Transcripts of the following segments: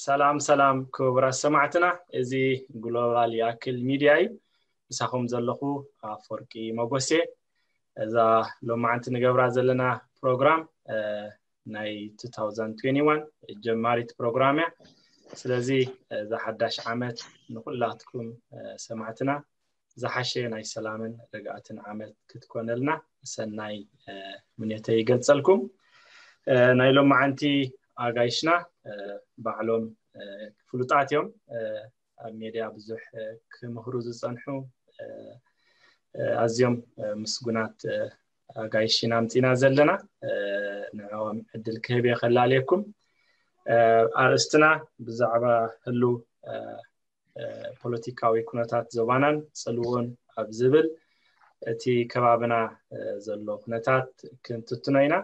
ሰላም ሰላም ክቡራት ሰማዕትና፣ እዚ ግሎባል ይኣክል ሚድያ እዩ። ምሳኹም ዘለኹ ኣፈወርቂ መጎሴ። እዛ ሎማዓንቲ ንገብራ ዘለና ፕሮግራም ናይ two thousand twenty-one ጀማሪት ፕሮግራም እያ። ስለዚ እዛ ሓዳሽ ዓመት ንኩላትኩም ሰማዕትና ዝሓሸ ናይ ሰላምን ርግኣትን ዓመት ክትኮነልና ሰናይ ምንዮተይ ይገልጸልኩም። ናይ ሎማዓንቲ ኣጋይሽና ባዕሎም ፍሉጣት እዮም። ኣብ ሜድያ ብዙሕ ክምህሩ ዝጸንሑ ኣዝዮም ምስጉናት ኣጋይሽና ኣምጺና ዘለና። ንዕኦም ዕድል ክህብ እየ ከላለየኩም። ኣርእስትና ብዛዕባ ህሉ ፖለቲካዊ ኩነታት ዞባናን ጽልውኡን ኣብ ዝብል እቲ ከባብና ዘሎ ኩነታት ክንትትኖ ኢና።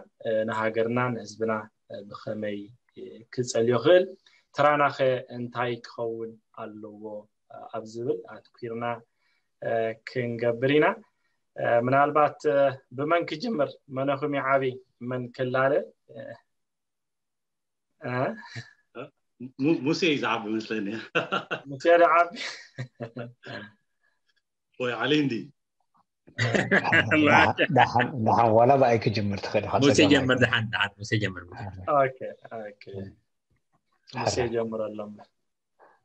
ንሃገርና ንህዝብና ብኸመይ ክጸልዮ ክእል፣ ተራናኸ እንታይ ክኸውን ኣለዎ ኣብ ዝብል ኣትኲርና ክንገብር ኢና። ምናልባት ብመን ክጅምር? መነኹም ይዓቢ? መን ክላለ? ሙሴ እዩ ዝዓቢ መስለኒ። ሙሴ ዝዓቢ ወይ ዓሊ እንዲ ደሓን ዋላ ብኣይ ክጅምር ትኽእል ኢኻ። ሙሴ ጀምር፣ ደሓን ደሓን ሙሴ ጀምር። ሙሴ ጀምረሎም።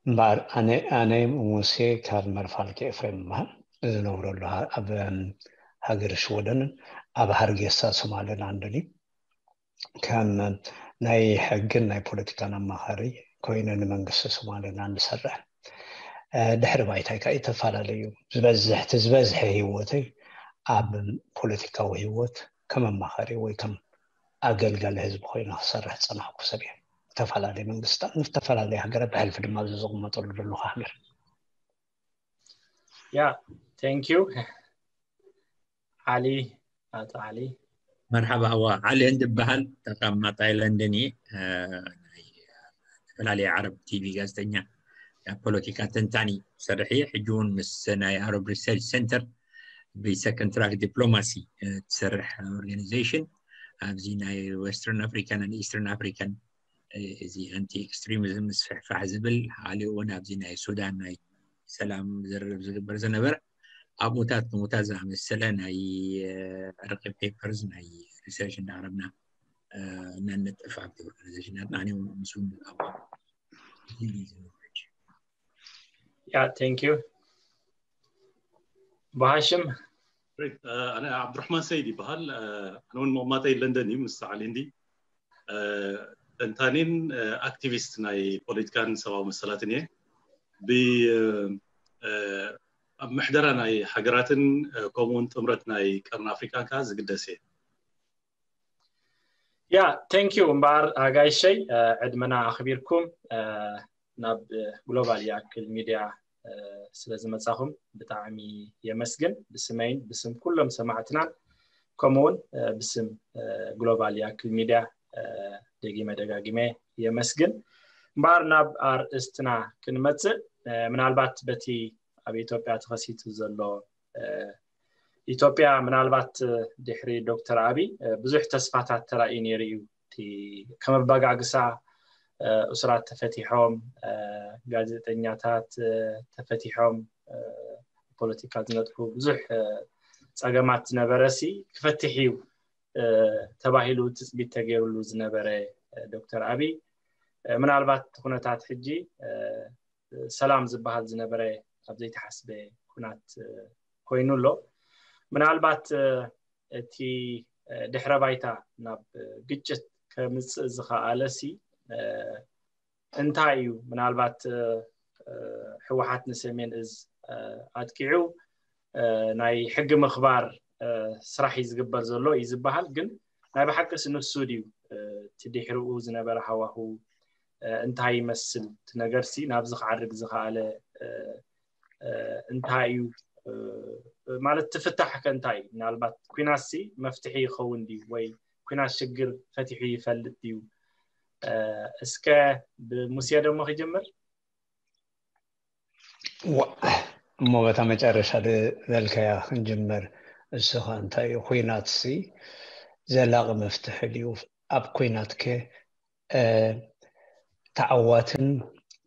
እምበኣር ኣነ ኣነ ሙሴ ካብ መርፋልኪ ኤፍሬም እምበሃል። ዝነብረሉ ኣብ ሃገር ሽወደንን ኣብ ሃርጌሳ ሶማሌላንድን እዩ። ከም ናይ ሕግን ናይ ፖለቲካን ኣማኻሪ ኮይነ ንመንግስቲ ሶማሌላንድ ዝሰርሕ። ድሕሪ ባይታይ ከዓ ዝተፈላለዩ ዝበዝሕ እቲ ዝበዝሐ ህይወተይ ኣብ ፖለቲካዊ ህይወት ከም ኣማኻሪ ወይ ከም ኣገልጋሊ ህዝቢ ኮይነ ክሰርሕ ዝፀናሕኩ ሰብ እየ። ዝተፈላለዩ መንግስታት ንዝተፈላለዩ ሃገራት ብሕልፊ ድማ ኣብዚ ዝቕመጠሉ ዘለኹ ሃገር። ያ thank you ዓሊ ኣቶ ዓሊ። መርሓባ። እዋ ዓሊ እንድበሃል ተቐማጣይ ለንደን እየ። ናይ ዝተፈላለየ ዓረብ ቲቪ ጋዜጠኛ፣ ኣብ ፖለቲካ ተንታኒ ሰርሕ እየ። ሕጂ እውን ምስ ናይ ኣረብ ሪሰርች ሴንተር ብሰከንድ ትራክ ዲፕሎማሲ ትሰርሕ ኦርጋኒዜሽን ኣብዚ ናይ ዌስተርን ኣፍሪካን ኢስተርን ኣፍሪካን እዚ ኣንቲ ኤክስትሪሚዝም ምስፍሕፋሕ ዝብል፣ ሓሊኡ እውን ኣብዚ ናይ ሱዳን ናይ ሰላም ዝርርብ ዝግበር ዝነበረ ኣብኡታት ንኡታት ዝኣመሰለ ናይ ዕርቂ ፔፐርስ ናይ ሪሰርች እንዳቕረብና እናነጥፍ ኣብቲ ኦርጋናይዜሽናትና ኣነ ምስኡ ያ thank you ብሃሽም። ኣነ ዓብዱራሕማን ሰይድ ይበሃል። ኣነ እውን መቕማጠይ ለንደን እዩ ምስ ዓሊ እንዲ። ተንታኒን ኣክቲቪስት ናይ ፖለቲካን ሰብኣዊ መሰላትን እየ። ኣብ ምሕደራ ናይ ሃገራትን ከምኡውን ጥምረት ናይ ቀርኒ ኣፍሪካን ከዓ ዝግደስ እየ። ያ thank you እምበኣር ኣጋይሸይ ዕድመና ኣኽቢርኩም ናብ ግሎባል ይኣክል ሚድያ ስለ ዝመጻኹም ብጣዕሚ የመስግን። ብስመይን ብስም ኩሎም ሰማዕትናን ከምኡውን ብስም ግሎባል ይኣክል ሚድያ ደጊመ ደጋጊመ የመስግን። እምበኣር ናብ ኣርእስትና ክንመጽእ ምናልባት በቲ ኣብ ኢትዮጵያ ተኸሲቱ ዘሎ ኢትዮጵያ ምናልባት ድሕሪ ዶክተር ኣብይ ብዙሕ ተስፋታት ተራእዩ ነይሩ እዩ። ከም ኣባጋግሳ እሱራት ተፈቲሖም፣ ጋዜጠኛታት ተፈቲሖም፣ ፖለቲካ ዝነጥፉ ብዙሕ ፀገማት ዝነበረ ሲ ክፈትሕ እዩ ተባሂሉ ትፅቢት ተገይሩሉ ዝነበረ ዶክተር ኣብይ ምናልባት ኩነታት ሕጂ ሰላም ዝበሃል ዝነበረ ኣብ ዘይተሓስበ ኩናት ኮይኑ ኣሎ። ምናልባት እቲ ድሕረ ባይታ ናብ ግጭት ከምፅእ ዝኸኣለ ሲ እንታይ እዩ? ምናልባት ህወሓት ንሰሜን እዝ ኣጥቂዑ ናይ ሕጊ ምኽባር ስራሕ እዩ ዝግበር ዘሎ እዩ ዝበሃል። ግን ናይ ብሓቅስ ንሱ ድዩ እቲ ድሕሪኡ ዝነበረ ሃዋሁ እንታይ ይመስል? እቲ ነገርሲ ናብዚ ክዓርግ ዝኸኣለ እንታይ እዩ ማለት ትፍታሕ ከ እንታይ እዩ? ምናልባት ኩናትሲ መፍትሒ ይኸውን ድዩ ወይ ኩናት ሽግር ፈቲሑ ይፈልጥ ድዩ? እስከ ብሙሴ ደሞ ክጅምር። እሞ በታ መጨረሻ ዝበልካያ ክንጅምር። እሱ ኸ እንታይ እዩ? ኩናትሲ ዘላቒ መፍትሒ ድዩ? ኣብ ኩናት ከ ተዓዋትን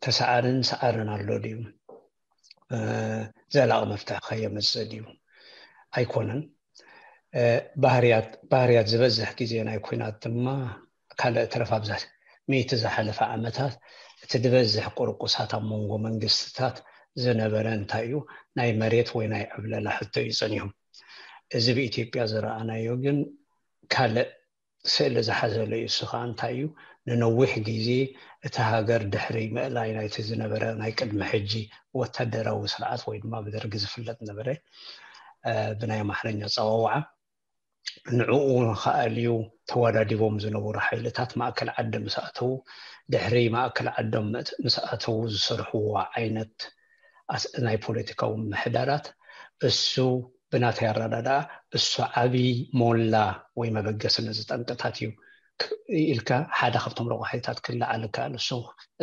ተሰዓርን ሰዓርን ኣሎ ድዩ? ዘላቂ መፍትሒ ከየመፅእ ድዩ? ኣይኮነን። ባህርያት ዝበዝሕ ግዜ ናይ ኩናት ድማ ካልእ ተረፍ ኣብዛ ሚእቲ ዝሓለፈ ዓመታት እቲ ዝበዝሕ ቁርቁሳት ኣብ መንጎ መንግስትታት ዝነበረ እንታይ እዩ? ናይ መሬት ወይ ናይ ዕብለላ ሕቶ እዩ ጸኒሑ። እዚ ብኢትዮጵያ ዝረኣናዮ ግን ካልእ ስእሊ ዝሓዘለ እዩ። እሱ ከዓ እንታይ እዩ? ንነዊሕ ግዜ እቲ ሃገር ድሕሪ ምእላይ ናይቲ ዝነበረ ናይ ቅድሚ ሕጂ ወታደራዊ ስርዓት ወይ ድማ ብደርጊ ዝፍለጥ ነበረ ብናይ ኣማርኛ ኣጸዋውዓ ንዕኡ ንኸኣልዩ ተወዳዲቦም ዝነበሩ ሓይልታት ማእከል ዓዲ ምስ ኣተዉ፣ ድሕሪ ማእከል ዓዶም ምስ ኣተዉ ዝሰርሕዎ ዓይነት ናይ ፖለቲካዊ ምሕዳራት እሱ ብናተይ ኣረዳድኣ እሱ ዓብዪ ሞላ ወይ መበገሲ ነዚ ጠንቅታት እዩ ኢልካ ሓደ ካብቶም ረቋሒታት ክለዓል ይከኣል። እሱ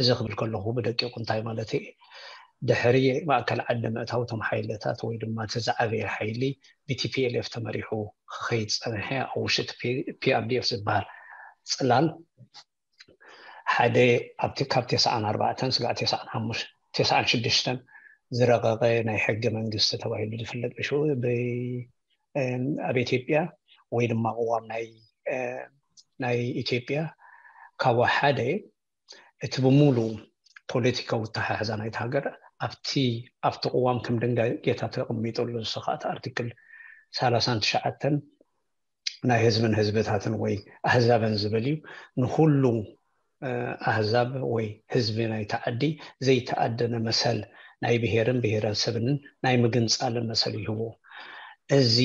እዚ ክብል ከለኹ ብደቂቑ እንታይ ማለት እዩ? ድሕሪ ማእከል ዓዲ ምእታው እቶም ሓይልታት ወይ ድማ እቲ ዝዓበየ ሓይሊ ብቲፒኤልኤፍ ተመሪሑ ክኸይድ ጸንሐ ኣብ ውሽጢ ፒኣርዲኤፍ ዝበሃል ጽላል ሓደ ኣብቲ ካብ ተስዓን ኣርባዕተን ስጋዕ ተስዓን ሓሙሽተን ተስዓን ሽዱሽተን ዝረቐቐ ናይ ሕገ መንግስቲ ተባሂሉ ዝፍለጥ ብሽኡ ኣብ ኢትዮጵያ ወይ ድማ ቅዋም ናይ ናይ ኢትዮጵያ ካብኡ ሓደ እቲ ብሙሉ ፖለቲካዊ ኣተሓሕዛ ናይቲ ሃገር ኣብቲ ኣብቲ ቅዋም ከም ድንጋጌታት ተቐሚጠሉ ዝሰኻት ኣርቲክል ሰላሳን ትሽዓተን ናይ ህዝብን ህዝብታትን ወይ ኣህዛብን ዝብል እዩ። ንኩሉ ኣህዛብ ወይ ህዝቢ ናይቲ ዓዲ ዘይተኣደነ መሰል ናይ ብሄርን ብሄረሰብንን ናይ ምግንፃልን መሰል ይህቦ። እዚ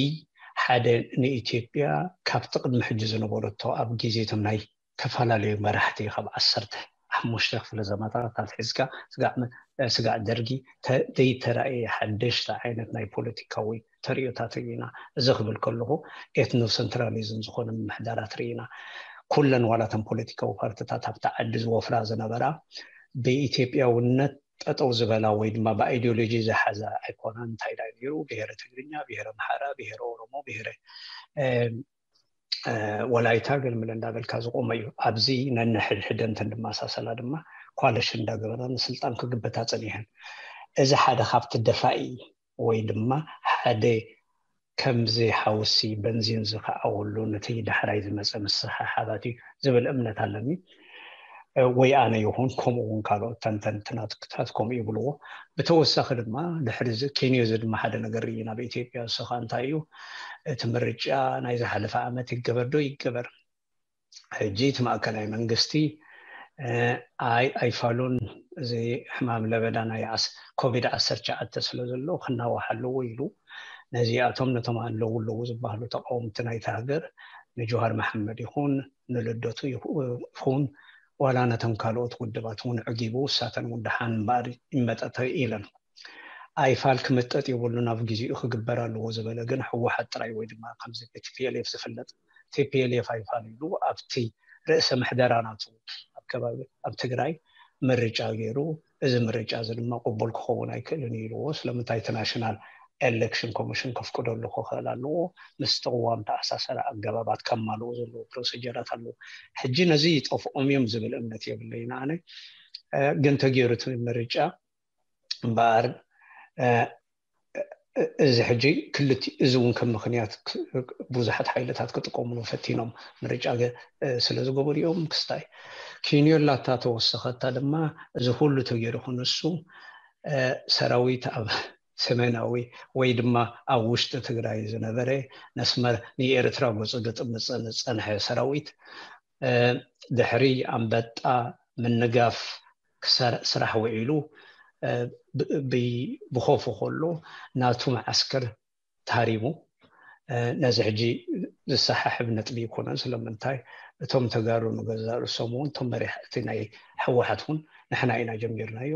ሓደ ንኢትዮጵያ ካብቲ ቅድሚ ሕጂ ዝነበረቶ ኣብ ግዜ እቶም ናይ ዝተፈላለዩ መራሕቲ ካብ ዓሰርተ ሓሙሽተ ክፍለ ዘመናት ኣትሒዝካ ስጋዕ ደርጊ ዘይተራእየ ሓደሽቲ ዓይነት ናይ ፖለቲካዊ ተርእዮታት ርኢና። እዚ ክብል ከለኹ ኤትኖ ሰንትራሊዝም ዝኾነ ምምሕዳራት ርኢና። ኩለን ዋላተን ፖለቲካዊ ፓርትታት ኣብቲ ዓዲ ዝወፍራ ዝነበራ ብኢትዮጵያውነት ጠጠው ዝበላ ወይ ድማ ብኣይዲዮሎጂ ዝሓዛ ኣይኮናን። እንታይ ዳ ነይሩ? ብሄረ ትግርኛ፣ ብሄረ ኣምሓራ፣ ብሄረ ኦሮሞ፣ ብሄረ ወላይታ ገልምለ እንዳበልካ ዝቆመ እዩ። ኣብዚ ነንሕድሕደን ተንድማሳሰላ ድማ ኳለሽ እንዳገበራ ንስልጣን ክግበታ ጸኒሐን። እዚ ሓደ ካብቲ ደፋኢ ወይ ድማ ሓደ ከምዚ ሓውሲ በንዚን ዝኸዓወሉ ነቲ ዳሕራይ ዝመፀ ምስሕሓባት እዩ ዝብል እምነት ኣለኒ። ወይ ኣነ ይኹን ከምኡ እውን ካልኦት ተንተንትናትክታት ከምኡ ይብልዎ። ብተወሳኺ ድማ ድሕሪ ኬንዮ እዚ ድማ ሓደ ነገር ርኢና ኣብ ኢትዮጵያ። እሱ ከዓ እንታይ እዩ? እቲ ምርጫ ናይ ዝሓለፈ ዓመት ይገበር ዶ ይገበር? ሕጂ እቲ ማእከላይ መንግስቲ ኣይ ኣይፋሉን፣ እዚ ሕማም ለበዳ ናይ ኮቪድ ዓሰርተ ትሽዓተ ስለ ዘሎ ክናዋሕ ኣለዎ ኢሉ ነዚኣቶም ነቶም ኣለዉ ኣለዉ ዝበሃሉ ተቃወምቲ ናይቲ ሃገር ንጆሃር መሓመድ ይኹን ንልደቱ ይኹን ዋላ ነቶም ካልኦት ውድባት እውን ዕጊቡ እሳተን እውን ደሓን እምበኣር ይመጠተ ኢለን። ኣይፋል ክምጠጥ የብሉን፣ ኣብ ግዜኡ ክግበር ኣለዎ ዝበለ ግን ህወሓት ጥራይ ወይ ድማ ከምዚ ብቲፒኤልኤፍ ዝፍለጥ ቲፒኤልኤፍ ኣይፋል ኢሉ ኣብቲ ርእሰ ምሕደራ ናቱ ኣብ ከባቢ ኣብ ትግራይ ምርጫ ገይሩ እዚ ምርጫ እዚ ድማ ቅቡል ክኸውን ኣይክእልን ኢልዎ። ስለምንታይ እቲ ናሽናል ኤሌክሽን ኮሚሽን ከፍቅደሉ ክኽእል ኣለዎ። ምስ ተቕዋም ተኣሳሰረ ኣገባባት ከማልኡ ዘለዎ ፕሮሲጀራት ኣለዎ። ሕጂ ነዚ ይጠፍኦም እዮም ዝብል እምነት የብለይን ኣነ። ግን ተገይሩ እቲ ምርጫ እምበኣር እዚ ሕጂ ክልቲ እዚ እውን ከም ምክንያት ብዙሓት ሓይልታት ክጥቀምሉ ፈቲኖም ምርጫ ስለ ዝገበሩ እዮም። ክስታይ ኪንዮላ እታ ተወሰኸታ ድማ እዚ ኩሉ ተገይሩ ክንሱ ሰራዊት ኣብ ሰሜናዊ ወይ ድማ ኣብ ውሽጢ ትግራይ ዝነበረ መስመር ንኤርትራ ገፁ ዝጥምፀ ዝፀንሐ ሰራዊት ድሕሪ ኣንበጣ ምንጋፍ ስራሕ ውዒሉ ብኮፉ ከሎ ናቱ መዓስከር ተሃሪሙ። ነዚ ሕጂ ዝሰሓሕብ ነጥቢ ይኮነን። ስለምንታይ እቶም ተጋሩ ንገዛ ርእሶም እውን እቶም መሪሕ እቲ ናይ ህወሓት እውን ንሕና ኢና ጀሚርናዮ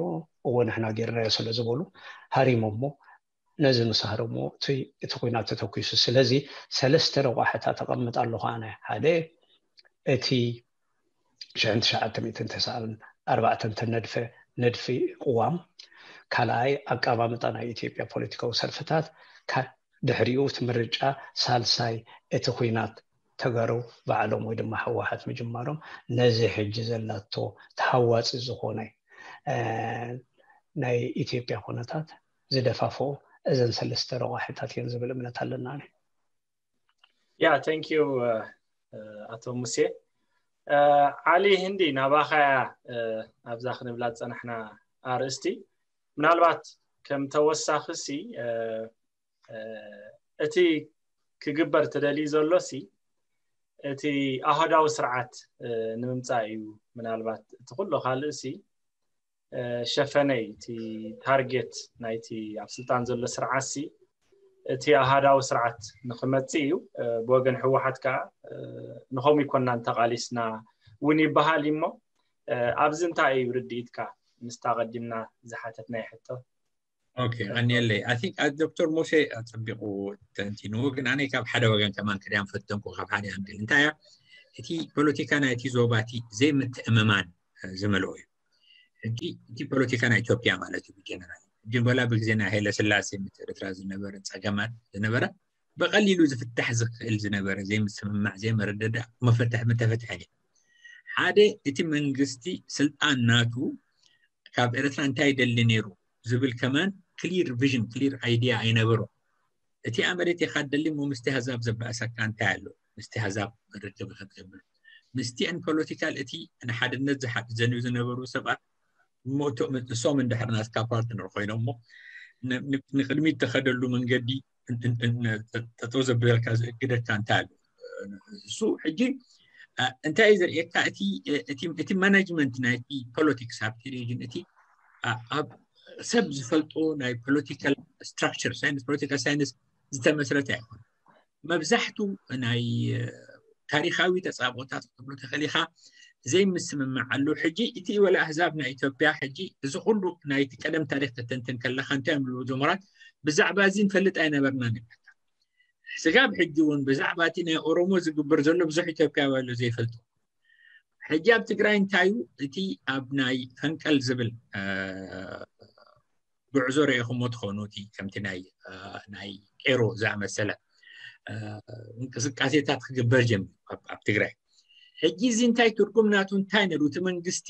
እዎ ንሕና ጌርናዮ ስለ ዝበሉ ሃሪሞሞ ነዚ ምስ ሃረሞ እቲ እቲ ኩናት ተተኪሱ። ስለዚ ሰለስተ ረቋሕታት ተቐምጥ ኣለኹ ኣነ። ሓደ እቲ ሽሕን ትሽዓተ ሚእትን ተስዓን ኣርባዕተን ተነድፈ ንድፊ ቅዋም፣ ካልኣይ ኣቀማምጣ ናይ ኢትዮጵያ ፖለቲካዊ ሰልፍታት፣ ድሕሪኡ እቲ ምርጫ፣ ሳልሳይ እቲ ኩናት ተጋሩ ባዕሎም ወይ ድማ ህወሓት ምጅማሮም ነዚ ሕጂ ዘላቶ ተሃዋፂ ዝኾነ ናይ ኢትዮጵያ ኩነታት ዝደፋፍኦ እዘን ሰለስተ ረቋሒታት እየን ዝብል እምነት ኣለና። ያ thank you ኣቶ ሙሴ። ዓሊ ህንዲ ናባኻያ ኣብዛ ክንብላ ዝፀናሕና ኣርእስቲ ምናልባት ከም ተወሳኺ ሲ እቲ ክግበር ተደልዩ ዘሎ ሲ እቲ ኣህዳዊ ስርዓት ንምምፃእ እዩ። ምናልባት እቲ ኩሎ ካልእ ሲ ሸፈነይ እቲ ታርጌት ናይቲ ኣብ ስልጣን ዘሎ ስርዓት ሲ እቲ ኣሃዳዊ ስርዓት ንክመፅእ እዩ። ብወገን ህወሓት ከዓ ንኸምኡ ይኮናን ተቓሊስና እውን ይበሃል እሞ ኣብዚ እንታይ እዩ ርድኢትካ? ምስታ ቀዲምና ዝሓተትናይ ሕቶ። ኦኬ ቀኒየለይ። I think ዶክተር ሙሴ ኣፀቢቑ ተንቲንዎ፣ ግን ኣነ ካብ ሓደ ወገን ከማን ክሪኣም ፈተንኩ ካብ ሓደ ኣንግል። እንታይ እያ እቲ ፖለቲካ ናይቲ ዞባ እቲ ዘይምትእምማን ዝመልኦ እዩ። ሕጂ እቲ ፖለቲካ ናይ ኢትዮጵያ ማለት እዩ ብጀነራል። ሕጂ በላ ብግዜ ናይ ሃይለ ስላሴ ምስ ኤርትራ ዝነበረ ፀገማት ዝነበረ ብቐሊሉ ዝፍታሕ ዝኽእል ዝነበረ ዘይምስምማዕ ዘይመረዳዳእ መፈትሕ ምተፈትሐን እዩ። ሓደ እቲ መንግስቲ ስልጣን ናቱ ካብ ኤርትራ እንታይ ይደሊ ነይሩ ዝብል ከማን clear vision clear idea ኣይነበሮ። እቲ ኣመሬት ኢኻ ደሊ ሞ ምስቲ ህዛብ ዘባእሰካ እንታይ ኣሎ? ምስቲ ህዛብ ርክብ ክትገብር ምስቲአን ፖለቲካል እቲ ንሓድነት ዝሓዘንዩ ዝነበሩ ሰባት እሞ እቶም እሶም እንድሕር ናትካ ፓርትነር ኮይኖም እሞ ንቅድሚት ተኸደሉ መንገዲ ጠጠው ዘብለካ ዝእግደካ እንታይ ኣሎ? እሱ ሕጂ እንታይ እዩ ዘርእየካ? እቲ ማናጅመንት ናይቲ ፖለቲክስ ኣብቲ ሪጅን እቲ ኣብ ሰብ ዝፈልጦ ናይ ፖለቲካል ስትራክቸር ሳይንስ ፖለቲካል ሳይንስ ዝተመስረተ ኣይኮነ። መብዛሕቱ ናይ ታሪካዊ ተፃብኦታት ክትብሎ ተኸሊካ ዘይምስምማዕ ኣሎ። ሕጂ እቲ ወላ ኣህዛብ ናይ ኢትዮጵያ ሕጂ እዚ ኩሉ ናይቲ ቀደም ታሪክ ተተንትን ከለካ እንታይ እዮም ዝብሉ ጀምራት ብዛዕባ እዚ ንፈልጥ ኣይነበርና ንብለካ። ስጋብ ሕጂ እውን ብዛዕባ እቲ ናይ ኦሮሞ ዝግበር ዘሎ ብዙሕ ኢትዮጵያዊ ኣሎ ዘይፈልጦ። ሕጂ ኣብ ትግራይ እንታይ እዩ እቲ ኣብ ናይ ፈንቀል ዝብል ጉዕዞ ርኢኹሞ ትኾኑ እቲ ከምቲ ናይ ናይ ቄሮ ዝኣመሰለ እንቅስቃሴታት ክግበር ጀሚሩ ኣብ ትግራይ። ሕጂ እዚ እንታይ ትርጉም ናቱ እንታይ ነሩ? እቲ መንግስቲ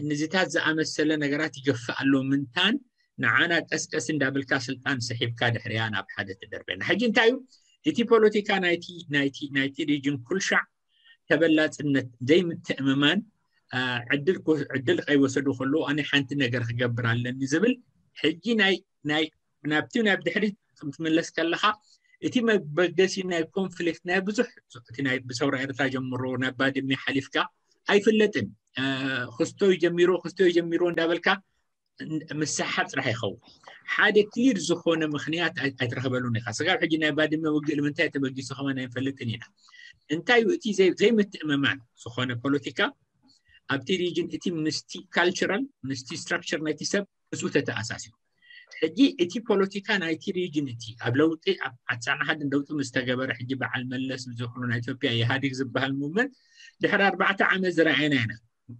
ንዚታት ዝኣመሰለ ነገራት ይገፍእ ኣሎ ምንታን ንዓና ቀስቀስ እንዳበልካ ስልጣን ስሒብካ ድሕሪያ ናብ ሓደ ትደርበና። ሕጂ እንታይ እዩ እቲ ፖለቲካ ናይቲ ናይቲ ናይቲ ሪጅን ኩልሻዕ ተበላፅነት ዘይምትእምማን ዕድል ከይወሰዱ ከለዉ ኣነ ሓንቲ ነገር ክገብር ኣለኒ ዝብል ሕጂ ናይ ናይ ናብቲ ናብ ድሕሪት ክትምለስ ከለካ እቲ መበገሲ ናይ ኮንፍሊክት ናይ ብዙሕ እቲ ናይ ብሰውራ ኤርትራ ጀምሮ ናብ ባድሜ ሓሊፍካ ኣይፍለጥን። ክስቶይ ጀሚሮ ክስቶይ ጀሚሮ እንዳበልካ ምስሓብ ጥራሕ ይኸውን። ሓደ ክሊር ዝኾነ ምክንያት ኣይትረክበሉን ኢካ። ስጋብ ሕጂ ናይ ባድመ ውግእ ንምንታይ ተበጊሱ ከማን ኣይንፈልጥን ኢና። እንታይ እቲ ዘይምትእምማን ዝኾነ ፖለቲካ ኣብቲ ሪጅን እቲ ምስቲ ካልቸራል ምስቲ ስትራክቸር ናይቲ ሰብ ምስኡ ተተኣሳሲሩ። ሕጂ እቲ ፖለቲካ ናይቲ ሪጅን እቲ ኣብ ለውጢ ኣብ ዓሳና ሓድን ለውጢ ምስ ተገበረ ሕጂ በዓል መለስ ዝኹኑ ናይ ኢትዮጵያ ኢህኣዴግ ዝበሃል ሙቭመንት ድሕሪ ኣርባዕተ ዓመት ዝረኣየና ኢና።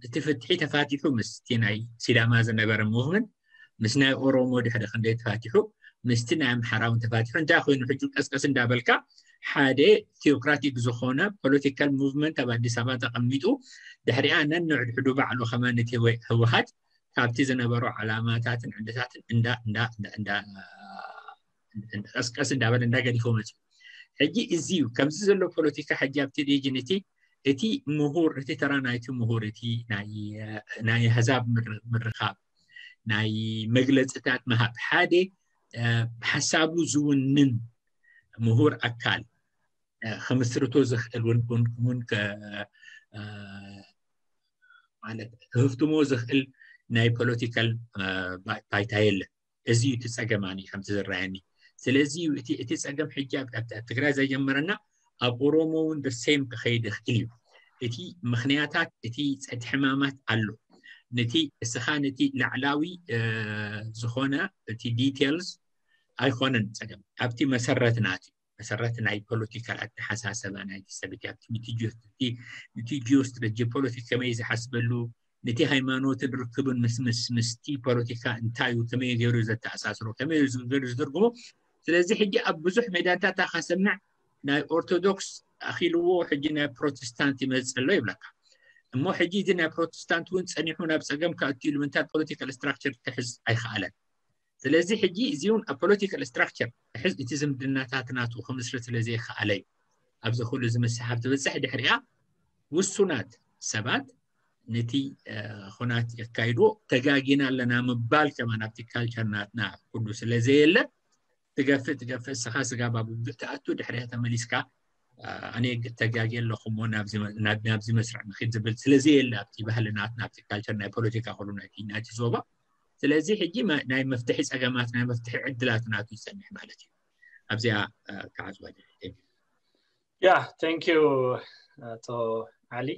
እቲ ፍትሒ ተፋቲሑ ምስቲ ናይ ሲዳማ ዝነበረ ሙቭመንት ምስ ናይ ኦሮሞ ድሕሪ ክንደይ ተፋቲሑ ምስቲ ናይ ኣምሓራ እውን ተፋቲሑ እንታይ ኮይኑ ሕጂ ቀስቀስ እንዳበልካ ሓደ ቲኦክራቲክ ዝኾነ ፖለቲካል ሙቭመንት ኣብ ኣዲስ ኣበባ ተቐሚጡ ድሕሪኣ ነንሕድሕዱ ባዕሉ ከማን እቲ ህወሓት ካብቲ ዝነበሮ ዓላማታትን ዕድታትን እንዳ እንዳ እንዳ እንዳ ቀስቀስ እንዳበለ እንዳገዲፎ መፅኡ። ሕጂ እዚ እዩ ከምዚ ዘሎ ፖለቲካ ሕጂ ኣብቲ ሪጅን እቲ እቲ ምሁር እቲ ተራ ናይቲ ምሁር እቲ ናይ ኣህዛብ ምርኻብ ናይ መግለፅታት ምሃብ ሓደ ሓሳቡ ዝውንን ምሁር ኣካል ክምስርቶ ዝኽእል እውን ማለት ክህፍትሞ ዝኽእል ናይ ፖለቲካል ባይታ የለን። እዚ እዩ እቲ ፀገም ኣነ ከምቲ ዝረኣየኒ። ስለዚ እዩ እቲ እቲ ፀገም ሕጂ ኣብ ኣብ ትግራይ ዘጀመረና ኣብ ኦሮሞ እውን the same ክኸይድ ይኽእል እዩ። እቲ ምኽንያታት እቲ እቲ ሕማማት ኣሎ። ነቲ እስኻ ነቲ ላዕላዊ ዝኾነ እቲ ዲቴልስ ኣይኮነን ፀገም ኣብቲ መሰረት ናት እዩ። መሰረት ናይ ፖለቲካል ኣተሓሳሰባ ናይቲ ሰብ እቲ ኣብቲ ንቲ ጂኦ ስትራቴጂ ፖለቲክ ከመይ ዝሓስበሉ ነቲ ሃይማኖትን ርክብን ምስ ምስ ምስቲ ፖለቲካ እንታይ እዩ ከመይ ገይሩ ዘተኣሳስሮ ከመይ ገይሩ ዝትርጉሞ። ስለዚ ሕጂ ኣብ ብዙሕ ሜዳታት ከሰምዕ ናይ ኦርቶዶክስ ኣኺልዎ ሕጂ ናይ ፕሮቴስታንት ይመፅእ ኣሎ ይብለካ። እሞ ሕጂ እዚ ናይ ፕሮቴስታንት እውን ፀኒሑ ናብ ፀገም ከእትዩ ኢሉ ምንታይ ፖለቲካል ስትራክቸር ክሕዝ ኣይከኣለን። ስለዚ ሕጂ እዚ እውን ኣብ ፖለቲካል ስትራክቸር ክሕዝ እቲ ዝምድናታት ናቱ ክምስርት ስለ ዘይከኣለ እዩ ኣብዚ ኩሉ እዚ ምስሓብ ትበፅሕ። ድሕሪኣ ውሱናት ሰባት ነቲ ኩናት የካይድዎ። ተጋጊና ኣለና ምባል ከማን ኣብቲ ካልቸር ናትና ኩሉ ስለ ዘየለ ትገፍእ ትገፍእ እስኻ ስጋ ባቡብዕ ትኣቱ ድሕሪያ ተመሊስካ ኣነ ተጋጊ ኣለኹ እሞ ናብዚ መስርዕ ንኺድ ዝብል ስለዚ የለ ኣብቲ ባህሊ ናትና ኣብቲ ካልቸር ናይ ፖለቲካ ኩሉ ናይቲ ናይቲ ዞባ። ስለዚ ሕጂ ናይ መፍትሒ ፀገማት ናይ መፍትሒ ዕድላት ናቱ ይፀንሕ ማለት እዩ። ኣብዚኣ ክዓፅዋ ያ thank you ኣቶ ዓሊ።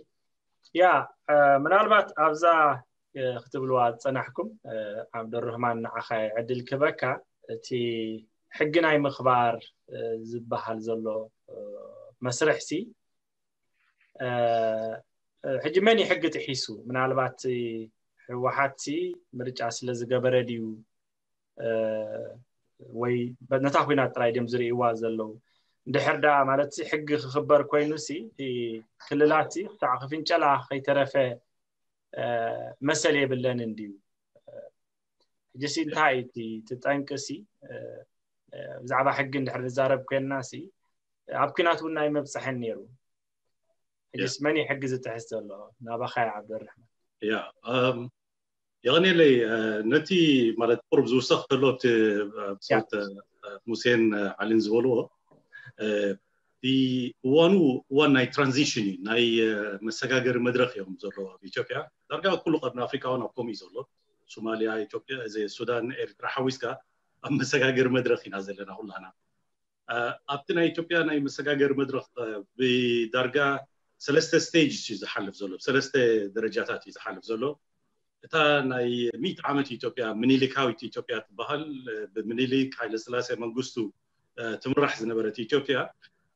ያ ምናልባት ኣብዛ ክትብልዋ ዝፀናሕኩም ዓብደረህማን ንዓኻ ዕድል ክበካ እቲ ሕጊ ናይ ምኽባር ዝበሃል ዘሎ መስርሕ ሲ ሕጂ መን ሕጊ ጥሒሱ? ምናልባት ህወሓት ሲ ምርጫ ስለ ዝገበረ ድዩ ወይ ነታ ኩናት ጥራይ ድም ዝርእይዋ ዘለዉ? እንድሕር ዳ ማለት ሕጊ ክኽበር ኮይኑ ሲ ክልላት ክሳዕ ክፍንጨላ ከይተረፈ መሰል የብለንን ድዩ? ሕጂ ሲ እንታይ እቲ ትጠንቂ ሲ ብዛዕባ ሕጊ እንድሕር ንዛረብ ኮይንና ሲ ኣብ ኩናት እውን ናይ መብፅሐን ነይሩ። ሕጂስ መን እዩ ሕጊ ዝጥሕስ ዘሎ? ናባኻ ዓብደረሕማን። ያ የቐኔለይ ነቲ ማለት ቁርብ ዝውሰኽ ከሎ እቲ ብሰት ሙሴን ዓሊን ዝበልዎ እቲ እዋኑ እዋን ናይ ትራንዚሽን እዩ። ናይ መሰጋገሪ መድረክ እዮም ዘሎ ኣብ ኢትዮጵያ። ዳርጋ ኩሉ ቀርኒ ኣፍሪካ እውን ኣብ ከምኡ እዩ ዘሎ። ሶማሊያ፣ ኢትዮጵያ፣ እዚ ሱዳን፣ ኤርትራ ሓዊስካ ኣብ መሰጋገሪ መድረክ ኢና ዘለና ኩላና። ኣብቲ ናይ ኢትዮጵያ ናይ መሰጋገሪ መድረክ ብዳርጋ ሰለስተ ስቴጅ እዩ ዝሓልፍ ዘሎ፣ ሰለስተ ደረጃታት እዩ ዝሓልፍ ዘሎ። እታ ናይ ሚእቲ ዓመት ኢትዮጵያ ምኒልካዊት ኢትዮጵያ ትበሃል። ብምኒልክ ሃይለስላሴ መንግስቱ ትምራሕ ዝነበረት ኢትዮጵያ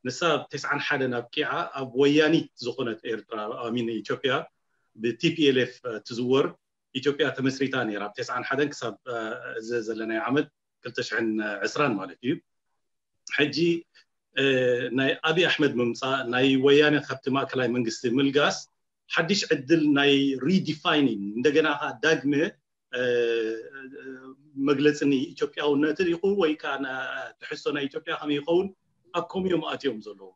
ንሳ ኣብ ተስዓን ሓደን ኣብቂዓ ኣብ ወያኒት ዝኾነት ኤርትራ ኣሚን ኢትዮጵያ ብቲፒኤልኤፍ ትዝወር ኢትዮጵያ ተመስሪታ ነይራ። ኣብ ተስዓን ሓደን ክሳብ እዚ ዘለናዮ ዓመት ክልተ ሽሕን ዕስራን ማለት እዩ። ሕጂ ናይ ኣብይ ኣሕመድ ምምፃእ ናይ ወያነ ካብቲ ማእከላይ መንግስቲ ምልጋስ ሓድሽ ዕድል ናይ ሪዲፋይኒንግ እንደገና ከዓ ዳግመ መግለፂ ኢትዮጵያውነት ይኹን ወይ ከዓ ትሕዝቶ ናይ ኢትዮጵያ ከመይ ይኸውን ኣብ ከምኡ እዮም ኣትዮም ዘለዉ።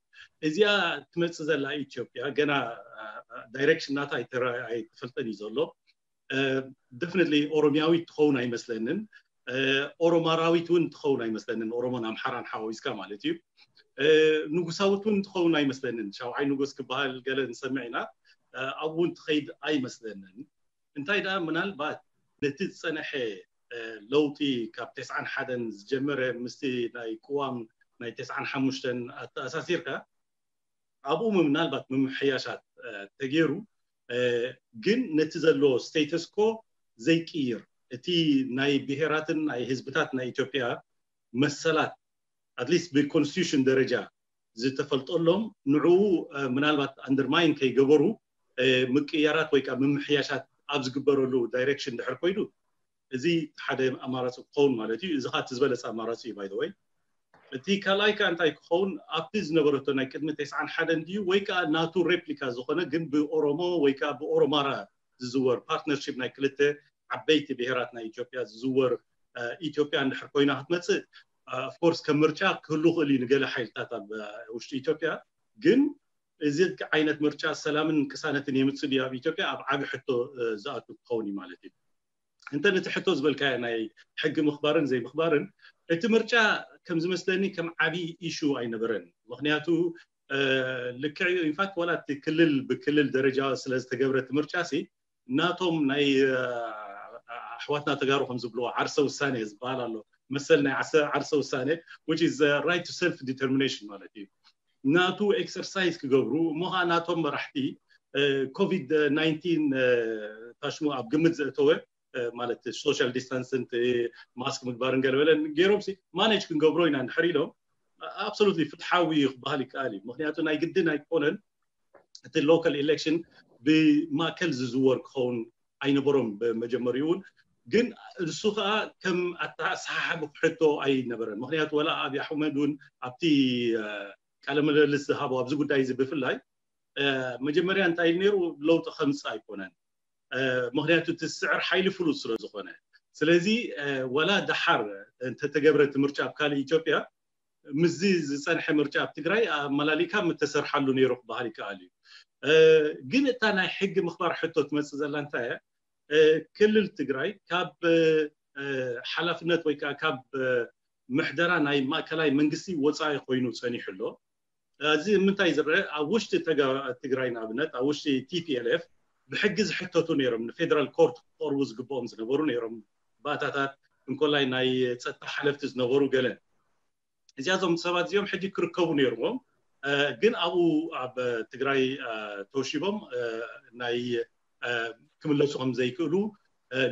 እዚኣ ትመፅእ ዘላ ኢትዮጵያ ገና ዳይሬክሽን ናታ ኣይተፈልጠን እዩ ዘሎ። ደፍነትሊ ኦሮሚያዊት ትኸውን ኣይመስለንን። ኦሮማራዊት እውን ትኸውን ኣይመስለንን። ኦሮሞን ኣምሓራን ሓዋዊስካ ማለት እዩ። ንጉሳዊት እውን ትኸውን ኣይመስለንን። ሻውዓይ ንጉስ ክበሃል ገለ ንሰምዕ ኢና። ኣብኡ እውን ትኸይድ ኣይመስለንን። እንታይ ደኣ ምናልባት ነቲ ዝፀነሐ ለውጢ ካብ ተስዓን ሓደን ዝጀመረ ምስቲ ናይ ቅዋም ናይ ተስዓን ሓሙሽተን ኣተኣሳሲርካ ኣብኡ ምናልባት ምምሕያሻት ተገይሩ ግን ነቲ ዘሎ ስቴተስኮ ዘይቅይር እቲ ናይ ብሄራትን ናይ ህዝብታት ናይ ኢትዮጵያ መሰላት ኣትሊስት ብኮንስቲቱሽን ደረጃ ዝተፈልጠሎም ንዕኡ ምናልባት ኣንደርማይን ከይገበሩ ምቅያራት ወይ ከዓ ምምሕያሻት ኣብ ዝግበረሉ ዳይሬክሽን ድሕር ኮይኑ እዚ ሓደ ኣማራፂ ክኸውን ማለት እዩ። እዚ ከዓ እቲ ዝበለፀ ኣማራፂ እዩ ባይ ወይ። እቲ ካልኣይ ከዓ እንታይ ክኸውን ኣብቲ ዝነበረቶ ናይ ቅድሚ ተስዓን ሓደን ድዩ ወይ ከዓ ናቱ ሬፕሊካ ዝኾነ ግን ብኦሮሞ ወይ ከዓ ብኦሮማራ ዝዝወር ፓርትነርሽፕ ናይ ክልተ ዓበይቲ ብሄራት ናይ ኢትዮጵያ ዝዝወር ኢትዮጵያ እንድሕር ኮይና ክትመፅእ ኦፍኮርስ ከም ምርጫ ክህሉ ክእል እዩ ንገለ ሓይልታት ኣብ ውሽጢ ኢትዮጵያ ግን እዚ ዓይነት ምርጫ ሰላምን ቅሳነትን የምፅእ ድዩ ኣብ ኢትዮጵያ ኣብ ዓቢ ሕቶ ዝኣቱ ክኸውን እዩ ማለት እዩ። እንተ ነቲ ሕቶ ዝበልካዮ ናይ ሕጊ ምኽባርን ዘይምኽባርን እቲ ምርጫ ከም ዝመስለኒ ከም ዓቢ ኢሹ ኣይነበረን። ምክንያቱ ልክዕ እዩ ኢንፋክት ዋላ እቲ ክልል ብክልል ደረጃ ስለዝተገብረ እቲ ምርጫ ሲ ናቶም ናይ ኣሕዋትና ተጋሩ ከም ዝብልዎ ዓርሰ ውሳኔ ዝበሃል ኣሎ መሰል ናይ ዓርሰ ውሳኔ which is right to self determination ማለት እዩ ናቱ ኤክሰርሳይዝ ክገብሩ እሞ ከዓ ናቶም መራሕቲ ኮቪድ ናይንቲን ታሽሙ ኣብ ግምት ዘእተወ ማለት ሶሻል ዲስታንስን ማስክ ምግባርን ገለበለን ገይሮም ማኔጅ ክንገብሮ ኢና እንድሕር ኢሎም ኣብሶሉትሊ ፍትሓዊ ክበሃል ይከኣል እዩ ምክንያቱ ናይ ግድን ኣይኮነን እቲ ሎካል ኢሌክሽን ብማእከል ዝዝወር ክኸውን ኣይነበሮም ብመጀመሪኡ እውን ግን እሱ ከዓ ከም ኣተሓሳሓቢ ክሕቶ ኣይነበረን ምክንያቱ ወላ ኣብይ ኣሕመድ እውን ኣብቲ ቃለ ምልልስ ዝሃቦ ኣብዚ ጉዳይ እዚ ብፍላይ መጀመርያ እንታይ ኢሉ ነይሩ? ለውጢ ከምፅእ ኣይኮነን፣ ምክንያቱ እቲ ዝስዕር ሓይሊ ፍሉጥ ስለ ዝኾነ። ስለዚ ወላ ደሓር እንተተገብረ እቲ ምርጫ ኣብ ካልእ ኢትዮጵያ ምስዚ ዝፀንሐ ምርጫ ኣብ ትግራይ ኣመላሊካ ምተሰርሓሉ ነይሩ ክበሃል ይከኣል እዩ። ግን እታ ናይ ሕጊ ምኽባር ሕቶ ትመፅእ ዘላ እንታይ እያ? ክልል ትግራይ ካብ ሓላፍነት ወይ ከዓ ካብ ምሕደራ ናይ ማእከላይ መንግስቲ ወፃኢ ኮይኑ ፀኒሑ ኣሎ። እዚ ምንታይ ዝረአ? ኣብ ውሽጢ ትግራይ ንኣብነት ኣብ ውሽጢ ቲ ፒ ኤል ኤፍ ብሕጊ ዝሕተቱ ነይሮም፣ ንፌደራል ኮርት ክቐርቡ ዝግብኦም ዝነበሩ ነይሮም። ባእታታት እንኮላይ ናይ ፀጥታ ሓለፍቲ ዝነበሩ ገለ እዚኣዞም ሰባት እዚኦም ሕጂ ክርከቡ ነይርዎም። ግን ኣብኡ ኣብ ትግራይ ተውሺቦም ናይ ክምለሱ ከም ዘይክእሉ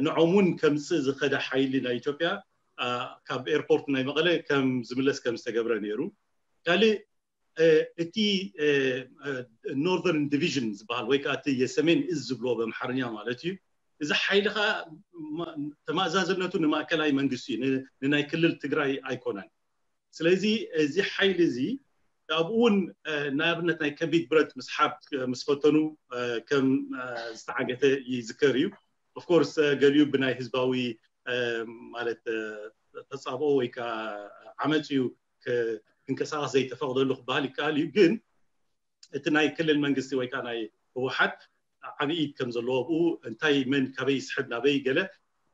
ንዖም እውን ከምፅእ ዝኸደ ሓይሊ ናይ ኢትዮጵያ ካብ ኤርፖርት ናይ መቐለ ከም ዝምለስ ከም ዝተገብረ ነይሩ። ካልእ እቲ ኖርዘርን ዲቪዥን ዝበሃል ወይ ከዓ እቲ የሰሜን እዝ ዝብሎ በምሓርኛ ማለት እዩ። እዚ ሓይሊ ከዓ ተማእዛዝነቱ ንማእከላይ መንግስቲ እዩ፣ ንናይ ክልል ትግራይ ኣይኮነን። ስለዚ እዚ ሓይሊ እዚ ኣብኡ እውን ንኣብነት ናይ ከቢድ ብረት ምስሓብ ምስ ፈተኑ ከም ዝተዓገተ ይዝከር እዩ። ኦፍኮርስ ገሊኡ ብናይ ህዝባዊ ማለት ተፃብኦ ወይ ከዓ ዓመፅ እዩ ክንቀሳቀስ ዘይተፈቅደሉ ክበሃል ይከኣል እዩ። ግን እቲ ናይ ክልል መንግስቲ ወይ ከዓ ናይ ህወሓት ዓብይ ኢድ ከም ዘለዎ ኣብኡ እንታይ መን ካበይ ይስሕብ ናበይ ገለ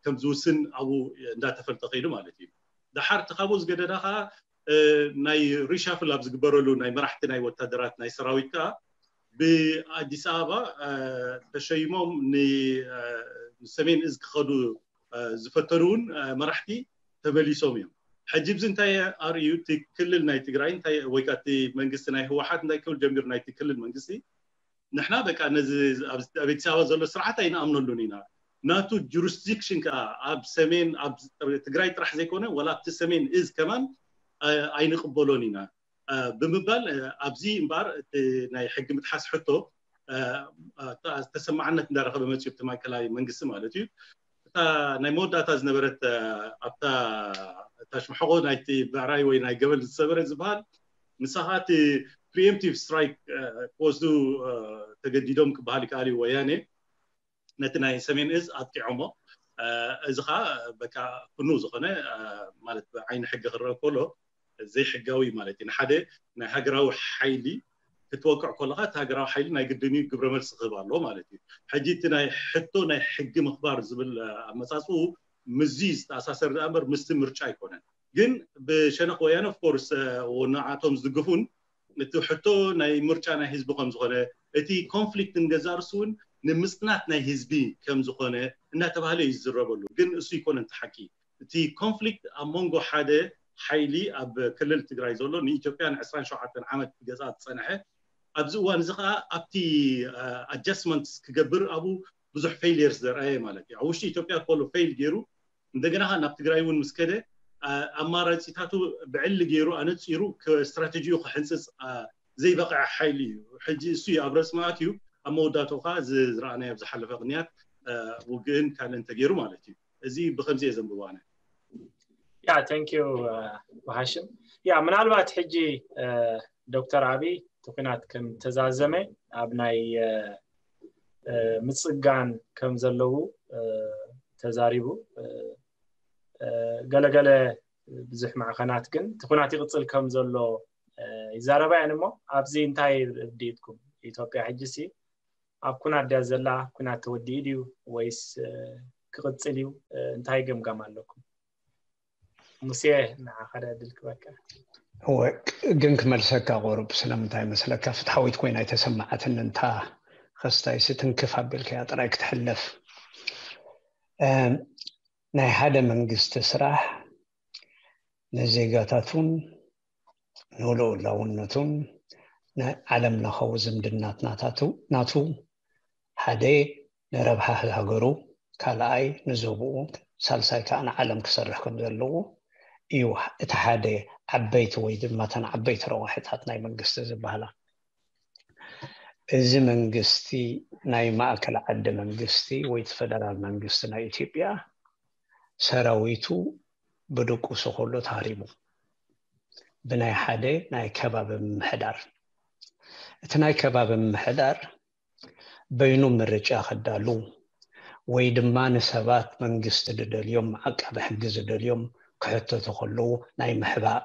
ከም ዝውስን ኣብኡ እንዳተፈልጠ ከይዱ ማለት እዩ። ደሓር እቲ ካብኡ ዝገደዳ ከዓ ናይ ሪሻፍል ኣብ ዝግበረሉ ናይ መራሕቲ ናይ ወታደራት ናይ ሰራዊት ከዓ ብኣዲስ ኣበባ ተሸይሞም ንሰሜን እዝ ክኸዱ ዝፈተኑ እውን መራሕቲ ተመሊሶም እዮም። ሕጂ ብዚ እንታይ ኣርእዩ? እቲ ክልል ናይ ትግራይ ወይ ከዓ እቲ መንግስቲ ናይ ህወሓት እንታይ ክብል ጀሚሩ? ናይቲ ክልል መንግስቲ ንሕና በቃ ነዚ ኣብ ኣዲስ ኣበባ ዘሎ ስርዓት ኣይንኣምነሉን ኢና፣ ናቱ ጁሪስዲክሽን ከዓ ኣብ ሰሜን ኣብ ትግራይ ጥራሕ ዘይኮነ ዋላ ኣብቲ ሰሜን እዝ ከማን ኣይንቅበሎን ኢና ብምባል ኣብዚ እምበኣር እቲ ናይ ሕጊ ምጥሓስ ሕቶ ተሰማዕነት እንዳረኸበ መፅኡ እቲ ማእከላዊ መንግስቲ ማለት እዩ። እታ ናይ መወዳእታ ዝነበረት ኣብታ ታሽማሕቆ ናይቲ ብዕራይ ወይ ናይ ገበል ዝሰበረ ዝበሃል ንሳ ከዓ እቲ ፕሪኤምፕቲቭ ስትራይክ ክወስዱ ተገዲዶም ክበሃል ይከኣል እዩ። ወያኔ ነቲ ናይ ሰሜን እዝ ኣጥቂዖሞ። እዚ ከዓ በቃ ኩኑ ዝኾነ ማለት ብዓይኒ ሕጊ ክረአ ከሎ ዘይሕጋዊ ማለት እዩ። ንሓደ ናይ ሃገራዊ ሓይሊ ክትወቅዕ ከለካ እቲ ሃገራዊ ሓይሊ ናይ ግድን እዩ ግብረ መልሲ ክህብ ኣለዎ ማለት እዩ። ሕጂ እቲ ናይ ሕቶ ናይ ሕጊ ምኽባር ዝብል ኣመፃፅኡ ምስዚ ዝተኣሳሰር ደኣ እምበር ምስቲ ምርጫ ኣይኮነን። ግን ብሸነኽ ወያነ ኦፍኮርስ ንዓቶም ዝድግፉን እቲ ሕቶ ናይ ምርጫ ናይ ህዝቢ ከም ዝኾነ እቲ ኮንፍሊክት ንገዛእ ርእሱ እውን ንምፅናት ናይ ህዝቢ ከም ዝኾነ እናተባህለ እዩ ዝዝረበሉ። ግን እሱ ይኮነ እቲ ሓቂ። እቲ ኮንፍሊክት ኣብ መንጎ ሓደ ሓይሊ ኣብ ክልል ትግራይ ዘሎ ንኢትዮጵያ ን ዕስራን ሸውዓተን ዓመት ክገዝኣ ዝፀንሐ ኣብዚ እዋን እዚ ከዓ ኣብቲ ኣጃስትመንት ክገብር ኣብኡ ብዙሕ ፌይልየርስ ዘርኣየ ማለት እዩ። ኣብ ውሽጢ ኢትዮጵያ ከሎ ፌይል ገይሩ እንደገና ከዓ ናብ ትግራይ እውን ምስ ከደ ኣማራፂታቱ ብዕሊ ገይሩ ኣነፂሩ ስትራቴጂኡ ክሕንፅፅ ዘይበቕዐ ሓይሊ እዩ። ሕጂ እሱ እዩ ኣብ ረፅሚ ኣትዩ ኣብ መወዳእትኡ ከዓ እዚ ዝረኣናዮ ኣብ ዝሓለፈ ቅንያት ውግእን ካልእን ተገይሩ ማለት እዩ። እዚ ብከምዚ እየ ዘንብቦ ኣነ። ያ thank you ብሃሽም። ያ ምናልባት ሕጂ ዶክተር ኣብይ እቲ ኩናት ከም ተዛዘመ ኣብ ናይ ምፅጋን ከም ዘለዉ ተዛሪቡ። ገለገለ ብዙሕ ማዕኸናት ግን እቲ ኩናት ይቕፅል ከም ዘሎ ይዛረባ እየን። እሞ ኣብዚ እንታይ ርድኢትኩም? ኢትዮጵያ ሕጂ ሲ ኣብ ኩናት ድያ ዘላ? ኩናት ተወዲኡ ድዩ ወይስ ክቕፅል እዩ? እንታይ ገምጋም ኣለኩም? ሙሴ ንዓኻ ድያ ዕድል ክበካ። እወ ግን ክመልሰካ ቁሩብ ስለምንታይ መስለካ ፍትሓዊት ኮይና ኣይተሰማዓትን እንታ ከስታይ ስትንክፍ ኣቢልካያ ጥራይ ክትሕለፍ ናይ ሓደ መንግስቲ ስራሕ ንዜጋታቱን ንልኡላውነቱን ንዓለም ለኻዊ ዝምድናት ናታቱ ናቱ ሓደ ንረብሓ ሃገሩ ካልኣይ ንዞብኡ ሳልሳይ ከዓ ንዓለም ክሰርሕ ከም ዘለዎ እዩ እቲ ሓደ ዓበይቲ ወይ ድማ ተን ዓበይቲ ረዋሒታት ናይ መንግስቲ ዝበሃላ እዚ መንግስቲ ናይ ማእከል ዓዲ መንግስቲ ወይ ፈደራል መንግስቲ ናይ ኢትዮጵያ ሰራዊቱ ብድቁሱ ከሎ ተሃሪሙ ብናይ ሓደ ናይ ከባቢ ምምሕዳር። እቲ ናይ ከባቢ ምምሕዳር በይኑ ምርጫ ከዳሉ ወይ ድማ ንሰባት መንግስቲ ዝደልዮም፣ ዓቃቢ ሕጊ ዝደልዮም ክሕተቱ ከለዉ ናይ ምሕባእ፣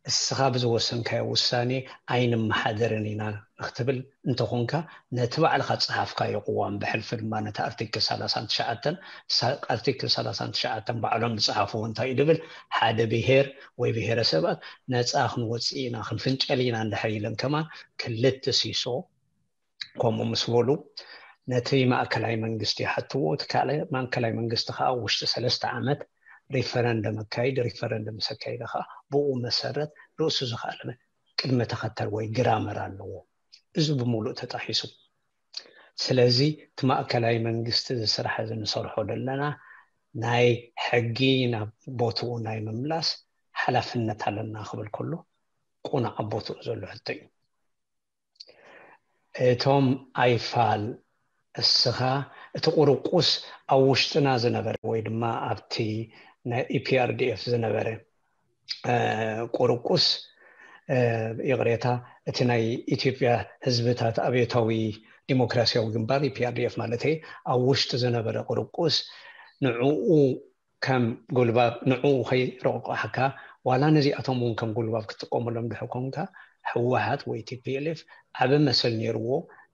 እስኻ ብዝወሰንካዮ ውሳኔ ኣይንመሓደርን ኢና ንክትብል እንተኾንካ፣ ነቲ ባዕልኻ ዝጸሓፍካዮ ቅዋም፣ ብሕልፊ ድማ ነቲ ኣርቲክል ሰላሳን ትሽዓተን፣ ሳ-፣ ኣርቲክል ሰላሳን ትሽዓተን ባዕሎም ዝጸሓፍዎ እንታይ እዩ ዝብል፣ ሓደ ብሄር ወይ ብሄረሰባት ነጻ ክንወጽእ ኢና፣ ክንፍንጨል ኢና እንድሕር ኢለን ከማን ክልተ ሲሶ ከምኡ ምስ በሉ፣ ነቲ ማእከላይ መንግስቲ ይሓትዎ። እቲ ካልእ ማእከላይ መንግስቲ ከዓ ኣብ ውሽጢ ሰለስተ ዓመት ሪፈረንደም ኣካይድ፣ ሪፈረንደም ምስ ኣካይደ ከዓ ብኡ መሰረት ርእሱ ዝኸኣለ ቅድመ ተኸተል ወይ ግራመር ኣለዎ። እዚ ብምሉእ ተጣሒሱ። ስለዚ እቲ ማእከላይ መንግስቲ እዚ ስራሕ እዚ ንሰርሖ ዘለና ናይ ሕጊ ናብ ቦትኡ ናይ ምምላስ ሓላፍነት ኣለና ክብል ከሎ ቁኑዕ ኣብ ቦትኡ ዘሎ ሕቶ እዩ። እቶም ኣይፋል እስኻ እቲ ቁርቁስ ኣብ ውሽጥና ዝነበረ ወይ ድማ ኣብቲ ናይ ኢፒኣርዲኤፍ ዝነበረ እ፣ ቁርቁስ እ፣ ይቕሬታ፣ እቲ ናይ ኢትዮጵያ ህዝብታት ኣብዮታዊ ዲሞክራሲያዊ ግንባር ኢፒኣርዲኤፍ ማለት ኣብ ውሽጢ ዝነበረ ቁርቁስ ንዕኡ ከም ጉልባብ ንዕኡ ከይረቋሕካ ዋላ ነዚኣቶም እውን ከም ጉልባብ ክትጥቀመሎም ድሕር ኮንካ ህወሓት ወይ ቲፒኤልኤፍ ዓቢ መሰል ነይርዎ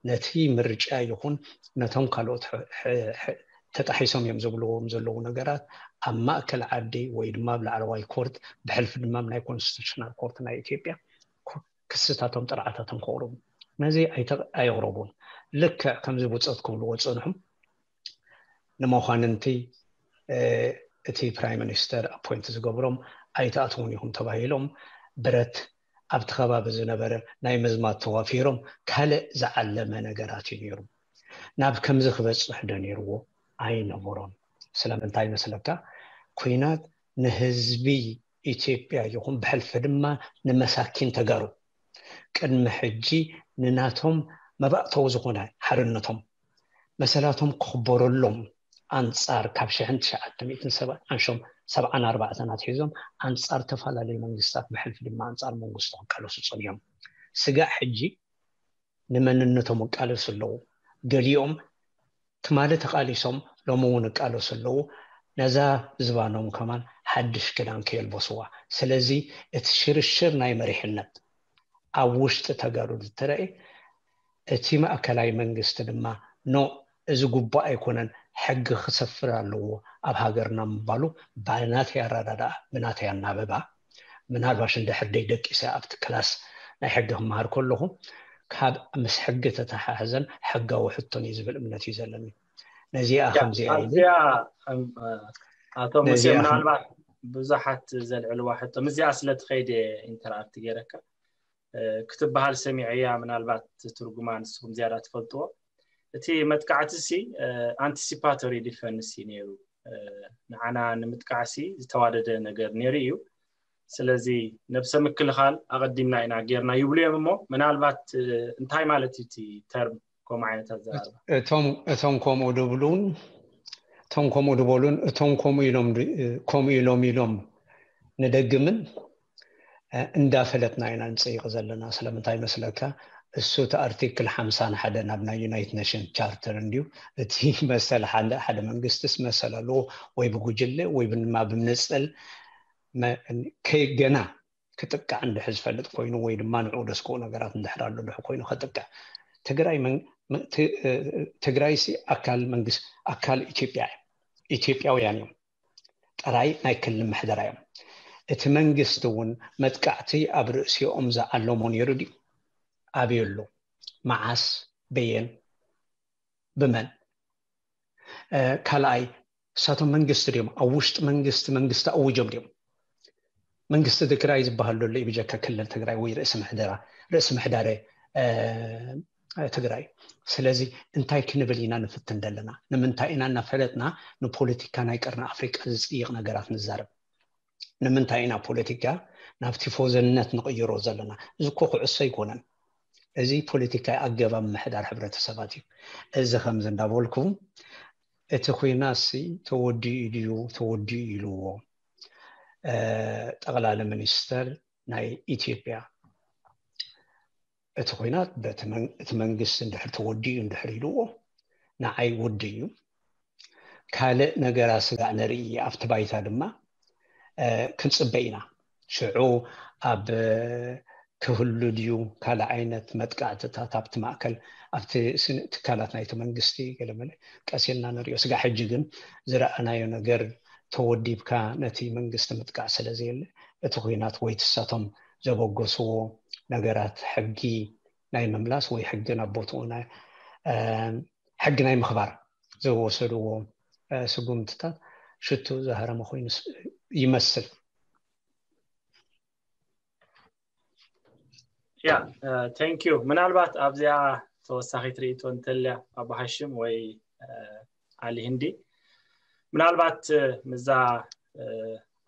ነቲ ምርጫ ይኹን ነቶም ካልኦት ሕ- ሕ- ሕ- ተጣሒሶም እዮም ዝብልዎም ዘለዉ ነገራት ኣብ ማእከል ዓዲ ወይ ድማ ኣብ ላዕለዋይ ኮርት ብሕልፊ ድማ ኣብ ናይ ኮንስቲቱሽናል ኮርት ናይ ኢትዮጵያ ኮ- ክስታቶም ጥርዓታቶም ከቕርቡ ነዚ ኣይተ- ኣየቕረቡን። ልክዕ ከምዚ ብፆት ክብልዎ ዝፀንሑ ንመኳንንቲ እቲ ፕራይም ሚኒስተር ኣፖይንት ዝገብሮም ኣይትኣትውን ኢኹም ተባሂሎም ብረት ኣብቲ ከባቢ ዝነበረ ናይ ምዝማት ተዋፊሮም ካልእ ዝዓለመ ነገራት እዩ ነይሩ። ናብ ከምዚ ክበፅሕ ዶ ነይርዎ? ኣይነበሮን። ስለምንታይ መስለካ? ኩናት ንህዝቢ ኢትዮጵያ ይኹን ብሕልፊ ድማ ንመሳኪን ተጋሩ ቅድሚ ሕጂ ንናቶም መባእተዊ ዝኾነ ሓርነቶም መሰላቶም ክኽበረሎም ኣንጻር ካብ ሽሕን ትሽዓተ ሚእትን ሰብዓን ኣንሾም ሰብዓን ኣርባዕተን ኣትሒዞም ኣንጻር ተፈላለዩ መንግስታት ብሕልፊ ድማ ኣንጻር መንግስቱ ክቃለሱ ጸኒሖም። ስጋዕ ሕጂ ንመንነቶም ይቃለሱ ኣለዉ። ገሊኦም ትማሊ ተቓሊሶም ሎሚ እውን ይቃለሱ ኣለዉ። ነዛ ዝባኖም ከማን ሓድሽ ክዳን ከየልበስዋ። ስለዚ እቲ ሽርሽር ናይ መሪሕነት ኣብ ውሽጢ ተጋሩ ዝተረእየ እቲ ማእከላይ መንግስቲ ድማ ኖ እዚ ጉቡእ ኣይኮነን ሕጊ ክሰፍር ኣለዎ ኣብ ሃገርና ምባሉ ብናተይ ኣረዳድኣ ብናተይ ኣናብባ ምናልባሽ እንድሕር ደይ ደቂሰ ኣብቲ ክላስ ናይ ሕጊ ክመሃር ከለኹ ካብ ምስ ሕጊ ተተሓሕዘን ሕጋዊ ሕቶን እዩ ዝብል እምነት እዩ ዘለኒ ነዚኣ ከምዚኣ ኢሉ ኣብዚኣ ኣቶ ሙሴ ነዚኣ ከም- ምናልባት ብዙሓት ዘልዕልዋ ሕቶ ምስዚኣ ስለ ትኸይድ ኢንተራክት ገይረካ ክትበሃል ሰሚዐያ ምናልባት ትርጉማ ንስኹም ዝያዳ ትፈልጥዎ እቲ መጥቃዕቲ ሲ ኣንቲሲፓቶሪ ዲፈንስ እዩ ነይሩ ንዓና ንምጥቃዕ ሲ ዝተዋደደ ነገር ነይሩ እዩ ስለዚ ነብሰ ምክልኻል ኣቐዲምና ኢና ጌርና ይብሉ እዮም እሞ ምናልባት እንታይ ማለት እዩ እቲ ተርም ከምኡ ዓይነት ኣዘራርባ እቶም እቶም ከምኡ ድብሉን እቶም ከምኡ ድበሉን እቶም ከምኡ ኢሎም ከምኡ ኢሎም ኢሎም ንደግምን እንዳፈለጥና ኢና ንፅይቕ ዘለና ስለምንታይ መስለካ እሱ እቲ ኣርቲክል ሓምሳን ሓደን ኣብ ናይ ዩናይትድ ኔሽን ቻርተር እንድዩ እቲ መሰል ሓደ መንግስትስ መሰል ኣለዎ ወይ ብጉጅለ ወይ ድማ ብምንፅል ከገና ክጥቃዕ እንድሕር ዝፈልጥ ኮይኑ ወይ ድማ ንዑ ደስክኡ ነገራት እንድሕር ኣሎ ድሕ ኮይኑ ከጥቅዕ ትግራይ ትግራይ ሲ ኣካል መንግስት ኣካል ኢትዮጵያ ኢትዮጵያውያን እዮም ጥራይ ናይ ክልል ምሕደራ እዮም እቲ መንግስቲ እውን መጥቃዕቲ ኣብ ርእሲኦም ዝዓለሞ ነይሩ ድዩ ኣብዩ ኣሎ መዓስ በየን ብመን ካልኣይ እሳቶም መንግስቲ ድዮም ኣብ ውሽጢ መንግስቲ መንግስቲ ኣውጆም ድዮም መንግስቲ ትግራይ ዝበሃል ዘሎ ብጀካ ክልል ትግራይ ወይ ርእሲ ምሕደራ ርእሲ ምሕዳረ ትግራይ ስለዚ እንታይ ክንብል ኢና ንፍትን ዘለና ንምንታይ ኢና እናፈለጥና ንፖለቲካ ናይ ቀርኒ ኣፍሪቃ ዝፅይቕ ነገራት ንዛረብ ንምንታይ ኢና ፖለቲካ ናብ ቲፎዘነት ንቕይሮ ዘለና እዚ እኮ ኩዕሶ ኣይኮነን እዚ ፖለቲካ ኣገባብ ምሕዳር ሕብረተሰባት እዩ እዚ ከምዚ እንዳበልኩ እቲ ኩናት ሲ ተወዲኡ ድዩ ተወዲኡ ኢልዎ ጠቕላሊ ሚኒስተር ናይ ኢትዮጵያ። እቲ ኹናት በቲ መን- እቲ መንግስቲ እንድሕር ተወዲኡ እንድሕር ኢልዎ ንዓይ ውድእ እዩ። ካልእ ነገራት ስጋዕ ንርኢ፣ ኣብቲ ባይታ ድማ እ፣ ክንጽበ ኢና። ሽዑ ኣብ እ፣ ክህሉ ድዩ ካልእ ዓይነት መጥቃዕትታት ኣብቲ ማእከል፣ ኣብቲ ስን- ትካላት ናይቲ መንግስቲ ገለመለ ቀስ ኢልና ንሪኦ። ስጋዕ ሕጂ ግን ዝረኣናዮ ነገር ተወዲብካ ነቲ መንግስቲ ምጥቃዕ ስለ ዘየለ እቲ ኹናት ወይ ትሳቶም ዘበገስዎ ነገራት ሕጊ ናይ ምምላስ ወይ ሕጊ ናብ ቦትኡ ናይ እ፣ ሕጊ ናይ ምኽባር ዝወሰድዎ እ፣ ስጉምትታት ሽቱ ዝሃረመ ኮይኑ ስ- ይመስል። ያ thank you ምናልባት ኣብዚኣ ተወሳኺት ርእይቶ እንተልያ ኣቦ ሃሽም ወይ ኣሊ ህንዲ ምናልባት ምዛ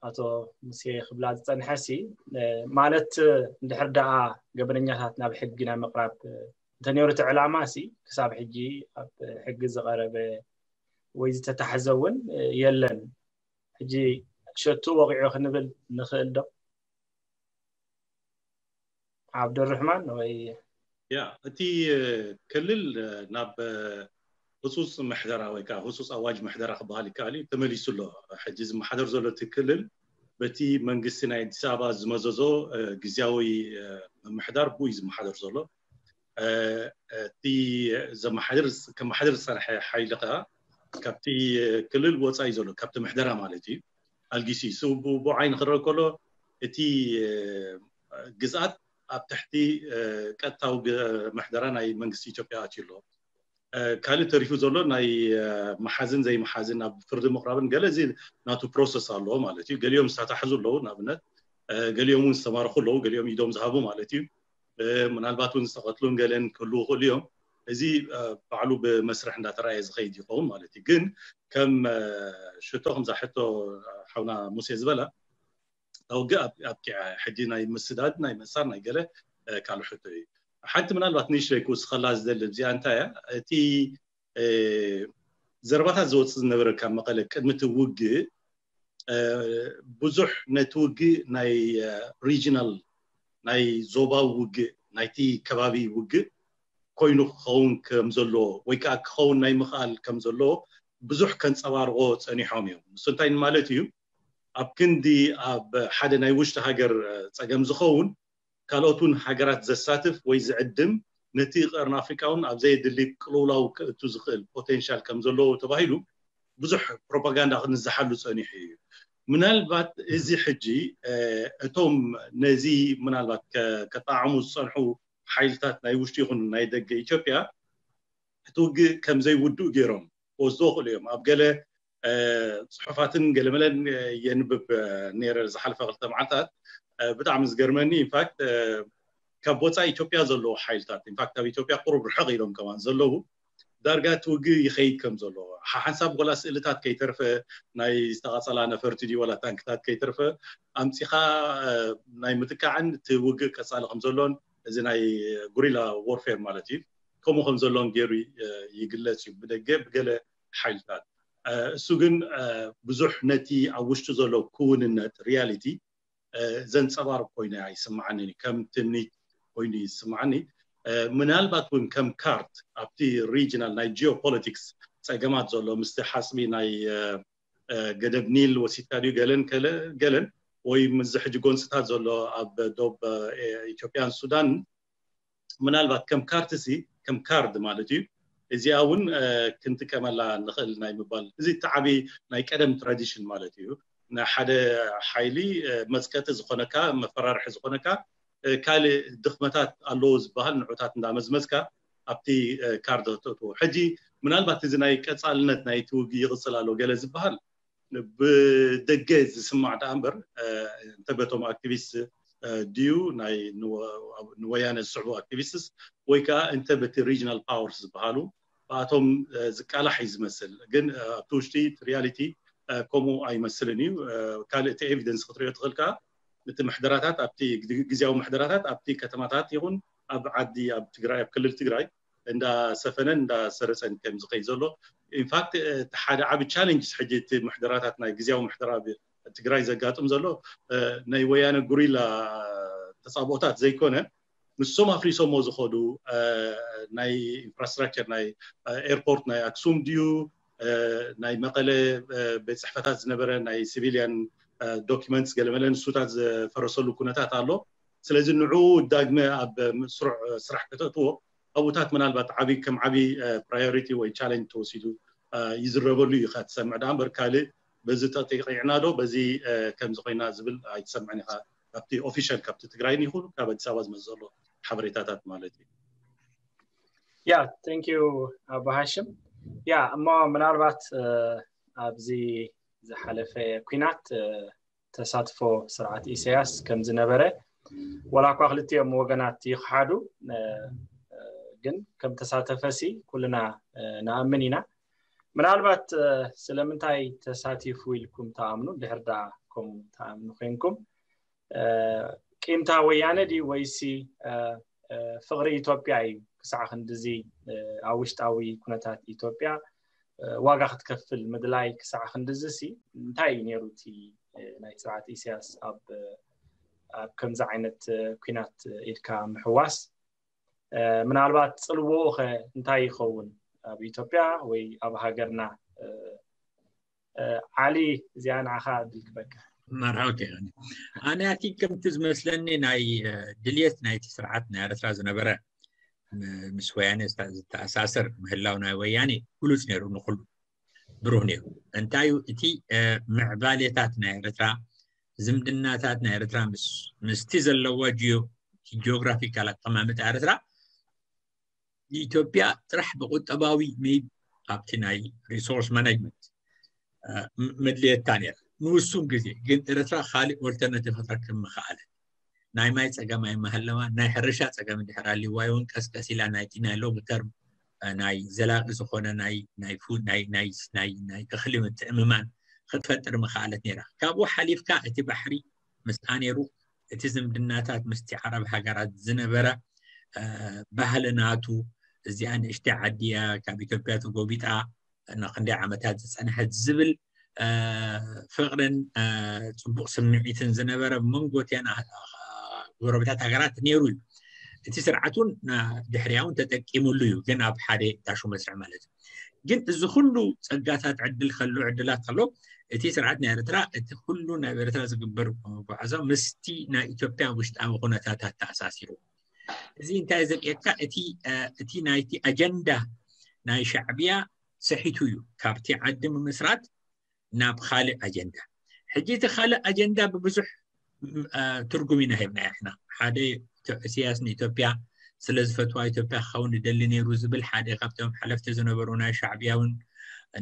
ኣቶ ሙሴ ክብላ ዝፀንሐ ሲ ማለት እንድሕር ደኣ ገበነኛታት ናብ ሕጊ ናይ ምቕራብ እንተነይሩ እቲ ዕላማ ሲ ክሳብ ሕጂ ኣብ ሕጊ ዝቐረበ ወይ ዝተታሕዘ እውን የለን። ሕጂ ሸቱ ወቂዑ ክንብል ንኽእል ዶ? ዓብዱርሕማን ወይ ያ እቲ ክልል ናብ ህፁፅ ምሕደራ ወይ ከዓ ህፁፅ ኣዋጅ ምሕደራ ክበሃል ይከኣል እዩ ተመሊሱ ኣሎ። ሕጂ ዝመሓደር ዘሎ እቲ ክልል በቲ መንግስቲ ናይ ኣዲስ ኣበባ ዝመዘዞ ግዝያዊ ምምሕዳር ብኡ እዩ ዝመሓደር ዘሎ። እቲ ዘመሓድር ከመሓድር ዝፀንሐ ሓይሊ ከዓ ካብቲ ክልል ወፃኢ ዘሎ ካብቲ ምሕደራ ማለት እዩ ኣልጊሲ ብዓይኒ ክረአ ከሎ እቲ ግዝኣት ኣብ ትሕቲ ቀጥታዊ ምሕደራ ናይ መንግስቲ ኢትዮጵያ ኣትዩ ኣሎ። ካልእ ተሪፉ ዘሎ ናይ መሓዝን ዘይመሓዝን ናብ ፍርዲ ምቕራብን ገለ እዚ ናቱ ፕሮሰስ ኣለዎ ማለት እዩ። ገሊኦም ዝተታሕዙ ኣለዉ ንኣብነት፣ ገሊኦም እውን ዝተማረኹ ኣለዉ፣ ገሊኦም ኢዶም ዝሃቡ ማለት እዩ። ምናልባት እውን ዝተቐትሉን ገለን ክህልዉ ይኽእሉ እዮም። እዚ ባዕሉ ብመስርሕ እንዳተረኣየ ዝኸይድ ይኸውን ማለት እዩ። ግን ከም ሽቶ ከምዛ ሕቶ ሓውና ሙሴ ዝበላ ውግእ ኣብቂዓ ሕጂ ናይ ምስዳድ ናይ ምእሳር ናይ ገለ ካልእ ሕቶ እዩ። ሓንቲ ምናልባት ንእሽተይ ክውስኸላ ዝደሊ እዚኣ እንታይ እያ እቲ ዘረባታት ዝወፅእ ዝነበረ ካብ መቐለ ቅድሚ እቲ ውግእ ብዙሕ ነቲ ውግእ ናይ ሪጂናል ናይ ዞባዊ ውግእ ናይቲ ከባቢ ውግእ ኮይኑ ክኸውን ከም ዘለዎ ወይ ከዓ ክኸውን ናይ ምኽኣል ከም ዘለዎ ብዙሕ ከንፀባርቆ ፀኒሖም እዮም። ንሱ እንታይ ማለት እዩ? ኣብ ክንዲ ኣብ ሓደ ናይ ውሽጢ ሃገር ፀገም ዝኸውን ካልኦት እውን ሃገራት ዘሳትፍ ወይ ዝዕድም ነቲ ቀርኒ ኣፍሪቃ እውን ኣብ ዘየድሊ ቅልውላው ክእቱ ዝኽእል ፖቴንሻል ከም ዘለዎ ተባሂሉ ብዙሕ ፕሮፓጋንዳ ክንዝሓሉ ፀኒሑ እዩ። ምናልባት እዚ ሕጂ እቶም ነዚ ምናልባት ከጠዓሙ ዝፀንሑ ሓይልታት ናይ ውሽጢ ይኹን ናይ ደገ ኢትዮጵያ እቲ ውግእ ከም ዘይውድኡ ገይሮም ክወስድዎ ይኽእሉ እዮም። ኣብ ገለ ፅሑፋትን ገለመለን የንብብ ነይረ ዝሓለፈ ክልተ መዓልታት። ብጣዕሚ ዝገርመኒ ኢንፋክት ካብ ወፃኢ ኢትዮጵያ ዘለዉ ሓይልታት ኢንፋክት ካብ ኢትዮጵያ ቁሩብ ርሕቕ ኢሎም ከማን ዘለዉ ዳርጋ እቲ ውግእ ይኸይድ ከም ዘሎ ሓሓንሳብ ወላ ስእልታት ከይተርፈ ናይ ዝተቓፀላ ነፈርቲ ድዩ ወላ ታንክታት ከይተርፈ ኣምፂኻ ናይ ምጥቃዕን እቲ ውግእ ቀፃሊ ከም ዘሎን እዚ ናይ ጉሪላ ዎርፌር ማለት እዩ ከምኡ ከም ዘሎን ገይሩ ይግለፅ እዩ ብደገ ብገለ ሓይልታት። እሱ ግን ብዙሕ ነቲ ኣብ ውሽጢ ዘሎ ክውንነት ሪያሊቲ ዘንፀባርቕ ኮይኑ ኣይስምዓንን እዩ። ከም ትምኒት ኮይኑ ይስምዓኒ። ምናልባት እውን ከም ካርት ኣብቲ ሪጅናል ናይ ጂኦፖለቲክስ ፀገማት ዘሎ ምስቲ ሓፅቢ ናይ ገደብ ኒል ወሲድካ ድዩ ገለን ገለን ወይ ምስዚ ሕጂ ጎንፅታት ዘሎ ኣብ ዶብ ኢትዮጵያን ሱዳን ምናልባት ከም ካርትሲ ከም ካርድ ማለት እዩ እዚኣ እውን ክንጥቀመላ ንኽእል ናይ ምባል እዚ ተዓቢ ናይ ቀደም ትራዲሽን ማለት እዩ። ንሓደ ሓይሊ መፅቀጢ ዝኾነካ መፈራርሒ ዝኾነካ ካልእ ድኽመታት ኣለዎ ዝበሃል ንዑታት እንዳመዝመዝካ ኣብቲ ካርድ ክተእትዎ። ሕጂ ምናልባት እዚ ናይ ቀፃልነት ናይቲ ውግእ ይቕፅል ኣሎ ገለ ዝበሃል ብደገ ዝስማዕ ደኣ እምበር እንተ በቶም ኣክቲቪስት ድዩ ናይ ንወያነ ዝስዕቡ ኣክቲቪስትስ ወይ ከዓ እንተ በቲ ሪጅናል ፓወርስ ዝበሃሉ ብኣቶም ዝቃላሕ እዩ ዝመስል። ግን ኣብቲ ውሽጢ ሪያሊቲ ከምኡ ኣይመስልን እዩ። ካልእ እቲ ኤቪደንስ ክትሪኦ ትኽእል ከዓ እቲ ምሕደራታት ኣብቲ ግዝያዊ ምሕደራታት ኣብቲ ከተማታት ይኹን ኣብ ዓዲ ኣብ ትግራይ ኣብ ክልል ትግራይ እንዳሰፈነን እንዳሰረፀን ከም ዝኸይ ዘሎ ኢንፋክት እቲ ሓደ ዓቢ ቻለንጅስ ሕጂ እቲ ምሕደራታት ናይ ግዝያዊ ምሕደራ ትግራይ ዘጋጥም ዘሎ ናይ ወያነ ጉሪላ ተፃብኦታት ዘይኮነ፣ ንሶም ኣፍሪሶሞ ዝኸዱ ናይ ኢንፍራስትራክቸር ናይ ኤርፖርት ናይ ኣክሱም ድዩ፣ ናይ መቐለ ቤት ፅሕፈታት ዝነበረ ናይ ሲቪልያን ዶኪመንትስ ገለመለ ንሱታት ዝፈረሰሉ ኩነታት ኣሎ። ስለዚ ንዑ ዳግመ ኣብ ስሩዕ ስራሕ ከተእትዎ ኣብኡታት ምናልባት ዓቢ ከም ዓቢ ፕራዮሪቲ ወይ ቻለንጅ ተወሲዱ ይዝረበሉ እዩ ኢኻ ትሰምዕ። ዳ እምበር ካልእ በዚ ተጠቂዕና ዶ በዚ ከምዚ ኮይና ዝብል ኣይትሰምዕን ኢኻ። ካብቲ ኦፊሻል ካብቲ ትግራይን ይኹን ካብ ኣዲስ ኣበባ ዝመጽእ ዘሎ ሓበሬታታት ማለት እዩ። ያ thank you ኣቦ ሃሽም። ያ እሞ ምናልባት ኣብዚ ዝሓለፈ ኲናት ተሳትፎ ስርዓት ኢሳያስ ከም ዝነበረ ዋላ እኳ ክልቲኦም ወገናት ይኽሓዱ ግን ከም ተሳተፈሲ ኩልና ንኣምን ኢና። ምናልባት ስለምንታይ ተሳቲፉ ኢልኩም ትኣምኑ? ድሕር ደኣ ከምኡ ትኣምኑ ኮይንኩም ቂምታ ወያነ ድዩ ወይሲ ፍቕሪ ኢትዮጵያ እዩ ክሳዕ ክንድዚ ኣብ ውሽጣዊ ኩነታት ኢትዮጵያ ዋጋ ክትከፍል ምድላይ ክሳዕ ክንድዚ ሲ እንታይ እዩ ነይሩ እቲ ናይ ስርዓት ኢሳያስ ኣብ ኣብ ከምዚ ዓይነት ኲናት ኢድካ ምሕዋስ? ምናልባት ፅልዎኡ ኸ እንታይ ይኸውን ኣብ ኢትዮጵያ ወይ ኣብ ሃገርና? ዓሊ እዚኣ ንዓኻ ዕድል ክበካ። መርሓባ። ኣነ ኣቲ ከምቲ ዝመስለኒ ናይ ድልየት ናይቲ ስርዓት ናይ ኤርትራ ዝነበረ ምስ ወያነ ዝተኣሳሰር ምህላው ናይ ወያነ ግሉፅ ነይሩ፣ ንኩሉ ብሩህ ነይሩ። እንታይ እዩ እቲ ምዕባሌታት ናይ ኤርትራ፣ ዝምድናታት ናይ ኤርትራ ምስቲ ዘለዋ ጂኦግራፊካል ኣቀማምጣ ኤርትራ ንኢትዮጵያ ጥራሕ ብቁጠባዊ ሜይ ኣብቲ ናይ ሪሶርስ ማናጅመንት መድልየታ ነይራ ንውሱን ግዜ። ግን ኤርትራ ካልእ ኦልተርናቲቭ ክትረክብ ምኽኣለት። ናይ ማይ ጸገም ኣይመሃለዋ፣ ናይ ሕርሻ ጸገም እንድሕር ኣልዋ እውን ቀስቀስ ኢላ ናይቲ ናይ ሎንግ ተርም ናይ ዘላቂ ዝኾነ ናይ ናይ ፉድ ናይ ናይ ናይ ናይ እኽሊ ምትእምማን ክትፈጥር ምኽኣለት ነይራ። ካብኡ ሓሊፍካ እቲ ባሕሪ ምስኣ ነይሩ፣ እቲ ዝምድናታት ምስቲ ዓረብ ሃገራት ዝነበረ ባህሊ ናቱ፣ እዚኣ ንእሽተይ ዓዲ እያ ካብ ኢትዮጵያ ተጎቢጣ ንክንደይ ዓመታት ዝፀንሐት ዝብል ፍቕርን ፅቡቕ ስምዒትን ዝነበረ መንጎ እቲኣን ጎረቤታት ሃገራት ነይሩ እዩ። እቲ ስርዓት እውን ድሕሪኣ እውን ተጠቂሙሉ እዩ፣ ግን ኣብ ሓደ ዳሹ መስርዕ ማለት እዩ። ግን እዚ ኩሉ ፀጋታት ዕድል ከሎ ዕድላት ከሎ እቲ ስርዓት ናይ ኤርትራ እቲ ኩሉ ናይ ኤርትራ ዝግበር ጉዕዞ ምስቲ ናይ ኢትዮጵያ ውሽጣዊ ኩነታት ኣተኣሳሲሩ። እዚ እንታይ ዘርእየካ? እቲ እቲ ናይቲ ኣጀንዳ ናይ ሻዕብያ ሰሒቱ እዩ፣ ካብቲ ዓዲ ምምስራት ናብ ካልእ ኣጀንዳ። ሕጂ እቲ ካልእ ኣጀንዳ ብብዙሕ ትርጉም ኢና ሂብና ኢሕና። ሓደ ኢሳያስ ንኢትዮጵያ ስለ ዝፈትዋ ኢትዮጵያ ክኸውን ይደሊ ነይሩ ዝብል ሓደ ካብቶም ሓለፍቲ ዝነበሩ ናይ ሻዕብያ እውን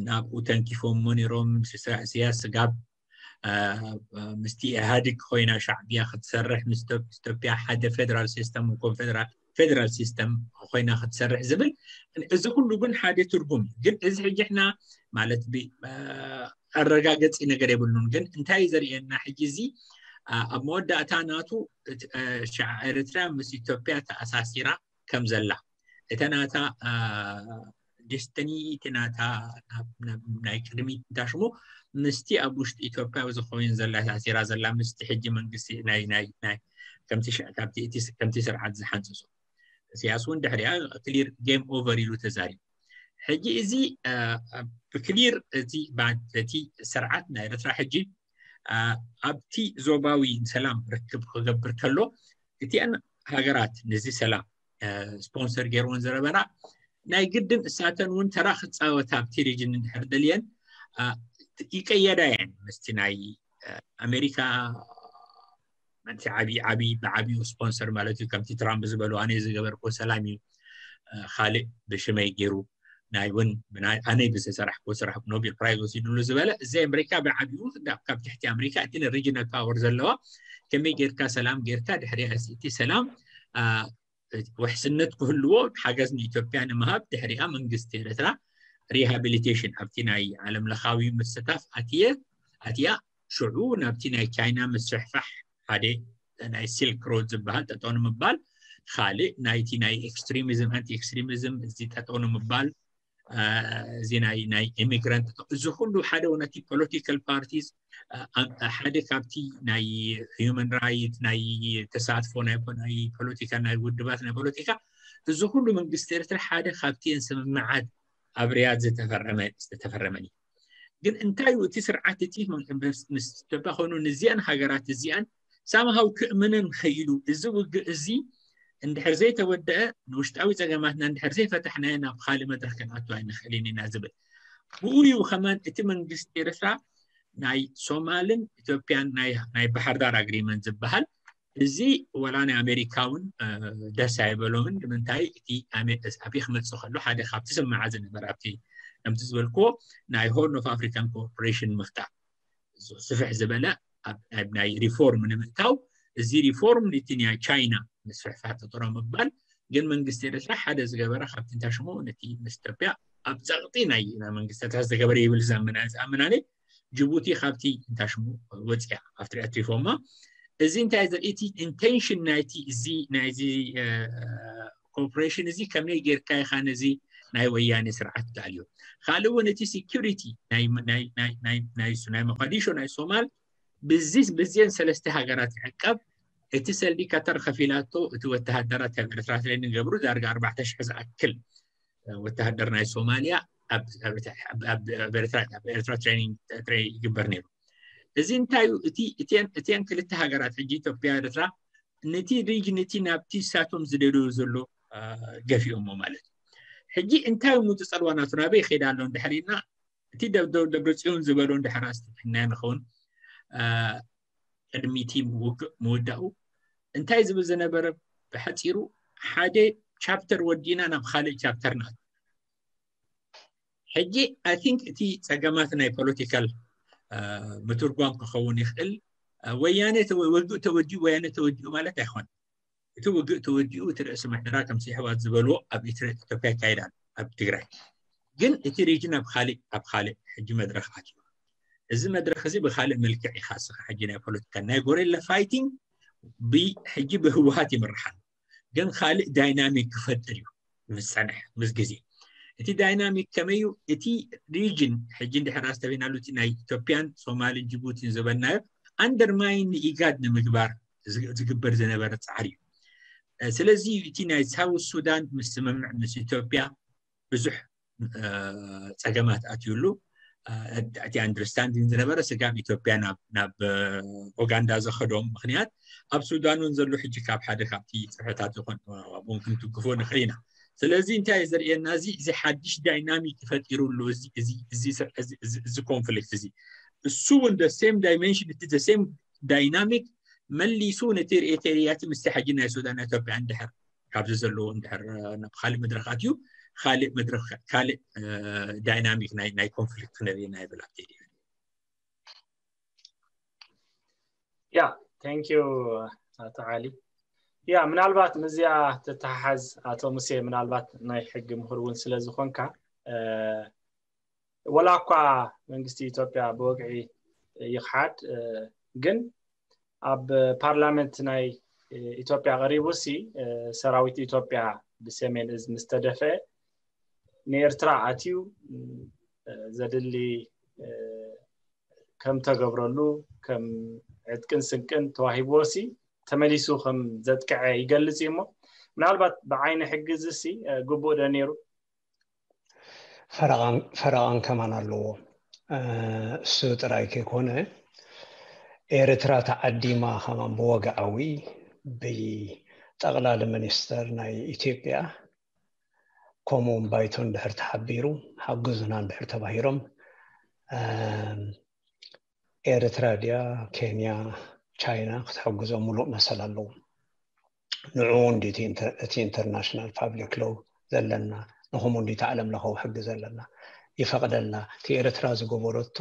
ናብኡ ተንኪፎሞ ነይሮም። ኢሳያስ ስጋብ ምስቲ ኢህኣዴግ ኮይና ሻዕብያ ክትሰርሕ ምስ ኢትዮጵያ ሓደ ፌደራል ሲስተም ኮንፌደራል ፌደራል ሲስተም ኮይና ክትሰርሕ ዝብል እዚ ኩሉ ግን ሓደ ትርጉም ግን እዚ ሕጂ ሕና ማለት ኣረጋገፂ ነገር የብሉን። ግን እንታይ ዘርእየና ሕጂ እዚ ኣብ መወዳእታ ናቱ ኤርትራ ምስ ኢትዮጵያ ተኣሳሲራ ከም ዘላ እተ ናታ ዲስትኒ እቲ ናታ ናይ ቅድሚት እንታሽሙ ምስቲ ኣብ ውሽጢ ኢትዮጵያ ዝኮይን ዘላ ተኣሲራ ዘላ ምስቲ ሕጂ መንግስቲ ናይ ናይ ናይ ከምቲ ስርዓት ዝሓንፅሶ ኢሳያስ እውን ድሕሪኣ ክሊር ጌም ኦቨር ኢሉ ተዛሪቡ። ሕጂ እዚ ብክሊር እቲ ስርዓት ናይ ኤርትራ ሕጂ ኣብቲ ዞባዊ ሰላም ርክብ ክገብር ከሎ እቲአን ሃገራት ነዚ ሰላም ስፖንሰር ገይርዎን ዝነበራ ናይ ግድን እሳተን እውን ተራ ክፃወታ ኣብቲ ሪጅን እንድሕር ደልየን ይቀየዳ እየን ምስቲ ናይ ኣሜሪካ። እቲ ዓብዪ ዓብዪ ብዓብዩ ስፖንሰር ማለት እዩ። ከምቲ ትራምፕ ዝበሉ ኣነ ዝገበርኩ ሰላም እዩ፣ ካልእ ብሽመይ ገይሩ ናይ እውን ኣነ ብዝሰራሕኩ ስራሕ ኖቤል ፕራይዝ ወሲድሉ ዝበለ እዚ ኣሜሪካ ብዓብዩ ካብ ትሕቲ ኣሜሪካ እቲ ሪጅናል ፓወር ዘለዋ ከመይ ጌርካ ሰላም ጌርካ ድሕሪያ እቲ ሰላም ውሕስነት ክህልዎ ሓገዝ ንኢትዮጵያ ንምሃብ ድሕሪኣ መንግስቲ ኤርትራ ሪሃቢሊቴሽን ኣብቲ ናይ ዓለም ለኻዊ ምስታፍ ኣትየ ኣትያ ሽዑ ናብቲ ናይ ቻይና ምስሕፋሕ ሓደ ናይ ሲልክ ሮድ ዝበሃል ጠጠው ንምባል ካልእ ናይቲ ናይ ኤክስትሪሚዝም ኣንቲ ኤክስትሪሚዝም እዚ ጠጠው ንምባል እዚ ናይ ናይ immigrant እዚ ኩሉ ሓደ ነቲ political parties ሓደ ካብቲ ናይ human right ናይ ተሳትፎ ናይ ናይ ፖለቲካ ናይ ውድባት ናይ ፖለቲካ እዚ ኩሉ መንግስቲ ኤርትራ ሓደ ካብቲ ስምምዓት ኣብ ሪያድ ዝተፈረመ ዝተፈረመን እዩ። ግን እንታይ እዩ እቲ ስርዓት እቲ ምስ ኢትዮጵያ ኮይኑ ንዚኣን ሃገራት እዚኣን ሳምሃው ክእምነን ከይሉ እዚ ውግእ እዚ እንድሕር ዘይተወደአ ንውሽጣዊ ፀገማትና እንድሕር ዘይፈታሕናዮ ናብ ካልእ መድረክ ክንኣቱ ኣይንኽእልን ኢና ዝብል ብኡ እዩ። ከማን እቲ መንግስቲ ኤርትራ ናይ ሶማልን ኢትዮጵያን ናይ ባሕርዳር agreement ዝበሃል እዚ ወላ ናይ ኣሜሪካ እውን ደስ ኣይበሎምን። ንምንታይ እቲ ኣቤ ክመፅእ ከሎ ሓደ ካብቲ ስምምዓት ዝነበረ ኣብቲ ከምቲ ዝበልክዎ ናይ Horn of African Cooperation ምፍጣር ስፍሕ ዝበለ ናይ reform ንምእታው እዚ reform ነቲ ናይ ቻይና ምስፍሕፋሕ ጥጥሮ ምባል ግን መንግስቲ ኤርትራ ሓደ ዝገበረ ካብቲ እንታይ ሽሙ ነቲ ምስ ኢትዮጵያ ኣብ ፀቕጢ ናይ መንግስቲ ኤርትራ ዝተገበረ ይብል ዝኣምናኒ ጅቡቲ ካብቲ እንታይ ሽሙ ወፅያ ኣብቲ ኣትሪፎማ እዚ እንታይ ዘርኢ እቲ intention ናይቲ እዚ ናይዚ cooperation እዚ ከመይ ጌርካ ኢኻ ነዚ ናይ ወያኔ ስርዓት ትኣልዮ። ካልእ እውን እቲ security ናይ ሞቃዲሾ ናይ ሶማል ብዚ ብዚን ሰለስተ ሃገራት ይዕቀብ። እቲ ሰልዲ ካታር ከፊላቶ እቲ ወተሃደራት ካብ ኤርትራ training ገብሩ ዳርጋ ኣርባዕተ ሽሕ ዝኣክል ወተሃደር ናይ ሶማልያ ኣብ ኤርትራ training ይግበር ነይሩ። እዚ እንታይ እዩ? እቲን ክልተ ሃገራት ሕጂ ኢትዮጵያ ኤርትራ ነቲ region እቲ ናብቲ ሳቶም ዝደልዩ ዘሎ ገፊኦሞ ማለት እዩ። ሕጂ እንታይ እዩ ዝፀልዋ ናቱ ናበይ ይኸይድ ኣሎ እንድሕር ኢልና እቲ ደብረፅዮን ዝበሎ እንድሕር ኣስተብሂልና ንኸውን ቅድሚ እቲ ውግእ ምውዳኡ እንታይ ዝብል ዝነበረ ብሓፂሩ ሓደ chapter ወዲና ናብ ካልእ chapter ናት ሕጂ I think እቲ ፀገማት ናይ political ምትርጓም ክኸውን ይኽእል። ወያነ ውግእ ተወዲኡ ወያነ ተወዲኡ ማለት ኣይኮነ። እቲ ውግእ ተወዲኡ እቲ ርእሲ ምሕደራ ከምቲ ኣሕዋት ዝበልዎ ኣብ ኢትዮጵያ ይካየድ ኣሎ ኣብ ትግራይ። ግን እቲ region ኣብ ካልእ ኣብ ካልእ ሕጂ መድረኽ ኣትዩ። እዚ መድረኽ እዚ ብካልእ መልክዕ ኢኻ ስኻ ሕጂ ናይ ፖለቲካ ናይ gorilla fighting ሕጂ ብህወሓት ይምራሕ ኣሎ። ግን ካልእ dynamic ክፈጥር እዩ ምስ ፀንሐ ምስ ግዜ። እቲ dynamic ከመይ እዩ? እቲ region ሕጂ እንድሕር ኣስተብሂልናሉ እቲ ናይ ኢትዮጵያን ሶማልን ጅቡቲን ዝበልናዮ undermine ንኢጋድ ንምግባር ዝግበር ዝነበረ ፃዕሪ እዩ። ስለዚ እቲ ናይ ሳውት ሱዳን ምስ ስምምዕ ምስ ኢትዮጵያ ብዙሕ ፀገማት ኣትዩሉ። እቲ understanding ዝነበረ ስጋብ ኢትዮጵያ ናብ ኡጋንዳ ዘኸዶም ምኽንያት ኣብ ሱዳን እውን ዘሎ ሕጂ ካብ ሓደ ካብቲ ፅፍሕታት ይኾን ኣብኡን ክንትግፎ ንኽእል ኢና። ስለዚ እንታይ እዩ ዘርእየና እዚ እዚ ሓድሽ dynamic ፈጢሩ ኣሎ። እዚ conflict እዚ እሱ እውን the same dimension እቲ the same dynamic መሊሱ ነቲ ርእየተ ርእያቲ ምስቲ ሕጂ ናይ ሱዳን ኢትዮጵያ እንድሕር ካብዚ ዘለዎ እንድሕር ናብ ካልእ መድረኽ ኣትዩ ካልእ መድረኽ ካልእ dynamic ናይ conflict ክነርኢ ኢና ይብል ኣብቲ ያ thank you ኣቶ ዓሊ። ያ ምናልባት ምስዚኣ ትተሓሓዝ ኣቶ ሙሴ ምናልባት ናይ ሕጊ ምሁር እውን ስለ ዝኾንካ ወላ እኳ መንግስቲ ኢትዮጵያ ብወግዒ ይኽሓድ ግን ኣብ ፓርላመንት ናይ ኢትዮጵያ ቀሪቡ ሲ ሰራዊት ኢትዮጵያ ብሰሜን እዝ ምስ ተደፍአ ንኤርትራ ኣትዩ ዘድሊ ከም ተገብረሉ ከም ዕጥቅን ስንቅን ተዋሂብዎ ሲ ተመሊሱ ከም ዘጥቅዐ ይገልጽ እዩ እሞ ምናልባት ብዓይኒ ሕጊ እዚ ሲ ግቡእ ዶ ነይሩ? ፈረቓን ከማን ኣለዎ። እሱ ጥራይ ከይኮነ ኤርትራ ተዓዲማ ከማን ብወግዓዊ ብጠቕላሊ ሚኒስተር ናይ ኢትዮጵያ ከምኡውን ባይቶ እንድሕር ተሓቢሩ ሓግዙና እንድሕር ተባሂሮም ኤርትራ ድያ ኬንያ ቻይና ክትሕግዞ ሙሉእ መሰል ኣለዎም። ንዕኡ እንዲ እቲ international public law ዘለና ንኹም እንዲ ዓለም ለኸዊ ሕጊ ዘለና ይፈቕደልና። እቲ ኤርትራ ዝገበረቶ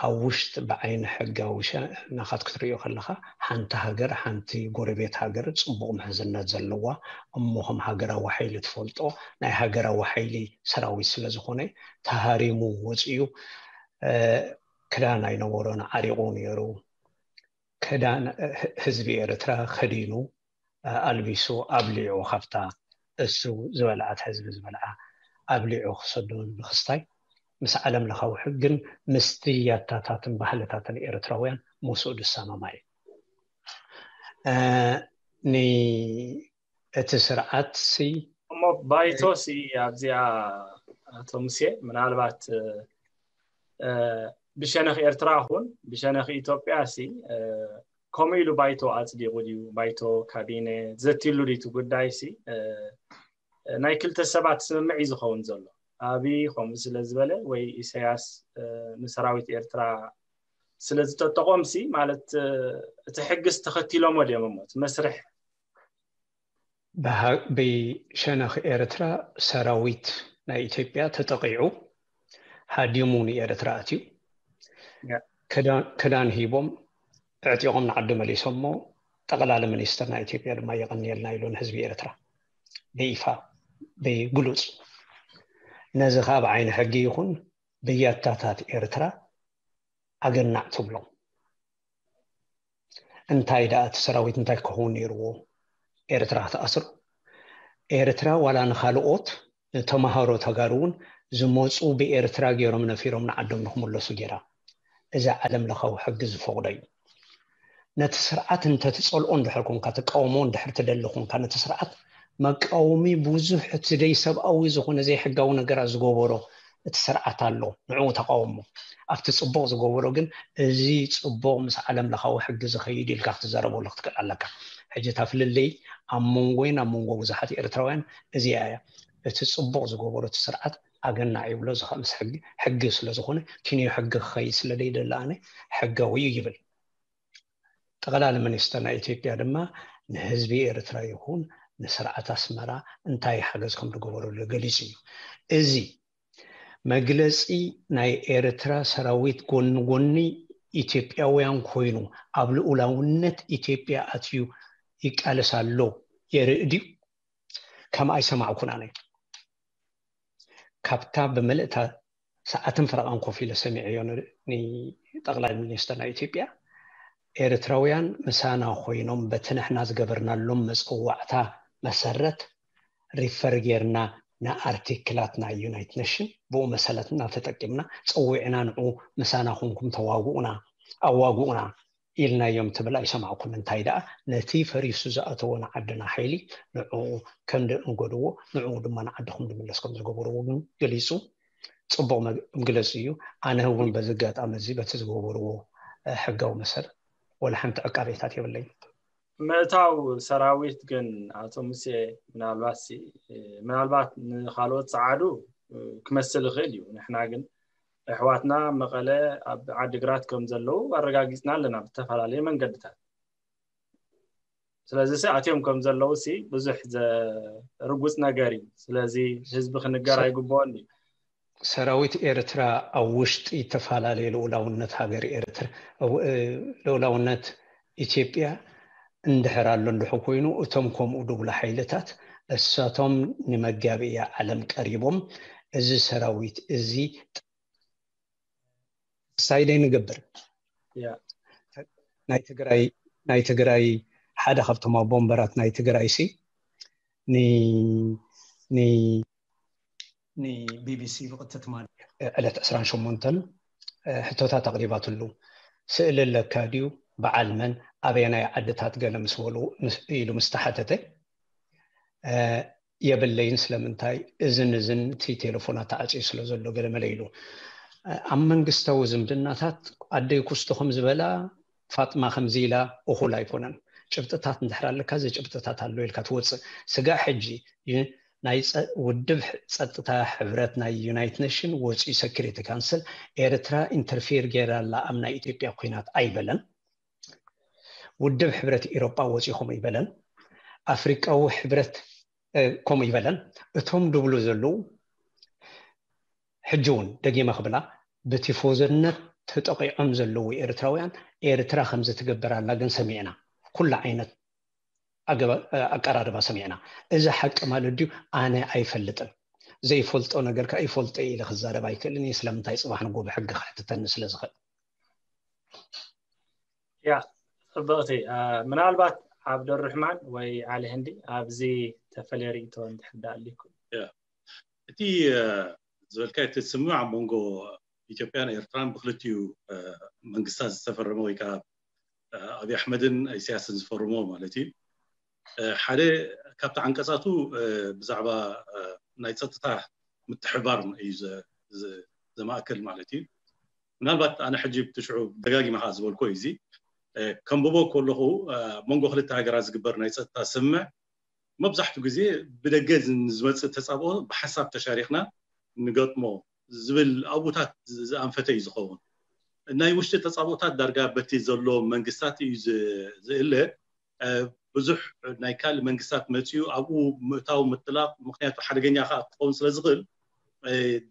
ኣብ ውሽጢ ብዓይኒ ሕጋዊ ሸነኻት ክትሪኦ ከለኻ ሓንቲ ሃገር ሓንቲ ጎረቤት ሃገር ፅቡቕ ምሕዝነት ዘለዋ እሞ ከም ሃገራዊ ሓይሊ ትፈልጦ ናይ ሃገራዊ ሓይሊ ሰራዊት ስለ ዝኾነ ተሃሪሙ ወፂኡ ክዳን ኣይነበሮን ዓሪቑ ነይሩ። ክዳን ህዝቢ ኤርትራ ከዲኑ ኣልቢሱ ኣብሊዑ ካብታ እሱ ዝበልዓት ህዝቢ ዝበልዓ ኣብሊዑ ክሰዶ ንክስታይ ምስ ዓለም ለኻዊ ሕግን ምስቲ ያታታትን ባህልታትን ኤርትራውያን ምስኡ ዝሰማማዕ እዩ። እቲ ስርዓት ሲ እሞ ባይቶ ሲ ኣብዚኣ ኣቶ ሙሴ ምናልባት ብሸነኽ ኤርትራ ኹን ብሸነኽ ኢትዮጵያ ሲ ከምኡ ኢሉ ባይቶ ኣፅዲቑ ድዩ? ባይቶ ካቢነ ዘትይሉ ድዩ እቲ ጉዳይ ሲ ናይ ክልተ ሰባት ስምምዕ እዩ ዝኸውን ዘሎ። ኣብይ ከምኡ ስለ ዝበለ ወይ ኢሳያስ ንሰራዊት ኤርትራ ስለ ዝጠጠቖም ሲ ማለት እቲ ሕግስ ተኸቲሎሞ ድዮም እሞ እቲ መስርሕ ብሸነኽ ኤርትራ ሰራዊት ናይ ኢትዮጵያ ተጠቒዑ ሃዲሙ ንኤርትራ ኣትዩ ክዳን ሂቦም ኣዕጢቖም ንዓዱ መሊሶሞ። ጠቕላሊ ሚኒስትር ናይ ኢትዮጵያ ድማ የቐንየልና ኢሉ ንህዝቢ ኤርትራ ብይፋ ብግሉጽ። ነዚ ከዓ ብዓይኒ ሕጊ ይኹን ብያታታት ኤርትራ ኣገናዕ ትብሎም። እንታይ ደኣ እቲ ሰራዊት እንታይ ክኸውን ነይርዎ ኤርትራ ክትኣስሩ? ኤርትራ ዋላ ንኻልኦት ንተማሃሮ ተጋሩ እውን ዝመፁ ብኤርትራ ገይሮም ነፊሮም ንዓዶም ንክምለሱ ገይራ። እዚ ዓለም ለኻዊ ሕጊ ዝፈቕዶ እዩ። ነቲ ስርዓት እንተትፀልኦ እንድሕር ኮንካ፣ ትቃወሞ እንድሕር ትደሊ ኮንካ፣ ነቲ ስርዓት መቃወሚ ብዙሕ እቲ ደይ ሰብኣዊ ዝኾነ ዘይሕጋዊ ነገራት ዝገበሮ እቲ ስርዓት ኣሎ፣ ንዕኡ ተቃወሞ። ኣብቲ ጽቡቕ ዝገበሮ ግን እዚ ጽቡቕ ምስ ዓለም ለኻዊ ሕጊ ዝኸይድ ኢልካ ክትዛረበሉ ክትክእል ኣለካ። ሕጂ እታ ፍልልይ ኣብ መንጎይን ኣብ መንጎ ብዙሓት ኤርትራውያን እዚኣ እያ። እቲ ጽቡቕ ዝገበሮ እቲ ስርዓት ኣገናዕ ይብሎ፣ እዚ ምስ ሕጊ ስለ ዝኾነ ኪንዮ ሕጊ ክኸይድ ስለ ደይደሊ ኣነ ሕጋዊ እዩ ይብል። ጠቕላሊ ሚኒስተር ናይ ኢትዮጵያ ድማ ንህዝቢ ኤርትራ ይኹን ንስርዓት ኣስመራ እንታይ ሓገዝ ከም ዝገበረሉ ገሊጹ እዩ። እዚ መግለጺ ናይ ኤርትራ ሰራዊት ጎኒ ጎኒ ኢትዮጵያውያን ኮይኑ ኣብ ልኡላውነት ኢትዮጵያ ኣትዩ ይቃለስ ኣሎ የርኢ ድዩ? ከም ኣይሰማዕኩን ኣነ። ካብታ ብምልእታ ሰዓትን ፈረቓን ኮፍ ኢለ ሰሚዐዮ ንጠቕላይ ሚኒስተር ናይ ኢትዮጵያ። ኤርትራውያን ምሳና ኮይኖም በቲ ንሕና ዝገበርናሎም መጸዋዕታ መሰረት ሪፈር ጌርና ንኣርቲክላት ናይ ዩናይትድ ኔሽን ብኡ መሰለትና ተጠቂምና ጸዊዕና ንዑ ምሳና ኮንኩም ተዋግኡና ኣዋግኡና ኢልናዮም ትብል ኣይሰማዕኩን። እንታይ ደኣ ነቲ ፈሪሱ ዝኣተዎ ንዓድና ሓይሊ ንዕኡ ከም ደንገድዎ ንዕኡ ድማ ንዓድኹም ድምለስ ከም ዝገበርዎ ግን ገሊጹ። ጽቡቕ መግለጺ እዩ። ኣነ እውን በዚ ኣጋጣሚ እዚ በቲ ዝገበርዎ ሕጋዊ መሰረት ወላ ሓንቲ ዕቃቤታት የብለይን። ምእታው ሰራዊት ግን ኣቶ ሙሴ ምናልባት ምናልባት ንካልኦት ጸዓዱ ክመስል ይኽእል እዩ። ንሕና ግን ኣሕዋትና መቐለ ኣብ ዓዲግራት ከም ዘለዉ ኣረጋጊጽና ኣለና ብተፈላለየ መንገድታት። ስለዚ ሲ ኣትዮም ከም ዘለዉ ሲ ብዙሕ ዘርጉጽ ነገር እዩ። ስለዚ ህዝቢ ክንገር ኣይግብኦን እዩ። ሰራዊት ኤርትራ ኣብ ውሽጢ እተፈላለየ ልኡላውነት ሃገር ኤርትራ ልኡላውነት ኢትዮጵያ እንድሕር ኣሎ እንድሕር ኮይኑ እቶም ከምኡ ድብሉ ሓይልታት እሳቶም ንመጋብእያ ዓለም ቀሪቦም እዚ ሰራዊት እዚ ሳይደይ ንገብር ናይ ትግራይ ናይ ትግራይ ሓደ ካብቶም ኣቦ ወንበራት ናይ ትግራይ ሲ ንቢቢሲ ብቕጥታ ትማሊ ዕለት ዕስራን ሸሞንተን ሕቶታት ኣቕሪባትሉ። ስእሊ ኣለካ ድዩ? በዓል መን? ኣበየናይ ዓድታት? ገለ ምስ በሉ ኢሉ ምስ ተሓተተ የብለይን። ስለምንታይ? እዝን እዝን እቲ ቴሌፎና ተዓፅዩ ስለ ዘሎ ገለ መለ ኢሉ። ኣብ መንግስታዊ ዝምድናታት ኣደይ ኩስቶ ከም ዝበላ ፋጥማ ከምዚ ኢላ እኹል ኣይኮነን። ጭብጥታት እንድሕር ኣለካ እዚ ጭብጥታት ኣሎ ኢልካ ትወፅእ። ስጋዕ ሕጂ ናይ ውድብ ጸጥታ ሕብረት ናይ ዩናይትድ ኔሽን ወፂኡ ሰኪሪቲ ካንስል ኤርትራ ኢንተርፌር ገይራ ኣላ ኣብ ናይ ኢትዮጵያ ኩናት ኣይበለን። ውድብ ሕብረት ኤሮጳ ወፂኡ ከምኡ ይበለን። ኣፍሪቃዊ ሕብረት ከምኡ ይበለን። እቶም ድብሉ ዘለዉ ሕጂ እውን ደጊመ ክብላ ብቲፎዞነት ተጠቂዖም ዘለዉ ኤርትራውያን ኤርትራ ከምዚ ትገብር ኣላ ግን ሰሚዕና ኩሉ ዓይነት ኣቀራርባ ሰሚዕና። እዚ ሓቂ ማለት ድዩ? ኣነ ኣይፈልጥን። ዘይፈልጦ ነገር ከዓ ይፈልጦ ኢለ ክዛረብ ኣይክእልን እየ። ስለምንታይ? ፅባሕ ንጎ ብሕጊ ክሕትተኒ ስለ ዝኽእል። ያ ፅብቕቲ። ምናልባት ዓብደሩሕማን ወይ ዓሊ ህንዲ ኣብዚ ተፈለየ ርእይቶ እንድሕር ዳኣሊኩም። እቲ እቲ ዝበልካ እቲ ስምምዕ ኣብ መንጎ ኢትዮጵያን ኤርትራን ብክልቲኡ መንግስታት ዝተፈረመ ወይ ከዓ ኣብይ ኣሕመድን ኢሳያስን ዝፈርሞ ማለት እዩ። ሓደ ካብቲ ዓንቀፃቱ ብዛዕባ ናይ ፀጥታ ምትሕባር እዩ ዘማእከል ማለት እዩ። ምናልባት ኣነ ሕጂ ብትሽዑ ደጋጊመ ከዓ ዝበልኮ እዩ እዚ ከንብቦ ከለኹ መንጎ ክልተ ሃገራት ዝግበር ናይ ፀጥታ ስምምዕ መብዛሕቱ ግዜ ብደገ ዝመፅእ ተፃብኦ ብሓሳብ ተሻሪክና ንገጥሞ ዝብል ኣብኡታት ዝኣንፈተ እዩ ዝኸውን። ናይ ውሽጢ ተፃብኦታት ዳርጋ በቲ ዘሎ መንግስታት እዩ ዝእለ። ብዙሕ ናይ ካልእ መንግስታት መፅኡ ኣብኡ ምእታው ምጥላቕ ምክንያቱ ሓደገኛ ከዓ ክኸውን ስለ ዝኽእል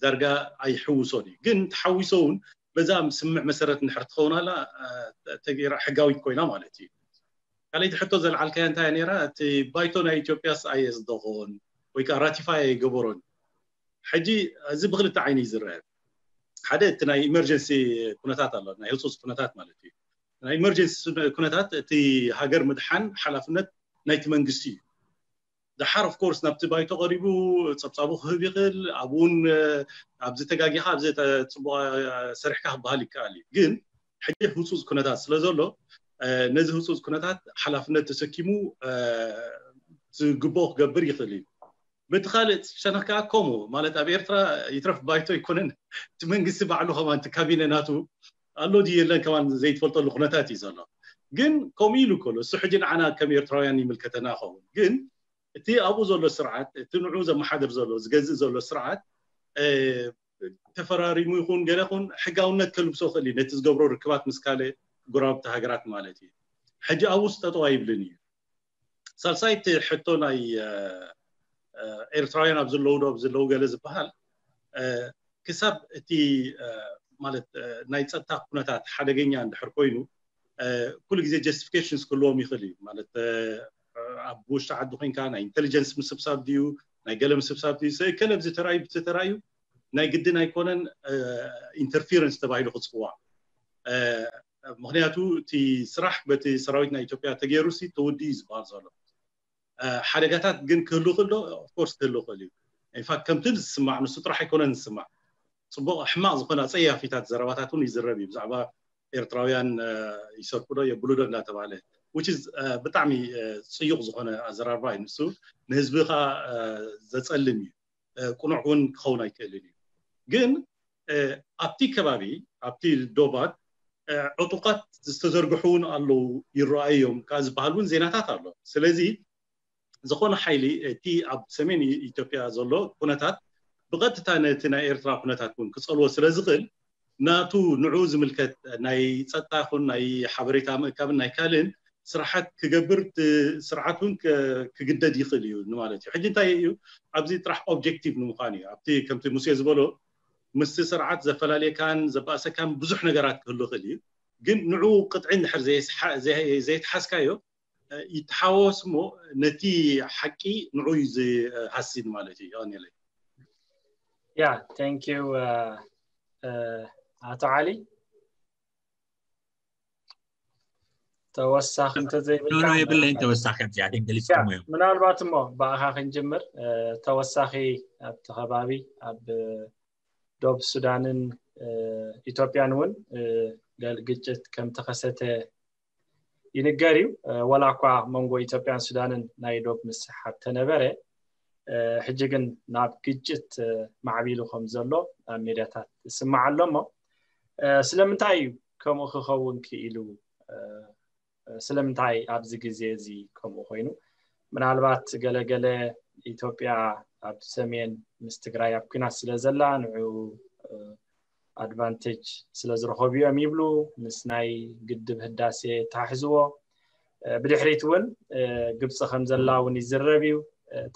ዳርጋ ኣይሕውሶን እዩ። ግን ተሓዊሶ እውን በዛ ስምምዕ መሰረት እንድሕር ትኸውን ኣላ ተገይራ ሕጋዊት ኮይና ማለት እዩ። ካልኣይቲ ሕቶ ዘልዓልካያ እንታይ ነራ? እቲ ባይቶ ናይ ኢትዮጵያስ ኣየፅደቖን ወይ ከዓ ራቲፋይ ኣይገበሮን። ሕጂ እዚ ብክልተ ዓይኒ እዩ ዝረአ። ሓደ እቲ ናይ ኢመርጀንሲ ኩነታት ኣሎ፣ ናይ ህፁፅ ኩነታት ማለት እዩ። ናይ ኢመርጀንሲ ኩነታት እቲ ሃገር ምድሓን ሓላፍነት ናይቲ መንግስቲ እዩ። ደሓር ኦፍኮርስ ናብቲ ባይቶ ቀሪቡ ፀብፃቡ ክህብ ይኽእል። ኣብኡን ኣብዚ ተጋጊኻ ኣብዚ ፅቡቅ ሰሪሕካ ክበሃል ይከኣል እዩ። ግን ሕጂ ህፁፅ ኩነታት ስለ ዘሎ ነዚ ህፁፅ ኩነታት ሓላፍነት ተሰኪሙ ዝግብኦ ክገብር ይኽእል እዩ። በቲ ካልእ ሸነኽ ከዓ ከምኡ ማለት ኣብ ኤርትራ ይትረፍ ባይቶ ኣይኮነን እቲ መንግስቲ ባዕሉ ከማን እቲ ካቢነ ናቱ ኣሎ ድዩ የለን ከማን ዘይትፈልጠሉ ኩነታት እዩ ዘሎ። ግን ከምኡ ኢሉ ከሎ እሱ ሕጂ ንዓና ከም ኤርትራውያን ይምልከተና ይኸውን። ግን እቲ ኣብኡ ዘሎ ስርዓት እቲ ንዑ ዘመሓድር ዘሎ ዝገዝእ ዘሎ ስርዓት ተፈራሪሙ ይኹን ገለ ይኹን ሕጋውነት ከልብሶ ክእል እዩ ነቲ ዝገብሮ ርክባት ምስ ካልእ ጎረባብቲ ሃገራት ማለት እዩ። ሕጂ ኣብኡስ ጠጠው ኣይብልን እዩ። ሳልሳይቲ ሕቶ ናይ ኤርትራውያን ኣብ ዘለዉ ዶ ኣብ ዘለዉ ገለ ዝበሃል ክሳብ እቲ ማለት ናይ ፀጥታ ኩነታት ሓደገኛ እንድሕር ኮይኑ ኩሉ ግዜ ጀስቲፊኬሽንስ ክህልዎም ይኽእል እዩ። ማለት ኣብ ውሽጢ ዓዲ ኮይንካ ናይ ኢንቴሊጀንስ ምስብሳብ ድዩ ናይ ገለ ምስብሳብ ድዩ ሰ ከለ ብዚ ተራዩ ብቲ ተራዩ ናይ ግድን ኣይኮነን ኢንተርፊረንስ ተባሂሉ ክፅዋዕ። ምክንያቱ እቲ ስራሕ በቲ ሰራዊት ናይ ኢትዮጵያ ተገይሩ ሲ ተወዲ እዩ ዝበሃል ዘሎ። ሓደጋታት ግን ክህሉ ክእል ዶ? ኦፍኮርስ ክህሉ ክእል እዩ። ኢንፋክት ከምቲ ዝስማዕ ንሱ ጥራሕ ኣይኮነን ዝስማዕ። ፅቡቅ ሕማቅ ዝኮነ ኣፀያፊታት ዘረባታት እውን ይዝረብ እዩ ብዛዕባ ኤርትራውያን ይሰርቁ ዶ የብሉ ዶ እንዳተባለ which is ብጣዕሚ ፅዩቅ ዝኮነ ኣዘራርባ እዩ። ንሱ ንህዝቢ ከዓ ዘፀልም እዩ። ቁኑዕ እውን ክኸውን ኣይክእልን እዩ። ግን ኣብቲ ከባቢ ኣብቲ ዶባት ዕጡቃት ዝተዘርግሑ እውን ኣለዉ ይረኣዩ እዮም ካብ ዝበሃል እውን ዜናታት ኣሎ። ስለዚ ዝኾነ ሓይሊ እቲ ኣብ ሰሜን ኢትዮጵያ ዘሎ ኩነታት ብቐጥታ ነቲ ናይ ኤርትራ ኩነታት እውን ክጸልዎ ስለ ዝኽእል ናቱ ንዑ ዝምልከት ናይ ጸጥታ ይኹን ናይ ሓበሬታ ምእካብን ናይ ካልእን ስራሓት ክገብር ስርዓት እውን ክግደድ ይኽእል እዩ ማለት እዩ። ሕጂ እንታይ እዩ ኣብዚ ጥራሕ ኦብጀክቲቭ ንምዃን እዩ ኣብቲ ከምቲ ሙሴ ዝበሎ ምስቲ ስርዓት ዘፈላልየካን ዘባእሰካን ብዙሕ ነገራት ክህሉ ይኽእል እዩ። ግን ንዑ ቅጥዒ እንድሕር ዘይትሓዝካዮ ይተሓወስ እሞ ነቲ ሓቂ ንዑ እዩ ዝሃስን ማለት እዩ። የቐንየለይ። ያ thank you ኣቶ ዓሊ። ተወሳኺ እንተዘይብልካ የብለይን ተወሳኺ ኣብዚኣ ገሊፅኩሞ እዮም። ምናልባት እሞ ብኣኻ ክንጅምር ተወሳኺ ኣብቲ ከባቢ ኣብ ዶብ ሱዳንን ኢትዮጵያን እውን ግጭት ከም ተኸሰተ ይንገር እዩ። ወላ እኳ መንጎ ኢትዮጵያን ሱዳንን ናይ ዶብ ምስሓብ ተነበረ ሕጂ ግን ናብ ግጭት ማዕቢሉ ከም ዘሎ ኣብ ሜድያታት ዝስማዕ ኣሎ እሞ ስለምንታይ እዩ ከምኡ ክኸውን ክኢሉ? ስለምንታይ ኣብዚ ግዜ እዚ ከምኡ ኮይኑ? ምናልባት ገለገለ ኢትዮጵያ ኣብ ሰሜን ምስ ትግራይ ኣብ ኩናት ስለ ዘላ ንዑ ኣድቫንቴጅ ስለ ዝረኸቡ እዮም ይብሉ። ምስ ናይ ግድብ ህዳሴ ተሓሕዝዎ ብድሕሪት እውን ግብፂ ከም ዘላ እውን ይዝረብ እዩ።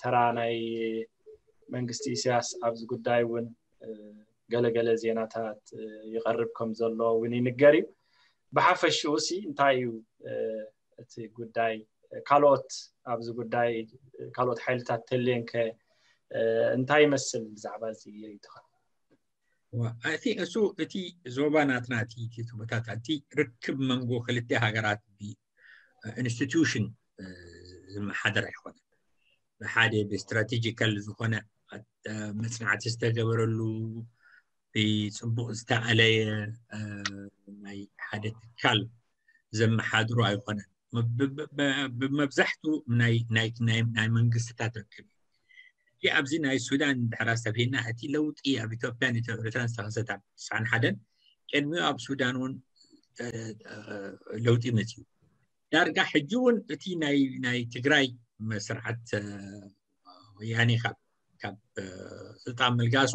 ተራ ናይ መንግስቲ ኢሳያስ ኣብዚ ጉዳይ እውን ገለገለ ዜናታት ይቐርብ ከም ዘሎ እውን ይንገር እዩ። ብሓፈሽኡ ሲ እንታይ እዩ እቲ ጉዳይ? ካልኦት ኣብዚ ጉዳይ ካልኦት ሓይልታት ተልየንከ እንታይ ይመስል ብዛዕባ እዚ ርእይቶኻ? እቲ እሱ እቲ ዞባ ናትና እቲ ዞባታት እቲ ርክብ መንጎ ክልተ ሃገራት ብኢንስቲትዩሽን ዝመሓደር ኣይኮነን። ብሓደ ብስትራቴጂካል ዝኾነ መፅናዕቲ ዝተገበረሉ ብፅቡቕ ዝተኣለየ ናይ ሓደ ትካል ዘመሓድሮ ኣይኮነን። ብመብዛሕቱ ናይ መንግስትታት ርክብ። እቲ ኣብዚ ናይ ሱዳን ድሕራ ሰብሂና እቲ ለውጢ ኣብ ኢትዮጵያን ኤርትራን ዝተኸሰተ ኣብ ትስዓን ሓደን ቅድሚኡ ኣብ ሱዳን እውን ለውጢ መፅዩ። ዳርጋ ሕጂ እውን እቲ ናይ ትግራይ ስርዓት ወያኔ ካብ ስልጣን ምልጋሱ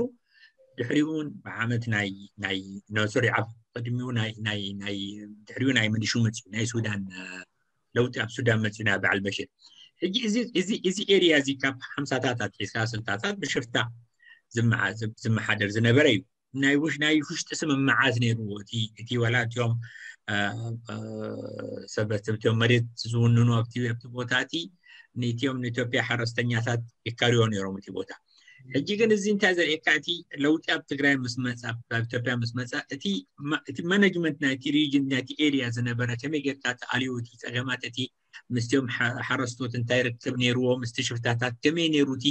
ድሕሪኡ እውን ብዓመት ናይ ናይ ኖሶሪ ኣብ ቅድሚኡ ናይ ናይ ናይ ድሕሪኡ ናይ ምንሹ መፅዩ ናይ ሱዳን ለውጢ ኣብ ሱዳን መፅዩ ናይ በዓል በሽር። ሕጂ እዚ እዚ እዚ ኤሪያ እዚ ካብ ሓምሳታት ኣትሒዝካ ስልሳታት ብሽፍታ ዝመሓደር ዝነበረ እዩ። ናይ ውሽ ናይ ውሽጢ ስምምዓት ነይርዎ። እቲ እቲ ወላ እቲኦም ሰበት እቲኦም መሬት ዝውንኑ ኣብቲ ኣብቲ ቦታ እቲ ንእቲኦም ንኢትዮጵያ ሓረስተኛታት ይካርዮ ነይሮም እቲ ቦታ። ሕጂ ግን እዚ እንታይ ዘርእየካ፣ እቲ ለውጢ ኣብ ትግራይ ምስ መፃ ኣብ ኢትዮጵያ ምስ መፃ እቲ እቲ ማኔጅመንት ናይቲ ሪጅን ናይቲ ኤሪያ ዝነበረ ከመይ ጌርካ ተኣልዩ እቲ ፀገማት እቲ ምስቲኦም ሓረስቶት እንታይ ርክብ ነይርዎ ምስቲ ሽፍታታት ከመይ ነይሩ እቲ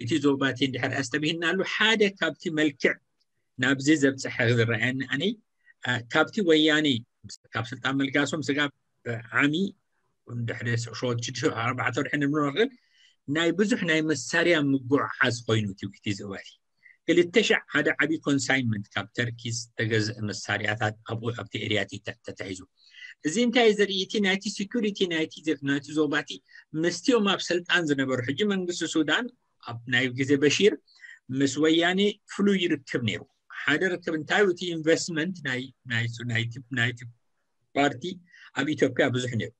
እቲ ዞባቲ እንድሕር ኣስተብሂልናሉ ሓደ ካብቲ መልክዕ ናብዚ ዘብፅሐ ዝረኣየኒ ኣነ ካብቲ ወያኔ ካብ ስልጣን መልጋሶም ስጋብ ዓሚ ድሕሪ ሸወት ሽዱሽተ ኣርባዕተ ወርሒ ንምንወርቅን ናይ ብዙሕ ናይ መሳርያ ምጉዕዓዝ ኮይኑ እቲ ዘባቲ ክልተ ሻዕ ሓደ ዓብዪ ኮንሳይንመንት ካብ ተርኪ ዝተገዝአ መሳርያታት ኣብኡ ኣብቲ ኤርያቲ ተታሒዙ። እዚ እንታይ ዘርኢ እቲ ናይቲ ሴኩሪቲ ናይቲ ናይቲ ዞባቲ ምስቲኦም ኣብ ስልጣን ዝነበሩ ሕጂ መንግስቲ ሱዳን ኣብ ናይ ግዜ በሺር ምስ ወያኔ ፍሉይ ርክብ ነይሩ። ሓደ ርክብ እንታይ እቲ ኢንቨስትመንት ናይ ናይቲ ናይቲ ፓርቲ ኣብ ኢትዮጵያ ብዙሕ ነይሩ።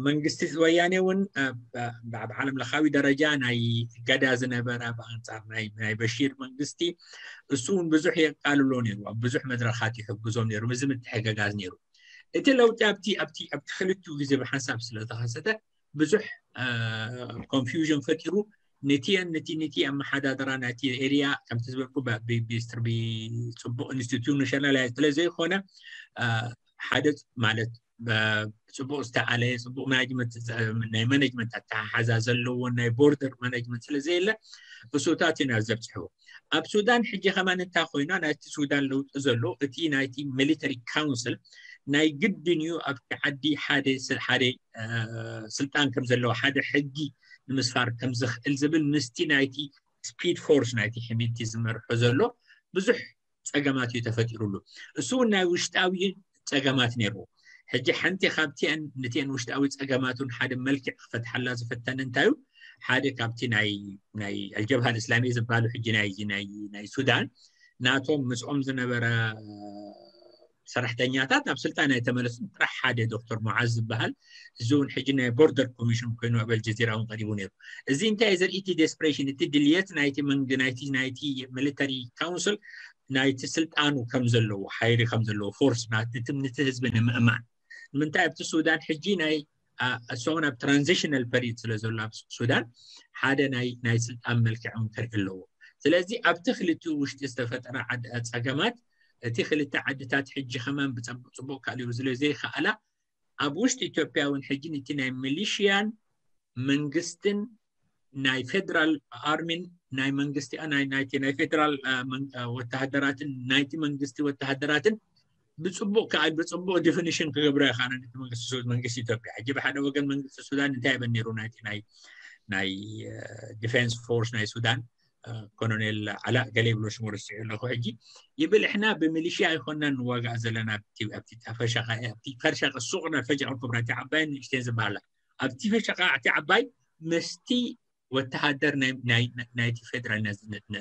መንግስቲ ወያኔ እውን ኣብ ዓለም ለኻዊ ደረጃ ናይ ገዳ ዝነበረ ብኣንፃር ናይ በሺር መንግስቲ እሱ እውን ብዙሕ የቃልሎ ነይሩ። ኣብ ብዙሕ መድረኻት ይሕግዞም ነይሩ። እዚ ምትሕግጋዝ ነይሩ። እቲ ለውጢ ኣብቲ ኣብቲ ኣብቲ ክልቲኡ ግዜ ብሓንሳብ ስለተኸሰተ ብዙሕ ኮንፊውዥን ፈጢሩ። ነቲየን ነቲ ነቲ ኣመሓዳድራ ናይቲ ኤሪያ ከምቲ ዝበልኩ ብስትር ብፅቡቕ ኢንስቲቱሽናል ስለ ዘይኮነ ሓደ ማለት ብፅቡቕ ዝተኣለየ ፅቡቕ ማናጅመንት ናይ ማናጅመንት ኣተሓሓዛ ዘለዎን ናይ ቦርደር ማናጅመንት ስለ ዘየለ እሱታት እዩ ናብ ዘብፅሕዎ። ኣብ ሱዳን ሕጂ ከማን እንታይ ኮይና ናይቲ ሱዳን ለውጢ ዘሎ እቲ ናይቲ ሚሊተሪ ካውንስል ናይ ግድን እዩ ኣብቲ ዓዲ ሓደ ሓደ ስልጣን ከም ዘለዎ ሓደ ሕጊ ንምስፋር ከም ዝኽእል ዝብል ምስቲ ናይቲ ስፒድ ፎርስ ናይቲ ሕሚድቲ ዝመርሖ ዘሎ ብዙሕ ፀገማት እዩ ተፈጢሩሉ። እሱ እውን ናይ ውሽጣዊ ፀገማት ነይርዎ። ሕጂ ሓንቲ ካብቲአን ንቲአን ውሽጣዊ ፀገማቱን ሓደ መልክዕ ክፈትሓላ ዝፈተነ እንታይ እዩ? ሓደ ካብቲ ናይ ናይ ኣልጀብሃ ልእስላሚ ዝበሃሉ ሕጂ ናይ ናይ ናይ ሱዳን ናቶም ምስኦም ዝነበረ ሰራሕተኛታት ናብ ስልጣን ኣይተመለሱን። ጥራሕ ሓደ ዶክተር ሙዓዝ ዝበሃል እዚ እውን ሕጂ ናይ ቦርደር ኮሚሽን ኮይኑ ኣብ ኣልጀዚራ እውን ቀሪቡ ነይሩ። እዚ እንታይ ዘርኢ እቲ ዴስፕሬሽን እቲ ድልየት ናይቲ መንግ ናይቲ ናይቲ ሚሊተሪ ካውንስል ናይቲ ስልጣኑ ከም ዘለዎ ሓይሊ ከም ዘለዎ ፎርስ ናትምንቲ ህዝቢ ንምእማን ንምንታይ ኣብቲ ሱዳን ሕጂ ናይ እሶም ኣብ ትራንዚሽናል ፐሪድ ስለ ዘሎ ኣብ ሱዳን ሓደ ናይ ናይ ስልጣን መልክዕ እውን ከርኢ ኣለዎ። ስለዚ ኣብቲ ክልቲኡ ውሽጢ ዝተፈጠረ ፀገማት እቲ ክልተ ዓድታት ሕጂ ከማን ብፅቡቅ ካልኡ ስለ ዘይከኣላ ኣብ ውሽጢ ኢትዮጵያ እውን ሕጂ ነቲ ናይ ሚሊሽያን መንግስትን ናይ ፌደራል ኣርሚን ናይ መንግስቲ ናይ ናይቲ ናይ ፌደራል ወተሃደራትን ናይቲ መንግስቲ ወተሃደራትን ብፅቡቅ ከዓ ብፅቡቅ ዲፊኒሽን ክገብሮ ይኸኣለን። እቲ መንግስቲ ሱዳን መንግስቲ ኢትዮጵያ ሕጂ ብሓደ ወገን መንግስቲ ሱዳን እንታይ ይበል ነይሩ ናይቲ ናይ ናይ ዲፌንስ ፎርስ ናይ ሱዳን ኮሎኔል ዓላእ ገለ ይብሎ ሽሙ ረሲዑ ኣለኹ ሕጂ ይብል እሕና ብሚሊሽያ ኣይኮና ንዋጋእ ዘለና ኣብቲ ፈሻቃ ኣብቲ ፈሻቃ ሱቅና ፈሻቃ ኩብራ እቲ ዓባይን ንእሽተን ዝበሃላ ኣብቲ ፈሻቃ እቲ ዓባይ ምስቲ ወተሃደር ናይቲ ፌደራል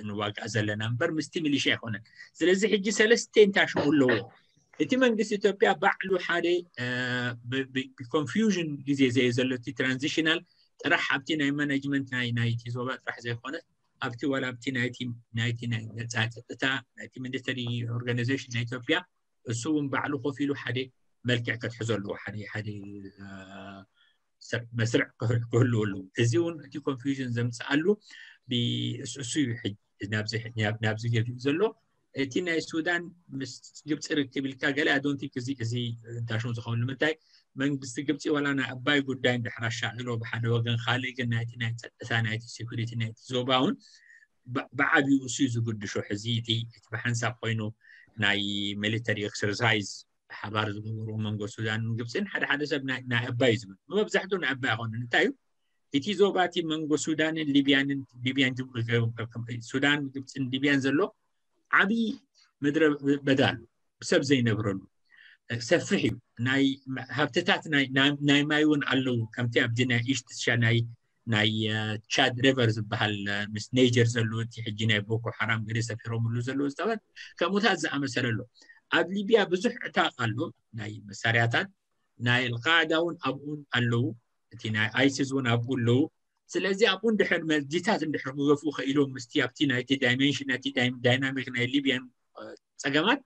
ንዋጋእ ዘለና እምበር ምስቲ ሚሊሽያ ኣይኮነን። ስለዚ ሕጂ ሰለስተ እንታይ ሽሙ ኣለዎ። እቲ መንግስቲ ኢትዮጵያ ባዕሉ ሓደ ብኮንፊውዥን ግዜ ዘየ ዘሎ እቲ ትራንዚሽናል ጥራሕ ኣብቲ ናይ ማናጅመንት ናይ ናይቲ ዞባ ጥራሕ ዘይኮነ ኣብቲ ዋላ ኣብቲ ናይቲ ናይቲ ናይ ነፃ ፀጥታ ናይቲ ሚሊተሪ ኦርጋናይዜሽን ናይ ኢትዮጵያ እሱ እውን ባዕሉ ኮፍ ኢሉ ሓደ መልክዕ ከትሕዞ ኣለዎ ሓደ ሓደ መስርዕ ክህልዎ ኣለዎ። እዚ እውን እቲ ኮንፊውዥን ዘምፅኣሉ እሱ እዩ። ናብዚ ገፊኡ ዘሎ እቲ ናይ ሱዳን ምስ ግብፂ ርክብ ኢልካ ገለ ኣዶንቲክ እዚ እዚ እንታሽሙ ዝኸውን ንምንታይ መንግስቲ ግብፂ ዋላ ናይ ኣባይ ጉዳይ እንድሕር ኣሻቒሎ ብሓደ ወገን ካልእ ግን ናይቲ ናይ ፀጥታ ናይቲ ሴኩሪቲ ናይቲ ዞባ እውን ብዓብኡ እሱ እዩ ዝግድሾ። ሕዚ እቲ ብሓንሳብ ኮይኑ ናይ ሚሊተሪ ኤክሰርሳይዝ ሓባር ዝገበሩ መንጎ ሱዳንን ግብፅን ሓደ ሓደ ሰብ ናይ ኣባይ ዝብል መብዛሕትኡ ናይ ኣባይ ኣይኮነን። እንታይ እዩ እቲ ዞባ እቲ መንጎ ሱዳንን ሊብያንን ሊብያን ሱዳን ግብፅን ሊብያን ዘሎ ዓብዪ ምድረ በዳ ኣሎ፣ ሰብ ዘይነብረሉ ሰፍሕ እዩ። ናይ ሃብትታት ናይ ማይ እውን ኣለዉ። ከምቲ ኣብዚ ናይ ኢስት ሻ ናይ ናይ ቻድ ሪቨር ዝበሃል ምስ ኔጀር ዘለዉ እቲ ሕጂ ናይ ቦኮ ሓራም ገለ ሰፊሮምሉ ዘለዉ ዝተበት ከምኡታት ዝኣመሰለ ኣሎ። ኣብ ሊብያ ብዙሕ ዕታቕ ኣሎ ናይ መሳርያታት። ናይ ኣልቃዕዳ እውን ኣብኡን ኣለዉ፣ እቲ ናይ ኣይሲስ እውን ኣብኡ ኣለዉ። ስለዚ ኣብኡ እንድሕር መዚታት እንድሕር ክገፍኡ ከኢሎም ምስቲ ኣብቲ ናይቲ ዳይሜንሽን ናይቲ ዳይናሚክ ናይ ሊብያን ፀገማት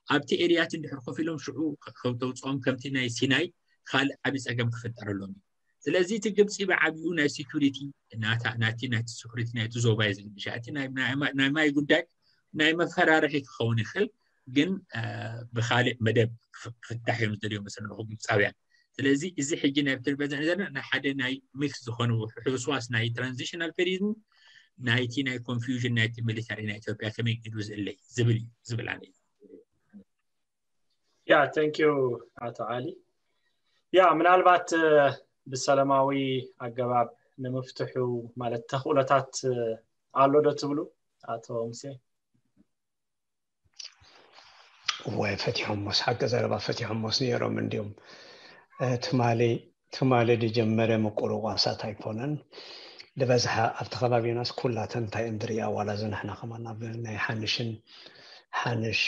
ኣብቲ ኤርያት እንድሕር ኮፍ ኢሎም ሽዑ ከተውፅኦም ከምቲ ናይ ሲናይ ካልእ ዓብዪ ፀገም ክፍጠረሎም እዩ። ስለዚ እቲ ግብፂ ብዓብኡ ናይ ሴኩሪቲ ናቲ ናይቲ ሴኩሪቲ ናይቲ ዞባ እዩ ዝግድሻ። እቲ ናይ ማይ ጉዳይ ናይ መፈራርሒ ክኸውን ይኽእል፣ ግን ብካልእ መደብ ክፍታሕ እዮም ዝደልዮ መሰለኹ ግብፃውያን። ስለዚ እዚ ሕጂ ናይ ብትርበዘ ዘለና ናይ ሓደ ናይ ሚክስ ዝኾነ ሕውስዋስ ናይ ትራንዚሽናል ፔሪድን ናይቲ ናይ ኮንፊውዥን ናይቲ ሚሊታሪ ናይ ኢትዮጵያ ከመይ ኢሉ ዝእለይ ዝብል እዩ ዝብል ኣነ። ያ thank you ኣቶ ዓሊ። ያ ምናልባት ብሰላማዊ ኣገባብ ንምፍትሑ ማለት ተኽእሎታት ኣሎ ዶ ትብሉ ኣቶ ሙሴ? ወይ ፈቲሖሞስ ሓቂ ዘረባ ፈቲሖሞስ ነይሮም እንዲዮም። ትማሊ ትማሊ ዝጀመረ ምቁርቋሳት ኣይኮነን። ዝበዝሓ ኣብቲ ከባቢናስ ኩላተን እንታይ እንድርያ ዋላ እዚ ንሕና ከማን ኣብ ናይ ሓንሽን ሓንሽ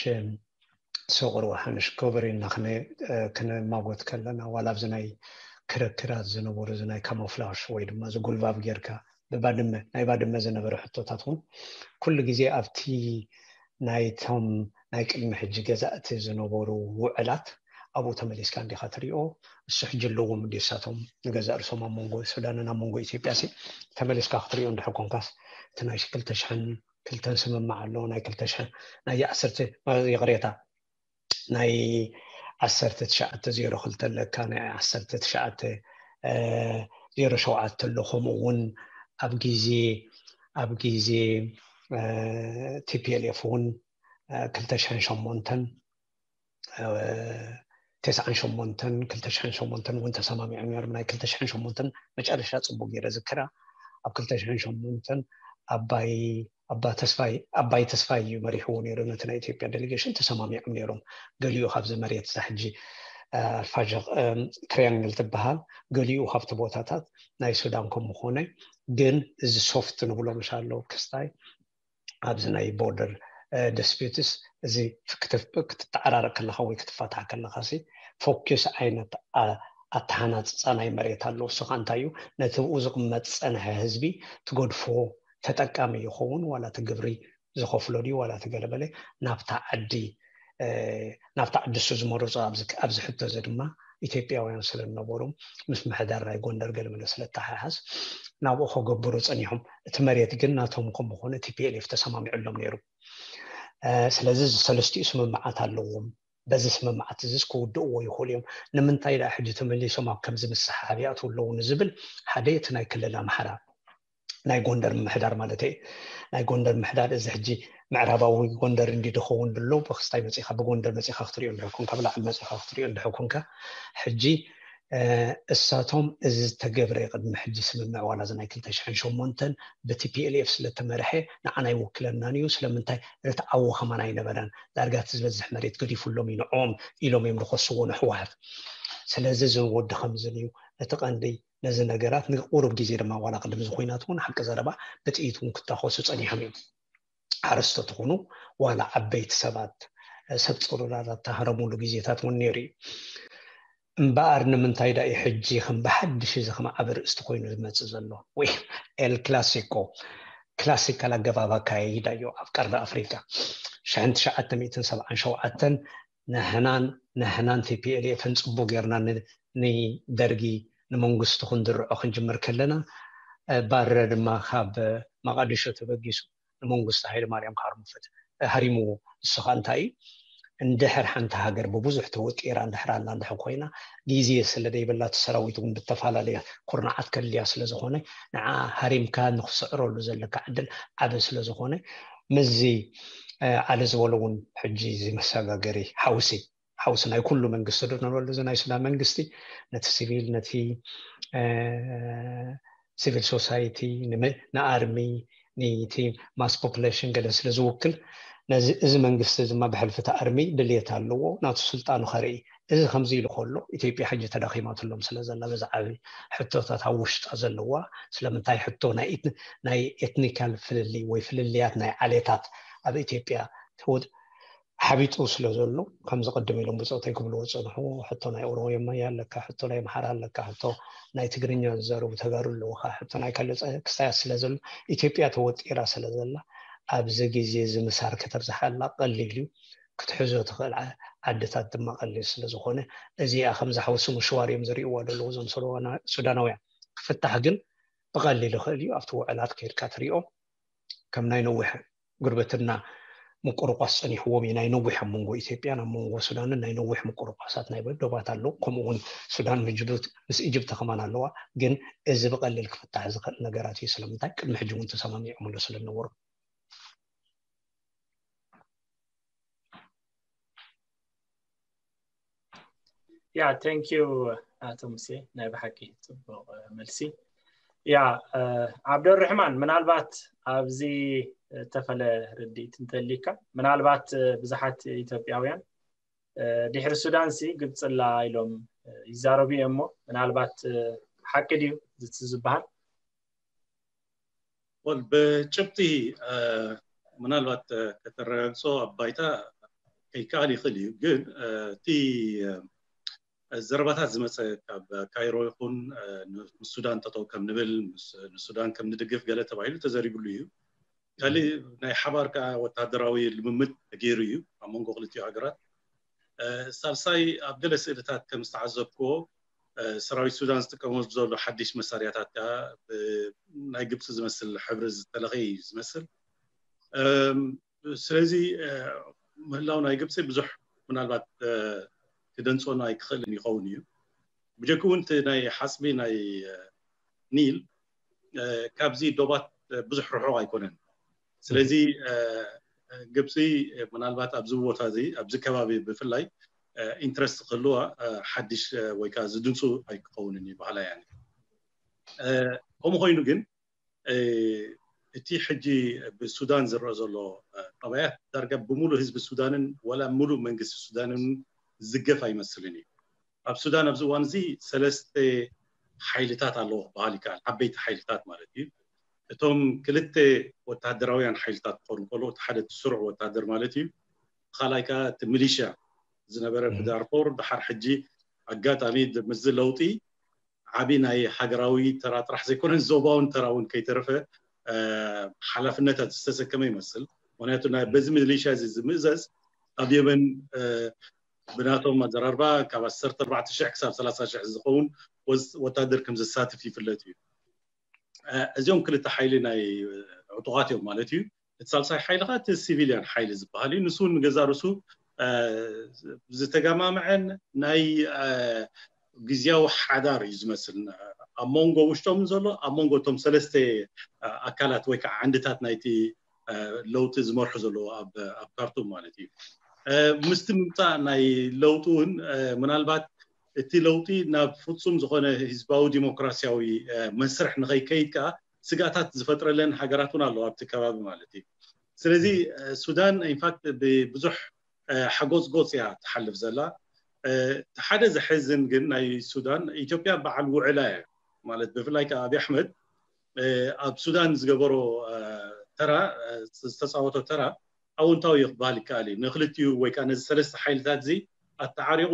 ሶቅር ሓንሽ ኮበሪና ክነማጎት ከለና ዋላ ኣብዚ ናይ ክርክራት ዝነበሩ እዚ ናይ ካሞፍላሽ ወይ ድማ ዝጉልባብ ጌርካ ብባድመ ናይ ባድመ ዝነበረ ሕቶታት እውን ኩሉ ግዜ ኣብቲ ናይቶም ናይ ቅድሚ ሕጂ ገዛእቲ ዝነበሩ ውዕላት ኣብኡ ተመሊስካ እንዲኻ ትሪኦ። እሱ ሕጂ ኣለዎም እንዲ እሳቶም ንገዛ እርሶም ኣብ መንጎ ሱዳንን ኣብ መንጎ ኢትዮጵያ ሲ ተመሊስካ ክትሪኦ እንድሕር ኮንካስ እቲ ናይ ክልተ ሽሕን ክልተን ስምምዕ ኣሎ ናይ ክልተ ሽሕን ናይ ዓሰርተ ይቕሬታ ናይ ዓሰርተ ትሽዓተ ዜሮ ክልተ ኣለካ ናይ ዓሰርተ ትሽዓተ ዜሮ ሸውዓተ ኣሎ። ከምኡ እውን ኣብ ግዜ ኣብ ግዜ ቲፒኤልኤፍ እውን ክልተ ሽሕን ሸሞንተን ተስዓን ሸሞንተን ክልተ ሽሕን ሸሞንተን እውን ተሰማሚዖም ነይሮም። ናይ ክልተ ሽሕን ሸሞንተን መጨረሻ ፅቡቅ ገይረ ዝክራ ኣብ ክልተ ሽሕን ሸሞንተን ኣባይ ኣባ ተስፋይ ኣባይ ተስፋይ እዩ መሪሕዎ ነይሩ ነቲ ናይ ኢትዮጵያ ዴሌጌሽን ተሰማሚዖም ነይሮም። ገሊኡ ካብዚ መሬት እዛ ሕጂ ፋሸቅ ትሪያንግል ትበሃል ገሊኡ ካብቲ ቦታታት ናይ ሱዳን ከም ምኾነ ግን እዚ ሶፍት ንብሎ ምሽ ኣሎ ክስታይ ኣብዚ ናይ ቦርደር ዲስፒትስ እዚ ክትተዓራረቅ ከለካ ወይ ክትፋታሕ ከለካ ሲ ፎኪስ ዓይነት ኣተሃናፅፃ ናይ መሬት ኣሎ። እሱ ከዓ እንታይ እዩ ነቲ ብኡ ዝቕመጥ ዝፀንሐ ህዝቢ ትገድፎ ተጠቃሚ ይኸውን ዋላ እቲ ግብሪ ዝኸፍሎ ድዩ ዋላ እቲ ገለበለ ናብታ ዓዲ ናብታ ዓዲ እሱ ዝመረፆ ኣብዚ ሕቶ እዚ ድማ ኢትዮጵያውያን ስለዝነበሩ ምስ ምሕዳር ናይ ጎንደር ገለመለ ስለተሓሓዝ ናብኡ ከገብሩ ፀኒሖም። እቲ መሬት ግን ናቶም ከምኾነ ቲፒኤልኤፍ ተሰማሚዑሎም ነይሩ። ስለዚ እዚ ሰለስቲኡ ስምምዓት ኣለዎም። በዚ ስምምዓት እዚስ ክውድእዎ ይኽእሉ እዮም። ንምንታይ ደኣ ሕጂ ተመሊሶም ኣብ ከምዚ ምስሓብ ይኣትዉ ኣለዉ ንዝብል ሓደ እቲ ናይ ክልል ኣምሓራ ናይ ጎንደር ምምሕዳር ማለት እዩ። ናይ ጎንደር ምሕዳር እዚ ሕጂ ምዕራባዊ ጎንደር እንዲ ድኸውን ድሎ ብክስታይ መፂኻ ብጎንደር መፂኻ ክትሪኦ እንድሕር ኮንካ ብላዕሊ መፂኻ ክትሪኦ እንድሕር ኮንካ ሕጂ እሳቶም እዚ ዝተገብረ ቅድሚ ሕጂ ስምምዕ ዋላ እዚ ናይ ክልተ ሽሕን ሸሞንተን ብቲፒኤልኤፍ ስለተመርሐ ንዓና ይውክለናን እዩ ስለምንታይ ርትዓዊ ከማን ኣይነበረን ዳርጋ እቲ ዝበዝሕ መሬት ገዲፉሎም እዩ ንዕኦም ኢሎም እዮም ዝኸስዎ ንሕወሓት። ስለዚ እዚ ወዲ ከምዝን እዩ እቲ ቀንዲ ነዚ ነገራት ንቁሩብ ግዜ ድማ ዋላ ቅድሚ እዚ ኩናት እውን ሓቂ ዘረባ ብጥይት እውን ክታኮሱ ፀኒሖም እዮም። ሓረስቶት ይኹኑ ዋላ ዓበይቲ ሰባት ሰብ ፀሩራት ዝተሃረሙሉ ግዜታት እውን ነይሩ እዩ። እምበኣር ንምንታይ ዳ እዩ ሕጂ ከም ብሓድሽ እዚ ከም ዓቢ ርእስቲ ኮይኑ ዝመፅእ ዘሎ? ወይ ኤል ክላሲኮ ክላሲካል ኣገባብ ኣካያይዳ እዩ ኣብ ቀርኒ ኣፍሪካ። ሽሕን ትሽዓተ ሚእትን ሰብዓን ሸውዓተን ንሕናን ንሕናን ቲፒኤልኤፍን ፅቡቅ ጌርና ንደርጊ ንመንግስቲ ክንድርዖ ክንጅምር ከለና ባረ ድማ ካብ መቃዲሾ ተበጊሱ ንመንግስቲ ሃይለ ማርያም ሃርሙፈት ሃሪምዎ። ንሱ ከዓ እንታይ እዩ እንድሕር ሓንቲ ሃገር ብብዙሕ ተወጢራ እንድሕር ኣላ እንድሕር ኮይና፣ ግዜ ስለ ዘይብላ እቲ ሰራዊት እውን ብተፈላለየ ኩርናዓት ከድልያ ስለ ዝኾነ፣ ንዓ ሃሪምካ ንክስዕረሉ ዘለካ ዕድል ዓቢ ስለ ዝኾነ፣ ምስዚ ኣለ ዝበሎ እውን ሕጂ እዚ መሰጋገሪ ሓውሲ ሓውሲ ናይ ኩሉ መንግስቲ ዶ ንበሉ፣ እዚ ናይ ሱዳን መንግስቲ ነቲ ሲቪል ነቲ ሲቪል ሶሳይቲ ንኣርሚ ነቲ ማስ ፖፕሌሽን ገለ ስለ ዝውክል፣ እዚ መንግስቲ ድማ ብሕልፊ እቲ ኣርሚ ድልየት ኣለዎ ናቱ ስልጣኑ ከርኢ። እዚ ከምዚ ኢሉ ከሎ ኢትዮጵያ ሕጂ ተዳኺማትሎም ስለ ዘላ በዚ ዓቢ ሕቶታት ኣብ ውሽጣ ዘለዋ ስለምንታይ ሕቶ ናይ ኤትኒካል ፍልልይ ወይ ፍልልያት ናይ ዓሌታት ኣብ ኢትዮጵያ ሓቢጡ ስለ ዘሎ ከምዚ ቅድም ኢሎም ብፆተይ ክብልዎ ዝፀንሑ ሕቶ ናይ ኦሮሞ ኣለካ፣ ሕቶ ናይ ኣምሓራ ኣለካ፣ ሕቶ ናይ ትግርኛ ዝዛረቡ ተጋሩ ኣለውካ፣ ሕቶ ናይ ካልእ ክስታያት ስለ ዘሎ ኢትዮጵያ ተወጢራ ስለ ዘላ ኣብዚ ግዜ እዚ ምሳር ከተብዝሓላ ቀሊል እዩ። ክትሕዞ ትኽእል ዓድታት ድማ ቀሊል ስለ ዝኾነ እዚኣ ከምዚ ሓውሲ ምሽዋር እዮም ዝርእይዋ ዘለዉ እዞም ሱዳናውያን። ክፍታሕ ግን ብቐሊል ይኽእል እዩ። ኣብቲ ውዕላት ከይድካ ትሪኦ ከም ናይ ነዊሕ ጉርብትና ምቁርቋስ ጸኒሕዎም እዩ። ናይ ነዊሕ ኣብ መንጎ ኢትዮጵያን ኣብ መንጎ ሱዳንን ናይ ነዊሕ ምቁርቋሳት ናይ ዶባት ኣለዉ። ከምኡ እውን ሱዳን ምስ ኢጅፕት ከማን ኣለዋ። ግን እዚ ብቐሊል ክፍታሕ ዝኽእል ነገራት እዩ። ስለምንታይ ቅድሚ ሕጂ እውን ተሰማሚዖምሉ ስለ ዝነበሩ። ያ thank you ኣቶ ሙሴ፣ ናይ ብሓቂ ፅቡቕ መልሲ። ያ ዓብደርሕማን፣ ምናልባት ኣብዚ እተፈለ ርድኢት እንተሊካ፣ ምናልባት ብዙሓት ኢትዮጵያውያን ድሕሪ ሱዳን ሲ ግብፅላ ኢሎም ይዛረቡ እዮም እሞ ምናልባት ሓቂ ድዩ እቲ ዝበሃል? ብጭብጢ ምናልባት ከተረጋግፆ ኣብ ባይታ ከይከኣል ይኽእል እዩ። ግን እቲ ዘረባታት ዝመፀ ካብ ካይሮ ይኹን ምስ ሱዳን ጠጠው ከም ንብል ንሱዳን ከም ንድግፍ ገለ ተባሂሉ ተዘሪብሉ እዩ። ካልእ ናይ ሓባር ከዓ ወታደራዊ ልምምድ ተገይሩ እዩ ኣብ መንጎ ክልቲኡ ሃገራት። ሳልሳይ ኣብ ገለ ስእልታት ከም ዝተዓዘብክዎ ሰራዊት ሱዳን ዝጥቀመሉ ዘሎ ሓድሽ መሳርያታት ከዓ ናይ ግብፂ ዝመስል ሕብሪ ዝተለኸየ እዩ ዝመስል። ስለዚ ምህላው ናይ ግብፂ ብዙሕ ምናልባት ክደንፅወና ኣይክኽእልን ይኸውን እዩ። ብጀክኡ እውን እቲ ናይ ሓፅቢ ናይ ኒል ካብዚ ዶባት ብዙሕ ርሑቕ ኣይኮነን። ስለዚ ግብፂ ምናልባት ኣብዚ ቦታ እዚ ኣብዚ ከባቢ ብፍላይ ኢንትረስት ክህልዋ ሓድሽ ወይ ከዓ ዝድንፁ ኣይክኸውንን እዩ ባህላ። ያኒ ከምኡ ኮይኑ ግን እቲ ሕጂ ብሱዳን ዝረአ ዘሎ ጠባያት ዳርጋ ብሙሉ ህዝቢ ሱዳንን ወላ ሙሉ መንግስቲ ሱዳንን ዝገፍ ኣይመስልን እዩ። ኣብ ሱዳን ኣብዚ እዋን እዚ ሰለስተ ሓይልታት ኣለዎ ክበሃል ይከኣል፣ ዓበይቲ ሓይልታት ማለት እዩ። እቶም ክልተ ወታደራውያን ሓይልታት ክኾኑ ከሎ፣ እቲ ሓደ እቲ ስሩዕ ወታደር ማለት እዩ፣ ካልኣይ ከዓ እቲ ሚሊሽያ ዝነበረ ብዳርፎር፣ ድሓር ሕጂ ኣጋጣሚ ምስዚ ለውጢ ዓቢ ናይ ሃገራዊ ተራ ጥራሕ ዘይኮነን ዞባውን ተራ እውን ከይተረፈ ሓላፍነታት ዝተሰከመ ይመስል። ምክንያቱ በዚ ሚሊሽያ እዚ ዝምእዘዝ ኣብ የመን ብናቶም ኣዘራርባ ካብ ዓሰርተ ኣርባዕተ ሽሕ ክሳብ ሰላሳ ሽሕ ዝኸውን ወታደር ከም ዘሳትፍ ይፍለጥ እዩ። እዚኦም ክልተ ሓይሊ ናይ ዕጡቓት እዮም ማለት እዩ። እቲ ሳልሳይ ሓይሊ ከዓ እቲ ሲቪልያን ሓይሊ ዝበሃል እዩ። ንሱ እውን ንገዛ ርሱ ዝተገማምዐን ናይ ግዝያዊ ሓዳር እዩ ዝመስል ኣብ መንጎ ውሽጦምን ዘሎ ኣብ መንጎ እቶም ሰለስተ ኣካላት ወይ ከዓ ዓንድታት ናይቲ ለውጢ ዝመርሑ ዘለዉ ኣብ ካርቱም ማለት እዩ። ምስቲ ምምፃእ ናይ ለውጢ እውን ምናልባት እቲ ለውጢ ናብ ፍፁም ዝኾነ ህዝባዊ ዲሞክራሲያዊ መስርሕ ንኸይከይድ ከዓ ስጋታት ዝፈጥረለን ሃገራት እውን ኣለዋ ኣብቲ ከባቢ ማለት እዩ። ስለዚ ሱዳን ኢንፋክት ብብዙሕ ሓጎፅጎፅ እያ ትሓልፍ ዘላ። እቲ ሓደ ዘሕዝን ግን ናይ ሱዳን ኢትዮጵያ በዓል ውዕላ እያ ማለት ብፍላይ ከዓ ኣብይ ኣሕመድ ኣብ ሱዳን ዝገበሮ ተራ ዝተፃወቶ ተራ ኣወንታዊ እዩ ክበሃል ይከኣል እዩ። ንክልቲኡ ወይ ከዓ ነዚ ሰለስተ ሓይልታት እዚ ኣተዓሪቑ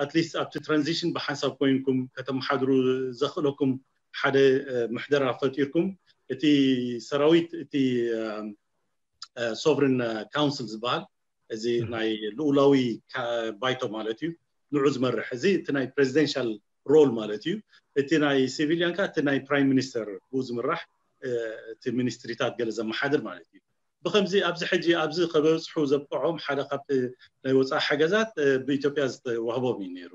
ኣትሊስት ኣብቲ ትራንዚሽን ብሓንሳብ ኮይንኩም ከተመሓድሩ ዘኽእለኩም ሓደ ምሕደራ ፈጢርኩም እቲ ሰራዊት እቲ ሶቨሪን ካውንስል ዝበሃል እዚ ናይ ልኡላዊ ባይቶ ማለት እዩ ንዑ ዝመርሕ እዚ እቲ ናይ ፕሬዚደንሻል ሮል ማለት እዩ። እቲ ናይ ሲቪልያን ከዓ እቲ ናይ ፕራይም ሚኒስተር ብኡ ዝምራሕ እቲ ሚኒስትሪታት ገለ ዘመሓድር ማለት እዩ። ብከምዚ ኣብዚ ሕጂ ኣብዚ ከበፅሑ ዘብቅዖም ሓደ ካብቲ ናይ ወፃኢ ሓገዛት ብኢትዮጵያ ዝተዋህቦም እዩ ነይሩ።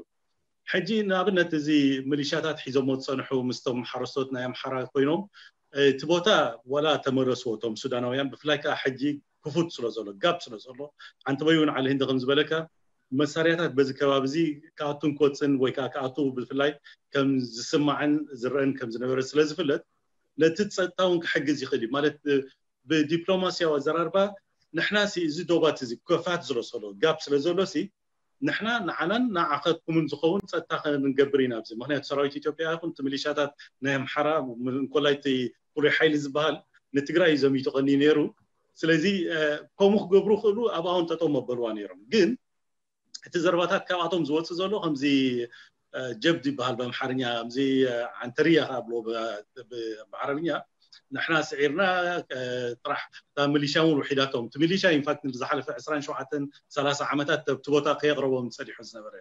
ሕጂ ንኣብነት እዚ ሚሊሻታት ሒዞሞ ዝፀንሑ ምስቶም ሓረስቶት ናይ ኣምሓራ ኮይኖም እቲ ቦታ ዋላ ተመለስዎ እቶም ሱዳናውያን ብፍላይ ከዓ ሕጂ ክፉት ስለ ዘሎ ጋብ ስለ ዘሎ ኣንተበይ እውን ዓሊ ህንዲ ከም ዝበለካ መሳርያታት በዚ ከባቢ እዚ ክኣቱን ክወፅን ወይ ከዓ ክኣቱ ብፍላይ ከም ዝስማዕን ዝረአን ከም ዝነበረ ስለ ዝፍለጥ ነቲ ፀጥታ እውን ክሕግዝ ይኽእል እዩ ማለት ብዲፕሎማሲያዊ ኣዘራርባ ንሕና እዚ ዶባት እዚ ከፋት ስለ ዘሎ ጋብ ስለ ዘሎ ንሕና ንዓናን ንዓኸትኩምን ዝኸውን ፀጥታ ክንገብር ኢና ኣብዚ ምክንያቱ ሰራዊት ኢትዮጵያ ይኹን እቲ ሚሊሻታት ናይ ኣምሓራ እንኮላይ እቲ ፍሉይ ሓይሊ ዝበሃል ንትግራይ እዩ ዘሚቱ ቀኒ ነይሩ ስለዚ ከምኡ ክገብሩ ክእሉ ኣብኣውን ጠጠው መበልዋ ነይሮም ግን እቲ ዘረባታት ካብኣቶም ዝወፅእ ዘሎ ከምዚ ጀብድ ይበሃል ብኣምሓርኛ ከምዚ ዓንተርያ ከኣብሎ ብዓረብኛ ንሕና ስዒርና ጥራሕ እታ ሚሊሻ እውን ውሒዳቶም እቲ ሚሊሻ ኢንፋክት ዝሓለፈ ዕስራን ሸውዓተን ሰላሳ ዓመታት እቲ ቦታ ከየቕረቦም ፀኒሑ ዝነበረ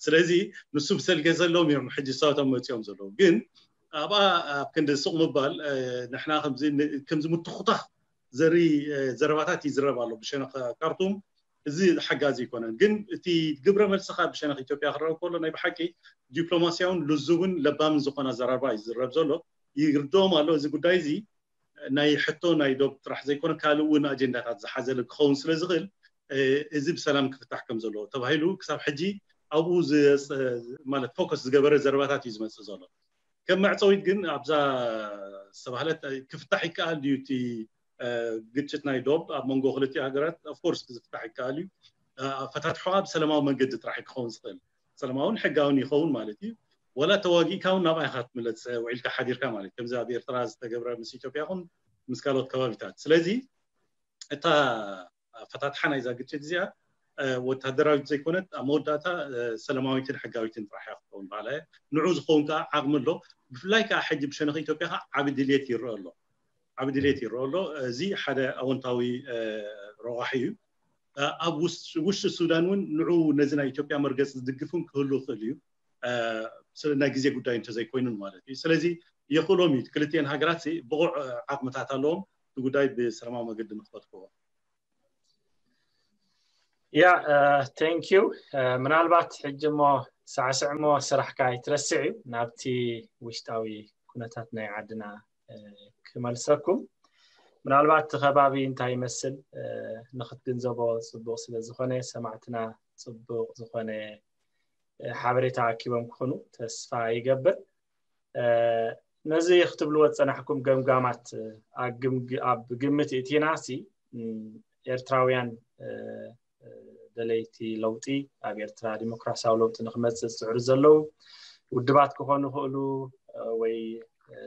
ስለዚ ንሱ ብሰልገ ዘለዎም እዮም ሕጂ እሳቶም መፂኦም ዘለዉ ግን ኣብኣ ኣብ ክንዲ ሱቕ ምባል ንሕና ከምዚ ምትኹታኽ ዘርኢ ዘረባታት ይዝረብ ኣሎ ብሸነኽ ካርቱም እዚ ሓጋዚ ኣይኮነን ግን እቲ ግብረ መልስኻ ብሸነኽ ኢትዮጵያ ክረአ ከሎ ናይ ብሓቂ ዲፕሎማሲያውን ልዙብን ለባምን ዝኾነ ኣዘራርባ እዩ ዝዝረብ ዘሎ ይርድኦም ኣሎ እዚ ጉዳይ እዚ ናይ ሕቶ ናይ ዶብ ጥራሕ ዘይኮነ ካልእ እውን ኣጀንዳታት ዝሓዘለ ክኸውን ስለ ዝኽእል እዚ ብሰላም ክፍታሕ ከም ዘለዎ ተባሂሉ ክሳብ ሕጂ ኣብኡ ማለት ፎከስ ዝገበረ ዘረባታት እዩ ዝመፅእ ዘሎ ከም መዕፀዊት ግን ኣብዛ ዝተባህለት ክፍታሕ ይከኣል ድዩ እቲ ግጭት ናይ ዶብ ኣብ መንጎ ክልቲኡ ሃገራት ኦፍኮርስ ክዝፍታሕ ይከኣል እዩ ኣፈታትሖ ኣብ ሰላማዊ መንገዲ ጥራሕ ክኸውን ዝኽእል ሰላማውን ሕጋውን ይኸውን ማለት እዩ ወላ ተዋጊእካ እውን ናብኣ ኢኻ ትምለስ ውዒልካ ሓዲርካ ማለት ከምዚ ኣብ ኤርትራ ዝተገብረ ምስ ኢትዮጵያ ኹን ምስ ካልኦት ከባቢታት ስለዚ እታ ኣፈታትሓ ናይዛ ግጭት እዚኣ ወታደራዊት ዘይኮነት ኣብ መወዳእታ ሰላማዊትን ሕጋዊትን ጥራሕ እያ ክትኸውን በሃላ እያ ንዑ ዝኸውን ከዓ ዓቕሚ ኣሎ ብፍላይ ከዓ ሕጂ ብሸነኽ ኢትዮጵያ ከዓ ዓቢ ድልየት ይረአ ኣሎ ዓቢ ድልየት ይረአ ኣሎ እዚ ሓደ ኣወንታዊ ረዋሒ እዩ ኣብ ውሽጢ ሱዳን እውን ንዑ ነዚ ናይ ኢትዮጵያ መርገፂ ዝድግፍን ክህሉ ይኽእል እዩ ናይ ግዜ ጉዳይ እንተዘይኮይኑን ማለት እዩ ስለዚ የኽእሎም እዩ ክልቲኤን ሃገራት ብቑዕ ዓቕምታት ኣለዎም እቲ ጉዳይ ብሰላማዊ መገዲ ንክፈትክዎ ያ thank you ምናልባት ሕጂ እሞ ሳዕስዕ እሞ ስራሕካ ኣይትረስዕ እዩ ናብቲ ውሽጣዊ ኩነታት ናይ ዓድና ክመልሰኩም ምናልባት እቲ ከባቢ እንታይ ይመስል ንክትግንዘቦ ፅቡቅ ስለዝኮነ ሰማዕትና ፅቡቅ ዝኮነ ሓበሬታ ኣኪቦም ክኾኑ ተስፋ ይገብር ነዚ ክትብልዎ ዝፀናሕኩም ገምጋማት ኣብ ግምት እቲና ሲ ኤርትራውያን ደለይቲ ለውጢ ኣብ ኤርትራ ዲሞክራሲያዊ ለውጢ ንክመፅእ ዝፅዕሩ ዘለዉ ውድባት ክኾኑ ይኽእሉ ወይ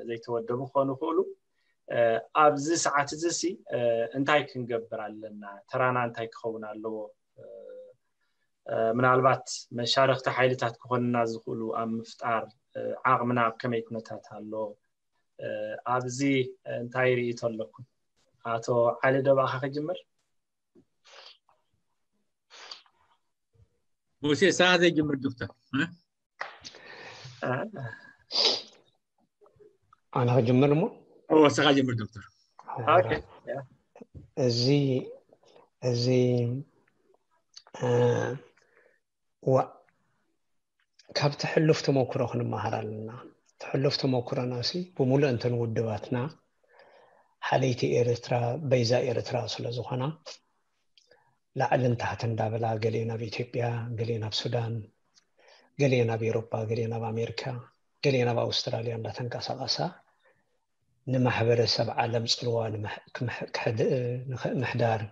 ዘይተወደቡ ክኾኑ ይኽእሉ ኣብዚ ሰዓት እዚ ሲ እንታይ ክንገብር ኣለና ተራና እንታይ ክኸውን ኣለዎ ምናልባት መሻርክቲ ሓይልታት ክኾንና ዝኽእሉ ኣብ ምፍጣር ዓቕምና ኣብ ከመይ ኩነታት ኣሎ ኣብዚ እንታይ ርእይቶ ኣለኩም ኣቶ ዓሊ ደባኻ ክጅምር ሙሴ ሰዓ ዘይጅምር ዶክተር ኣነ ክጅምር እሞ ሰኻ ጅምር ዶክተር እዚ እዚ ዋ ካብ ትሕሉፍ ተመክሮ ክንመሃር ኣለና ትሕሉፍ ተመክሮና ሲ ብምሉእ እንተን ውድባትና ሓለይቲ ኤርትራ በይዛ ኤርትራ ስለ ዝኾና ላዕልን ታሕትን እንዳበላ ገሊኤን ኣብ ኢትዮጵያ ገሊኤን ኣብ ሱዳን ገሊኤን ኣብ ኤሮጳ ገሊኤን ኣብ ኣሜሪካ ገሊኤን ኣብ ኣውስትራልያ እንዳተንቀሳቐሳ ንማሕበረሰብ ዓለም ፅልዋ ምሕዳር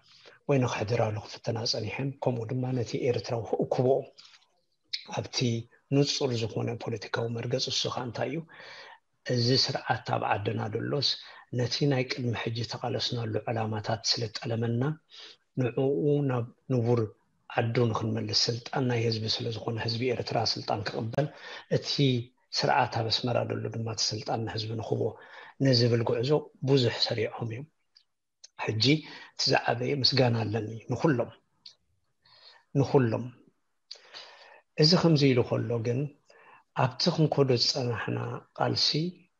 ወይ ንክሕድራሉ ክፍትና ፀኒሐን ከምኡ ድማ ነቲ ኤርትራዊ ክእክቦ ኣብቲ ንፁር ዝኾነ ፖለቲካዊ መርገፂ እሱ ከዓ እንታይ እዩ እዚ ስርዓት ኣብ ዓድና ደሎስ ነቲ ናይ ቅድሚ ሕጂ ተቓለስናሉ ዕላማታት ስለጠለመና ንዕኡ ናብ ንቡር ዓዱ ንክንመልስ ስልጣን ናይ ህዝቢ ስለዝኾነ ህዝቢ ኤርትራ ስልጣን ክቕበል እቲ ስርዓት ኣብ ኣስመራ ደሎ ድማ እቲ ስልጣን ንህዝቢ ንክቦ ንዝብል ጉዕዞ ብዙሕ ሰሪዖም እዮም ሕጂ እቲ ዝዓበየ ምስጋና ኣለኒ ንኩሎም ንኩሎም እዚ ከምዚ ኢሉ ከሎ ግን ኣብቲ ክንኮዶ ዝፀናሕና ቃልሲ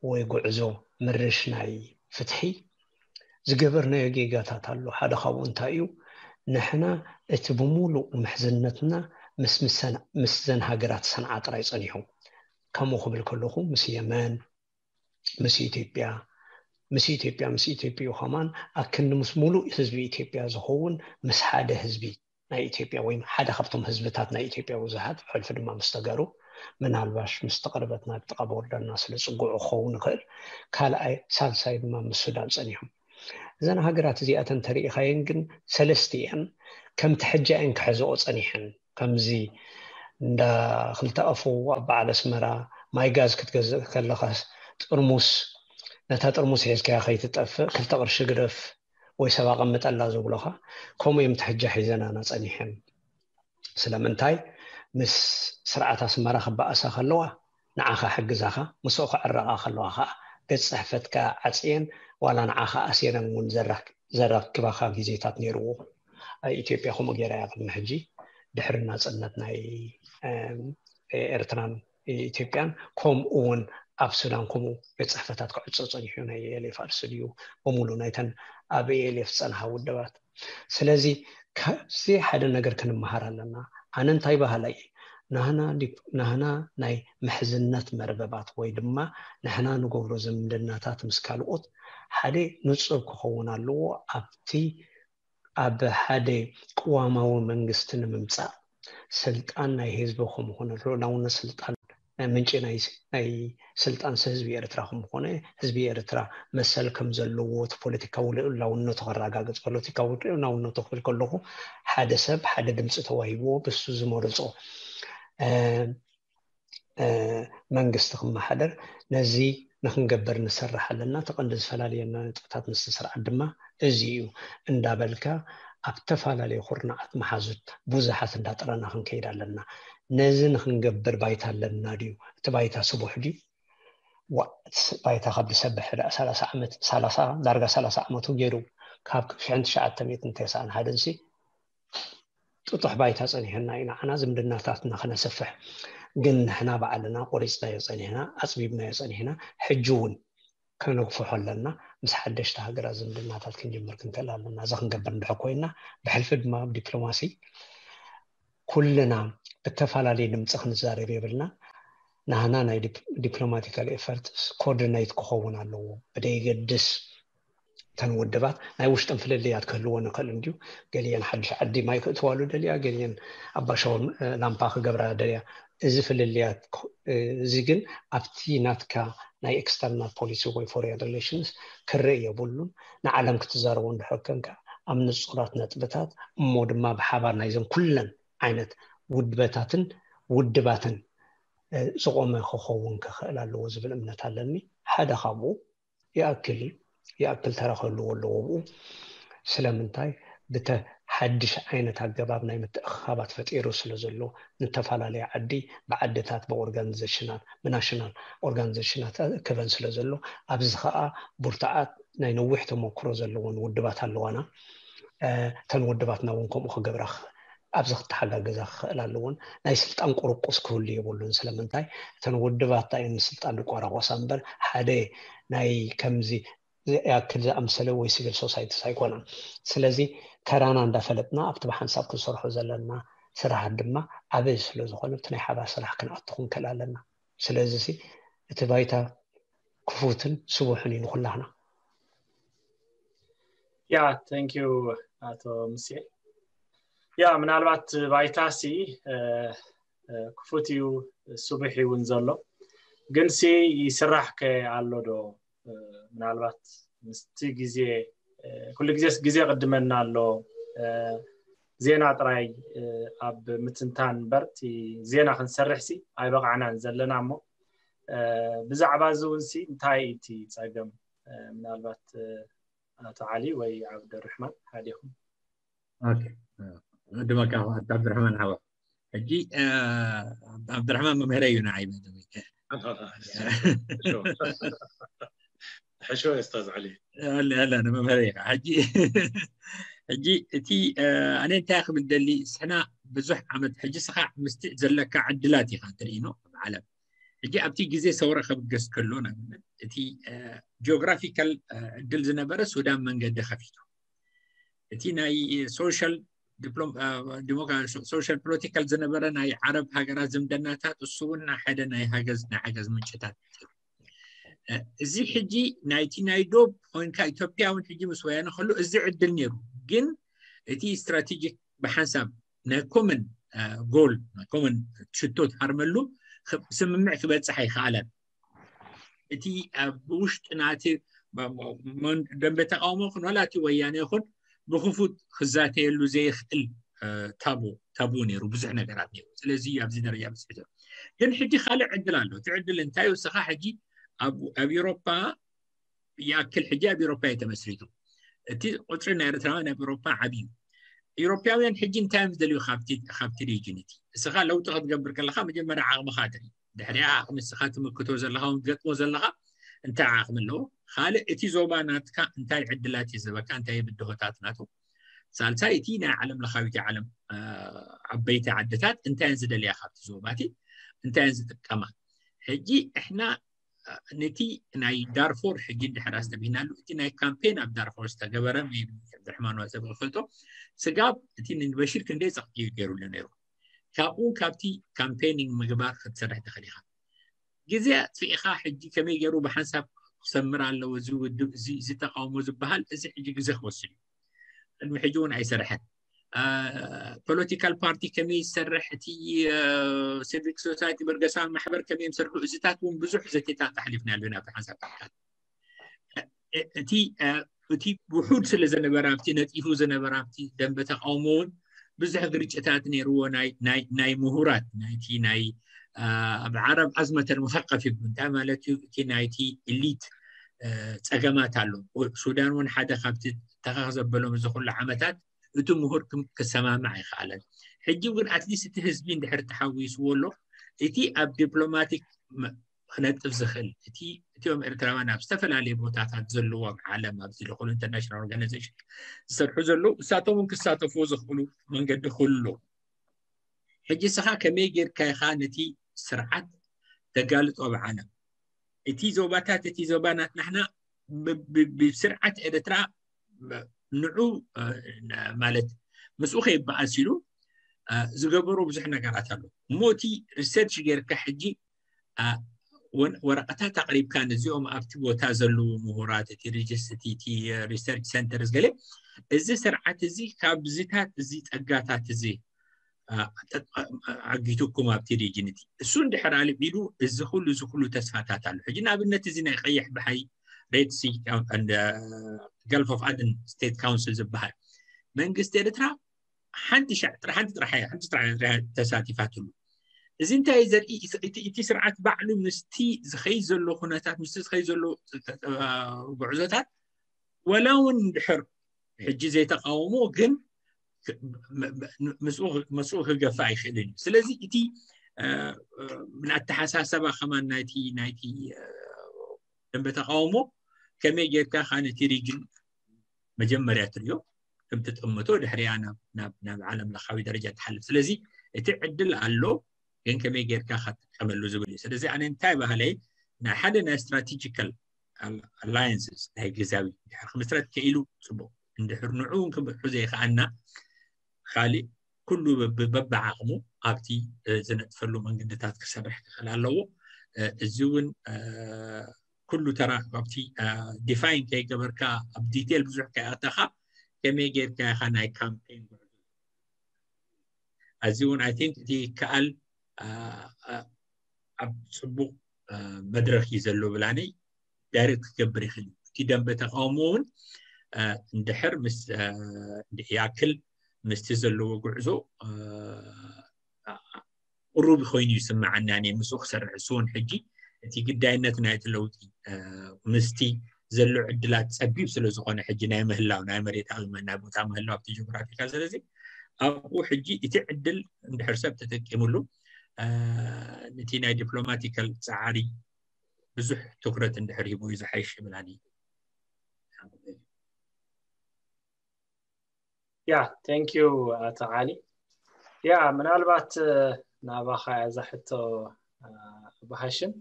ወይ ጉዕዞ ምርሽ ናይ ፍትሒ ዝገበርናዮ ጌጋታት ኣሎ። ሓደ ካብኡ እንታይ እዩ? ንሕና እቲ ብምሉእ ምሕዝነትና ምስ ምሰን- ምስዘን ሃገራት ሰንዓ ጥራይ ጸኒሑ። ከምኡ ክብል ከለኹ ምስ የመን፣ ምስ ኢትዮጵያ፣ ምስ ኢትዮጵያ ምስ ኢትዮጵያ እዩ ከማን ኣክንዲ ምስ ሙሉእ ህዝቢ ኢትዮጵያ ዝኸውን ምስ ሓደ ህዝቢ ናይ ኢትዮጵያ ወይ ሓደ ካብቶም ህዝብታት ናይ ኢትዮጵያ ብዙሓት ብሕልፊ ድማ ምስ ተጋሩ ምናልባሽ ምስ ተቐርበትና ጥቓ ቦርደርና ስለ ጽጉዑ ክኸውን ይኽእል። ካልኣይ ሳልሳይ ድማ ምስ ሱዳን ጸኒሖም። እዘን ሃገራት እዚኣተን ተሪኢኻየን ግን ሰለስቲኣን ከምቲ ሕጂ እየን ክሕዝኦ ጸኒሐን። ከምዚ እንዳ ክልተ ኣፉ ኣብ በዓል ኣስመራ ማይ ጋዝ ክትገዝእ ከለኻ ጥርሙስ ነታ ጥርሙስ ሒዝካያ ከይትጠፍእ ክልተ ቅርሺ ግደፍ ወይ ሰብ ኣቐምጠላ ዝብሎኻ ከምኡ እዮም ትሕጃ ሒዘናና ጸኒሐን። ስለምንታይ ምስ ስርዓት ኣስመራ ክበኣሳ ከለዋ ንዓኻ ሕግዛኻ ምስኡ ክዕረቓ ከለዋ ከዓ ገጽ ጽሕፈትካ ዓጽየን ዋላ ንዓኻ ኣሲረን እውን ዘራክ- ዘራክባኻ ግዜታት ነይርዎ። ኣብ ኢትዮጵያ ከምኡ ገይራ እያ ቅድሚ ሕጂ ድሕሪ ናጽነት ናይ ኤርትራን ኢትዮጵያን ከምኡ እውን ኣብ ሱዳን ከምኡ ቤት ጽሕፈታት ክዕጾ ጸኒሑ ናይ ኤልኤፍ ኣርሲ ድዩ ብምሉ ናይተን ኣብ ኤልኤፍ ዝጸንሓ ውድባት። ስለዚ ካብዚ ሓደ ነገር ክንመሃር ኣለና። ኣነ እንታይ በሃላይ ናህና ናህና ናይ ምሕዝነት መርበባት ወይ ድማ ንሕና ንገብሮ ዝምድናታት ምስ ካልኦት ሓደ ንጹር ክኸውን ኣለዎ። ኣብቲ ኣብ ሓደ ቅዋማዊ መንግስቲ ንምምጻእ ስልጣን ናይ ህዝቢ ከምኾነ ልዑላውነት ስልጣን ምንጪ ናይ ስልጣን ህዝቢ ኤርትራ ከምኾነ ህዝቢ ኤርትራ መሰል ከም ዘለዎ እቲ ፖለቲካዊ ልዑላውነቱ ከረጋግጽ ፖለቲካዊ ልዑላውነቱ ክብል ከለኹ ሓደ ሰብ ሓደ ድምፂ ተዋሂብዎ ብሱ ዝመረፆ መንግስቲ ክመሓደር ነዚ ንክንገብር ንሰርሕ ኣለና። እቲ ቀንዲ ዝፈላልየና ነጥብታት ምስቲ ስርዓት ድማ እዚ እዩ እንዳበልካ ኣብ ተፈላለዩ ኩርናዓት መሓዙት ብዙሓት እንዳጠረና ክንከይድ ኣለና። ነዚ ንክንገብር ባይታ ኣለና ድዩ? እቲ ባይታ ስቡሕ ድዩ? ባይታ ካብ ዝሰብሕ ሰላሳ ዓመት ሰላሳ ዳርጋ ሰላሳ ዓመቱ ገይሩ ካብ ሽሕን ትሽዓተ ሚእትን ተስዓን ሓደን ሲ ጥጡሕ ባይታ ጸኒሕና ኢና ዓና ዝምድናታትና ከነስፍሕ። ግን ንሕና ባዕልና ቆሪጽናዮ ጸኒሕና፣ ኣጽቢብናዮ ጸኒሕና፣ ሕጂ እውን ከነግፍሖ ኣለና። ምስ ሓደሽቲ ሃገራት ዝምድናታት ክንጅምር ክንክእል ኣለና። እዚ ክንገብር እንድሕር ኮይና፣ ብሕልፊ ድማ ኣብ ዲፕሎማሲ ኩልና ብተፈላለየ ድምፂ ክንዛረብ የብልና። ናህና ናይ ዲፕሎማቲካል ኤፈርት ኮኦርዲኔት ክኸውን ኣለዎ። ብደይገድስ እተን ውድባት ናይ ውሽጥን ፍልልያት ክህልዎ ንኽእል እንድዩ። ገሊአን ሓድሽ ዓዲ ማይ ክእትዋሉ ደልያ፣ ገሊአን ኣባሻውን ላምፓ ክገብራ ደልያ። እዚ ፍልልያት እዚ ግን ኣብቲ ናትካ ናይ ኤክስተርናል ፖሊሲ ወይ ፎሬን ሪሌሽንስ ክርኢ የብሉን። ንዓለም ክትዛረቦ እንድሕር ኮንካ ኣብ ንጹራት ነጥብታት እሞ ድማ ብሓባር ናይዘን ኩለን ዓይነት ውድበታትን ውድባትን ዝቆመ ክኸውን ክኽእል ኣለዎ ዝብል እምነት ኣለኒ። ሓደ ካብኡ ይኣክል እዩ። ይኣክል ተራ ክህልዎ ኣለዎ ብኡ። ስለምንታይ ብተ ሓድሽ ዓይነት ኣገባብ ናይ ምትእኽኻባት ፈጢሩ ስለ ዘሎ ንተፈላለየ ዓዲ ብዓድታት ብኦርጋኒዜሽናት ብናሽናል ኦርጋኒዜሽናት ክበን ስለ ዘሎ ኣብዚ ከዓ ብርቱዓት ናይ ነዊሕ ተመክሮ ዘለዎን ውድባት ኣለዋና። እተን ውድባትና እውን ከምኡ ክገብራ ኣብዚ ክተሓጋገዛ ክኽእል ኣለዎን ናይ ስልጣን ቁርቁስ ክህሉ የብሉን። ስለምንታይ እተን ውድባት እየን ንስልጣን ዝቆራቆሳ እምበር ሓደ ናይ ከምዚ ያክል ዝኣምሰለ ወይ ሲቪል ሶሳይቲስ ኣይኮነን። ስለዚ ተራና እንዳፈለጥና ኣብቲ ብሓንሳብ ክንሰርሖ ዘለና ስራሓት ድማ ዓበይ ስለ ዝኾነ እቲ ናይ ሓባር ስራሕ ክንኣቱ ክንክእል ኣለና። ስለዚ እቲ ባይታ ክፉትን ስቡሕን እዩ ንኩላህና። ያ thank you ኣቶ ሙሴ። ያ ምናልባት ባይታ ሲ ክፉት እዩ ስቡሕ እውን ዘሎ ግን ሲ ይስራሕ ከ ኣሎ ዶ? ምናልባት ምስቲ ግዜ ኩሉ ግዜስ ግዜ ቅድመና ኣሎ። ዜና ጥራይ ኣብ ምትንታን እምበር እቲ ዜና ክንሰርሕ ሲ ኣይበቃዕናን ዘለና እሞ ብዛዕባ እዚ እውን ሲ እንታይ እዩ እቲ ፀገም? ምናልባት ኣቶ ዓሊ ወይ ዓብደርሕማን ሓዲኹም። ዕድመካ ዓብደርሕማን ሓዋ። ሕጂ ዓብደርሕማን መምህረ እዩ ንዓይ። ሕሾ ኡስታዝ ዓሊ። መምህረ ኢኻ። ሕጂ ሕጂ እቲ ኣነ እንታይ ክብል ደሊ ስሕና ብዙሕ ዓመት ሕጂ ስኻ ምስቲ ዘለካ ዕድላት ኢኻ ትርኢ ነው ዓለም ሕጂ ኣብቲ ግዜ ሰውራ ከብገስ ከሎ ንኣብነት እቲ ጂኦግራፊካል ዕድል ዝነበረ ሱዳን መንገዲ ከፊቱ። እቲ ናይ ሶሻል ዲፕሎም ሶሻል ፖለቲካል ዝነበረ ናይ ዓረብ ሃገራት ዝምደናታት እሱ እውን ሓደ ናይ ሃገዝ ናይ ሓገዝ ምንጭታት። እዚ ሕጂ ናይቲ ናይ ዶብ ኮይንካ ኢትዮጵያ እውን ሕጂ ምስ ወያነ ከሎ እዚ ዕድል ነይሩ። ግን እቲ ስትራቴጂክ ብሓንሳብ ናይ ኮመን ጎል ናይ ኮመን ሽቶ ትሃርመሉ ስምምዕ ክበፅሕ ኣይከኣለን። እቲ ኣብ ውሽጢ ናቲ ደንበ ተቃውሞ ይኹን ዋላ እቲ ወያነ ይኹን ብክፉት ክዛተየሉ ዘይኽእል ታቡ ታቡ ነይሩ፣ ብዙሕ ነገራት ነይሩ። ስለዚ ኣብዚ ደረጃ በፅሑ። ግን ሕጂ ካልእ ዕድል ኣሎ። እቲ ዕድል እንታይ እዩ? እስኻ ሕጂ ኣብ ኤውሮፓ ይኣክል ሕጂ ኣብ ኤውሮፓ እዩ ተመስሪቱ። እቲ ቁፅሪ ናይ ኤርትራውያን ኣብ ኤውሮፓ ዓብዩ። ኤውሮፓውያን ሕጂ እንታይ እዮም ዝደልዩ ካብቲ ሪጅን እቲ? እስኻ ለውጢ ክትገብር ከለካ መጀመርያ ዓቕምኻ ትርኢ፣ ድሕሪኣ ንስኻ ትምክቶ ዘለኻ ትገጥሞ ዘለኻ እንታይ ዓቕሚ ኣለዎ? ካልእ እቲ ዞባ ናትካ እንታይ ዕድላት እዩ ዝበካ? እንታይ ብድሆታት ናቱ? ሳልሳይ እቲ ናይ ዓለም ለኻዊቲ ዓለም ዓበይቲ ዓድታት እንታይ ዝደልያ ካብቲ ዞባ እቲ እንታይ ዝጥቀማ? ሕጂ እሕና ነቲ ናይ ዳርፎር ሕጂ እንድሕር ኣስተብሂናሉ እቲ ናይ ካምፔን ኣብ ዳርፎር ዝተገበረ ብርሕማን ዋፀ ብክፈልጦ ስጋብ እቲ ንበሽር ክንደይ ፀቕጢ ገይሩሉ ነይሩ። ካብኡ ካብቲ ካምፔኒንግ ምግባር ክትሰርሕ ትኽእል ኢኻ። ግዜ ኣጥፊእኻ ሕጂ ከመይ ገይሩ ብሓንሳብ ክሰምር ኣለዎ እዚ ውድብ እዚ ተቃውሞ ዝበሃል እዚ ሕጂ ግዜ ክወስድ እዩ። ቅድሚ ሕጂ እውን ኣይሰርሐን። ፖለቲካል ፓርቲ ከመይ ይሰርሕ፣ እቲ ሲቪክ ሶሳይቲ በርገሳዊ ማሕበር ከመይ ይሰርሑ፣ እዚታት እውን ብዙሕ ዘቴታት ኣሕሊፍና ኣለና ብሓንሳብ። እቲ እቲ ውሑድ ስለ ዝነበረ ኣብቲ ነጢፉ ዝነበረ ኣብቲ ደንበ ተቃውሞ እውን ብዙሕ ግርጭታት ነይርዎ። ናይ ምሁራት ናይቲ ናይ ኣብ ዓረብ ኣዝመተል ሙሰቀፍ ይብ እንታይ ማለት እዩ? እቲ ናይቲ ኢሊት ፀገማት ኣሎ። ሱዳን እውን ሓደ ካብቲ ተኸኽ ዘበሎም እዚ ኩሉ ዓመታት እቲ ምሁር ክሰማማዕ ኣይከኣለን። ሕጂ ግን ኣትሊስት እቲ ህዝቢ እንድሕር ተሓዊስዎ ኣሎ እቲ ኣብ ዲፕሎማቲክ ክነጥፍ ዝኽእል እቲ እቲኦም ኤርትራውያን ኣብ ዝተፈላለዩ ቦታታት ዘለዎም ዓለም ኣብዚ ዝኾኑ ኢንተርናሽናል ኦርጋናይዜሽን ዝሰርሑ ዘለዉ እሳቶም እውን ክሳተፍዎ ዝኽእሉ መንገዲ ክህሉ። ሕጂ እስኻ ከመይ ጌርካ ኢኻ ነቲ ስርዓት ተጋልጦ ብዓለም? እቲ ዞባታት እቲ ዞባ ናትናሕና ብስርዓት ኤርትራ ንዑ ማለት ምስኡ ከይበኣስ ኢሉ ዝገበሩ ብዙሕ ነገራት ኣሎ። እሞ እቲ ሪሰርች ጌርካ ሕጂ ወረቐታት ኣቕሪብካ ነዚኦም ኣብቲ ቦታ ዘለዉ ምሁራት እቲ ሪጅስት እቲ ሪሰርች ሰንተርስ ገለ እዚ ስርዓት እዚ ካብዚታት እዚ ጸጋታት እዚ ዓጊቱኩም ኣብቲ ሪጅን እቲ እሱ እንድሕር ኣልዒሉ እዚ ኩሉ እዚ ኩሉ ተስፋታት ኣሎ። ሕጂ ንኣብነት እዚ ናይ ቀይሕ ባሕሪ ሬድ ሲ ገልፍ ኦፍ ኣደን ስቴት ካውንስል ዝበሃል መንግስቲ ኤርትራ ሓንቲ ሻዕ ጥራሕ ሓንቲ ጥራሕ ሓንቲ ጥራሕ ተሳቲፋትሉ። እዚ እንታይ ዘርኢ እቲ ስርዓት ባዕሉ ምስቲ ዝኸይ ዘሎ ኩነታት ምስቲ ዝኸይ ዘሎ ጉዕዞታት ወላ እውን ድሕር ሕጂ ዘይተቃወሞ ግን ምስኡ ክገፋ ኣይክእልን እዩ። ስለዚ እቲ ብኣተሓሳሰባ ከማን ናይቲ ናይቲ ደንበ ተቃውሞ ከመይ ጌርካ ከ ነቲ ሪጅን መጀመርያ ትሪኦ ከም ትጥምቶ ድሕሪያ ናብ ዓለም ለኻዊ ደረጃ ትሓልፍ። ስለዚ እቲ ዕድል ኣሎ ግን ከመይ ጌርካ ከትጥቀመሉ ዝብል እዩ። ስለዚ ኣነ እንታይ ባህለይ ናይ ሓደ ናይ ስትራቴጂካል ኣላየንስስ ናይ ግዛዊ ድሕር ክምስረት ከኢሉ ፅቡቅ እንድሕር ንዑ እውን ክብሑ ዘይከኣና ካሊእ ኩሉ በብዓቕሙ ኣብቲ ዝነጥፈሉ መንገድታት ክሰርሕ ክኽእል ኣለዎ። እዚ እውን ኩሉ ተራ ኣብቲ ዲፋይን ከይገበርካ ኣብ ዲቴል ብዙሕ ከይኣተኻ ከመይ ጌርካ ኢኻ ናይ ካምፔን ጉዕዞ ኣዚ እውን ኣይ ቲንክ እቲ ይከኣል ኣብ ፅቡቅ መድረክ እዩ ዘሎ ብላኒ ዳይሬክት ክገብር ይኽእል እዩ። እቲ ደንበ ተቃውሞ እውን እንድሕር ምስ ይኣክል ምስቲ ዘለዎ ጉዕዞ ቅሩብ ኮይኑ ይስምዓኒ ኣነ ምስኡ ክሰርሕ እሱ እውን ሕጂ እቲ ግዳይነት ናይቲ ለውጢ ምስቲ ዘሎ ዕድላት ፀቢብ ስለ ዝኾነ ሕጂ ናይ ምህላው ናይ መሬታዊ ናይ ቦታ ምህላው ኣብቲ ጂኦግራፊካል ስለዚ ኣብኡ ሕጂ እቲ ዕድል እንድሕር ሰብ ተጠቂምሉ ነቲ ናይ ዲፕሎማቲካል ፃዕሪ ብዙሕ ትኩረት እንድሕር ሂቡ እዩ ዝሓይሽ ይብላኒ። ያ thank you ኣቶ ዓሊ። ያ ምናልባት ናባኻ እዛ ሕቶ ብሃሽም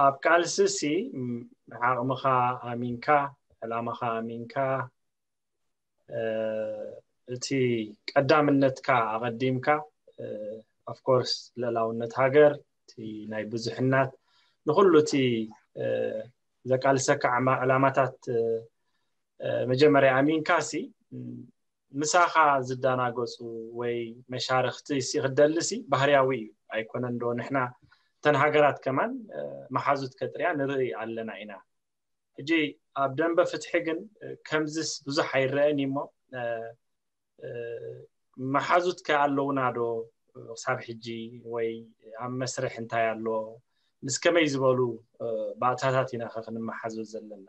ኣብ ቃልሲ ሲ ዓቕምኻ ኣሚንካ፣ ዕላማኻ ኣሚንካ፣ እቲ ቀዳምነትካ ኣቐዲምካ፣ of course፣ ልዕላውነት ሃገር፣ እቲ ናይ ብዙሕነት፣ ንኹሉ እቲ ዘቃልሰካ ዕላማታት መጀመርያ ኣሚንካ ሲ ምሳኻ ዝዳናገጹ ወይ መሻርኽቲ ሲ ክደሊ ሲ ባህርያዊ እዩ። ኣይኮነን ዶ ንሕና እተን ሃገራት ከማን መሓዙት ከጥርያ ንርኢ ኣለና ኢና። ሕጂ ኣብ ደንበ ፍትሒ ግን ከምዝስ ብዙሕ ኣይረአን እሞ መሓዙት ከ ኣለውና ዶ ክሳብ ሕጂ ወይ ኣብ መስርሕ እንታይ ኣሎ? ምስ ከመይ ዝበሉ ባእታታት ኢና ከ ክንመሓዙት ዘለና?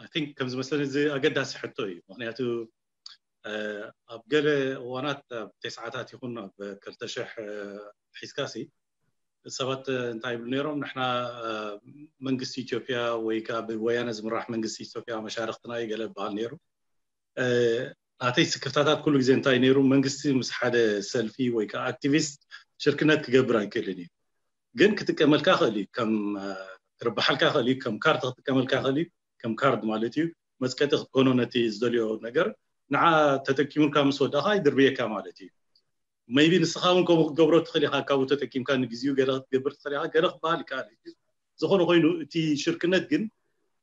I think ከም ዝመስለኒ እዚ ኣገዳሲ ሕቶ እዩ። ምክንያቱ ኣብ ገለ እዋናት ኣብ ተስዓታት ይኹን ኣብ ክልተ ሽሕ ሒዝካሲ ሰባት እንታይ ይብሉ ነይሮም? ንሕና መንግስቲ ኢትዮጵያ ወይ ከዓ ብወያነ ዝምራሕ መንግስቲ ኢትዮጵያ መሻርክትና እዩ ገለ ይበሃል ነይሩ። ናተይ ስክፍታታት ኩሉ ግዜ እንታይ ነይሩ? መንግስቲ ምስ ሓደ ሰልፊ ወይ ከዓ ኣክቲቪስት ሽርክነት ክገብር ኣይክእልን እዩ። ግን ክጥቀመልካ ክእል እዩ፣ ከም ክርብሓልካ ክእል እዩ፣ ከም ካርድ ክጥቀመልካ ክእል እዩ፣ ከም ካርድ ማለት እዩ። መፅቀጢ ክትኮኖ ነቲ ዝደልዮ ነገር ንዓ ተጠቂሙልካ ምስ ወዳእካ ይድርብየካ ማለት እዩ። maybe ንስኻ እውን ከምኡ ክትገብሮ ትኽእል ኢኻ። ካብኡ ተጠቂምካ ንግዜኡ ገለ ክትገብር ትኽእል ኢኻ፣ ገለ ክበሃል ይከኣል እዩ። ዝኾነ ኮይኑ እቲ ሽርክነት ግን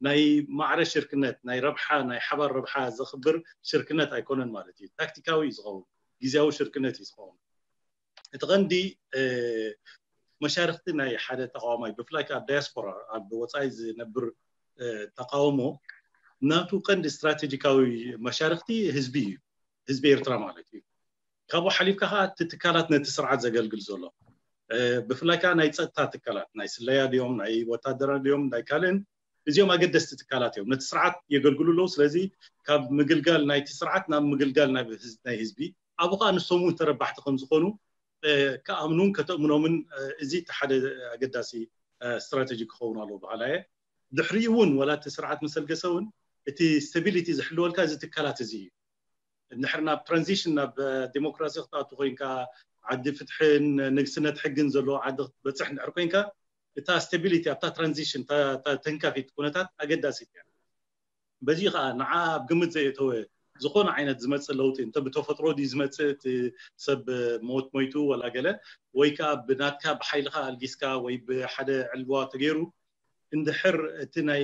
ናይ ማዕረ ሽርክነት፣ ናይ ረብሓ፣ ናይ ሓባር ረብሓ ዘኽብር ሽርክነት ኣይኮነን ማለት እዩ። ታክቲካዊ እዩ ዝኸውን፣ ግዜያዊ ሽርክነት እዩ ዝኸውን። እቲ ቀንዲ መሻርክቲ ናይ ሓደ ተቃዋማይ ብፍላይ ከዓ ኣብ ዳያስፖራ ኣብ ወፃኢ ዝነብር ተቃውሞ ናቱ ቀንዲ ስትራቴጂካዊ መሻርክቲ ህዝቢ እዩ፣ ህዝቢ ኤርትራ ማለት እዩ። ካብኡ ሓሊፍካ ከዓ እቲ ትካላት ነቲ ስርዓት ዘገልግል ዘሎ ብፍላይ ከዓ ናይ ፀጥታ ትካላት ናይ ስለያ ድዮም ናይ ወታደራ ድዮም ናይ ካልእን እዚኦም ኣገደስቲ ትካላት እዮም። ነቲ ስርዓት የገልግሉ ኣለዉ። ስለዚ ካብ ምግልጋል ናይቲ ስርዓት ናብ ምግልጋል ናይ ህዝቢ ኣብኡ ከዓ ንሶም እውን ተረባሕቲ ከም ዝኾኑ ክኣምኑን ከተእምኖምን እዚ እቲ ሓደ ኣገዳሲ ስትራቴጂ ክኸውን ኣለዎ በሃላ እየ። ድሕሪኡ እውን ወላ እቲ ስርዓት መሰልገሰ እውን እቲ ስታቢሊቲ ዝሕልወልካ እዚ ትካላት እዚ እዩ። እንድሕር ናብ ትራንዚሽን ናብ ዲሞክራሲ ክትኣቱ ኮይንካ ዓዲ ፍትሕን ንግስነት ሕግን ዘለዎ ዓዲ ክትበፅሕ እንድሕር ኮይንካ እታ ስታቢሊቲ ኣብታ ትራንዚሽን ተንካፊት ኩነታት ኣገዳሲት እያ። በዚ ከዓ ንዓ ኣብ ግምት ዘየተወ ዝኾነ ዓይነት ዝመፅእ ለውጢ እንተ ብተፈጥሮ ድዩ ዝመፅእ እቲ ሰብ ሞት ሞይቱ ወላ ገለ ወይ ከዓ ብናትካ ብሓይልካ ኣልጊስካ ወይ ብሓደ ዕልዋ ተገይሩ እንድሕር እቲ ናይ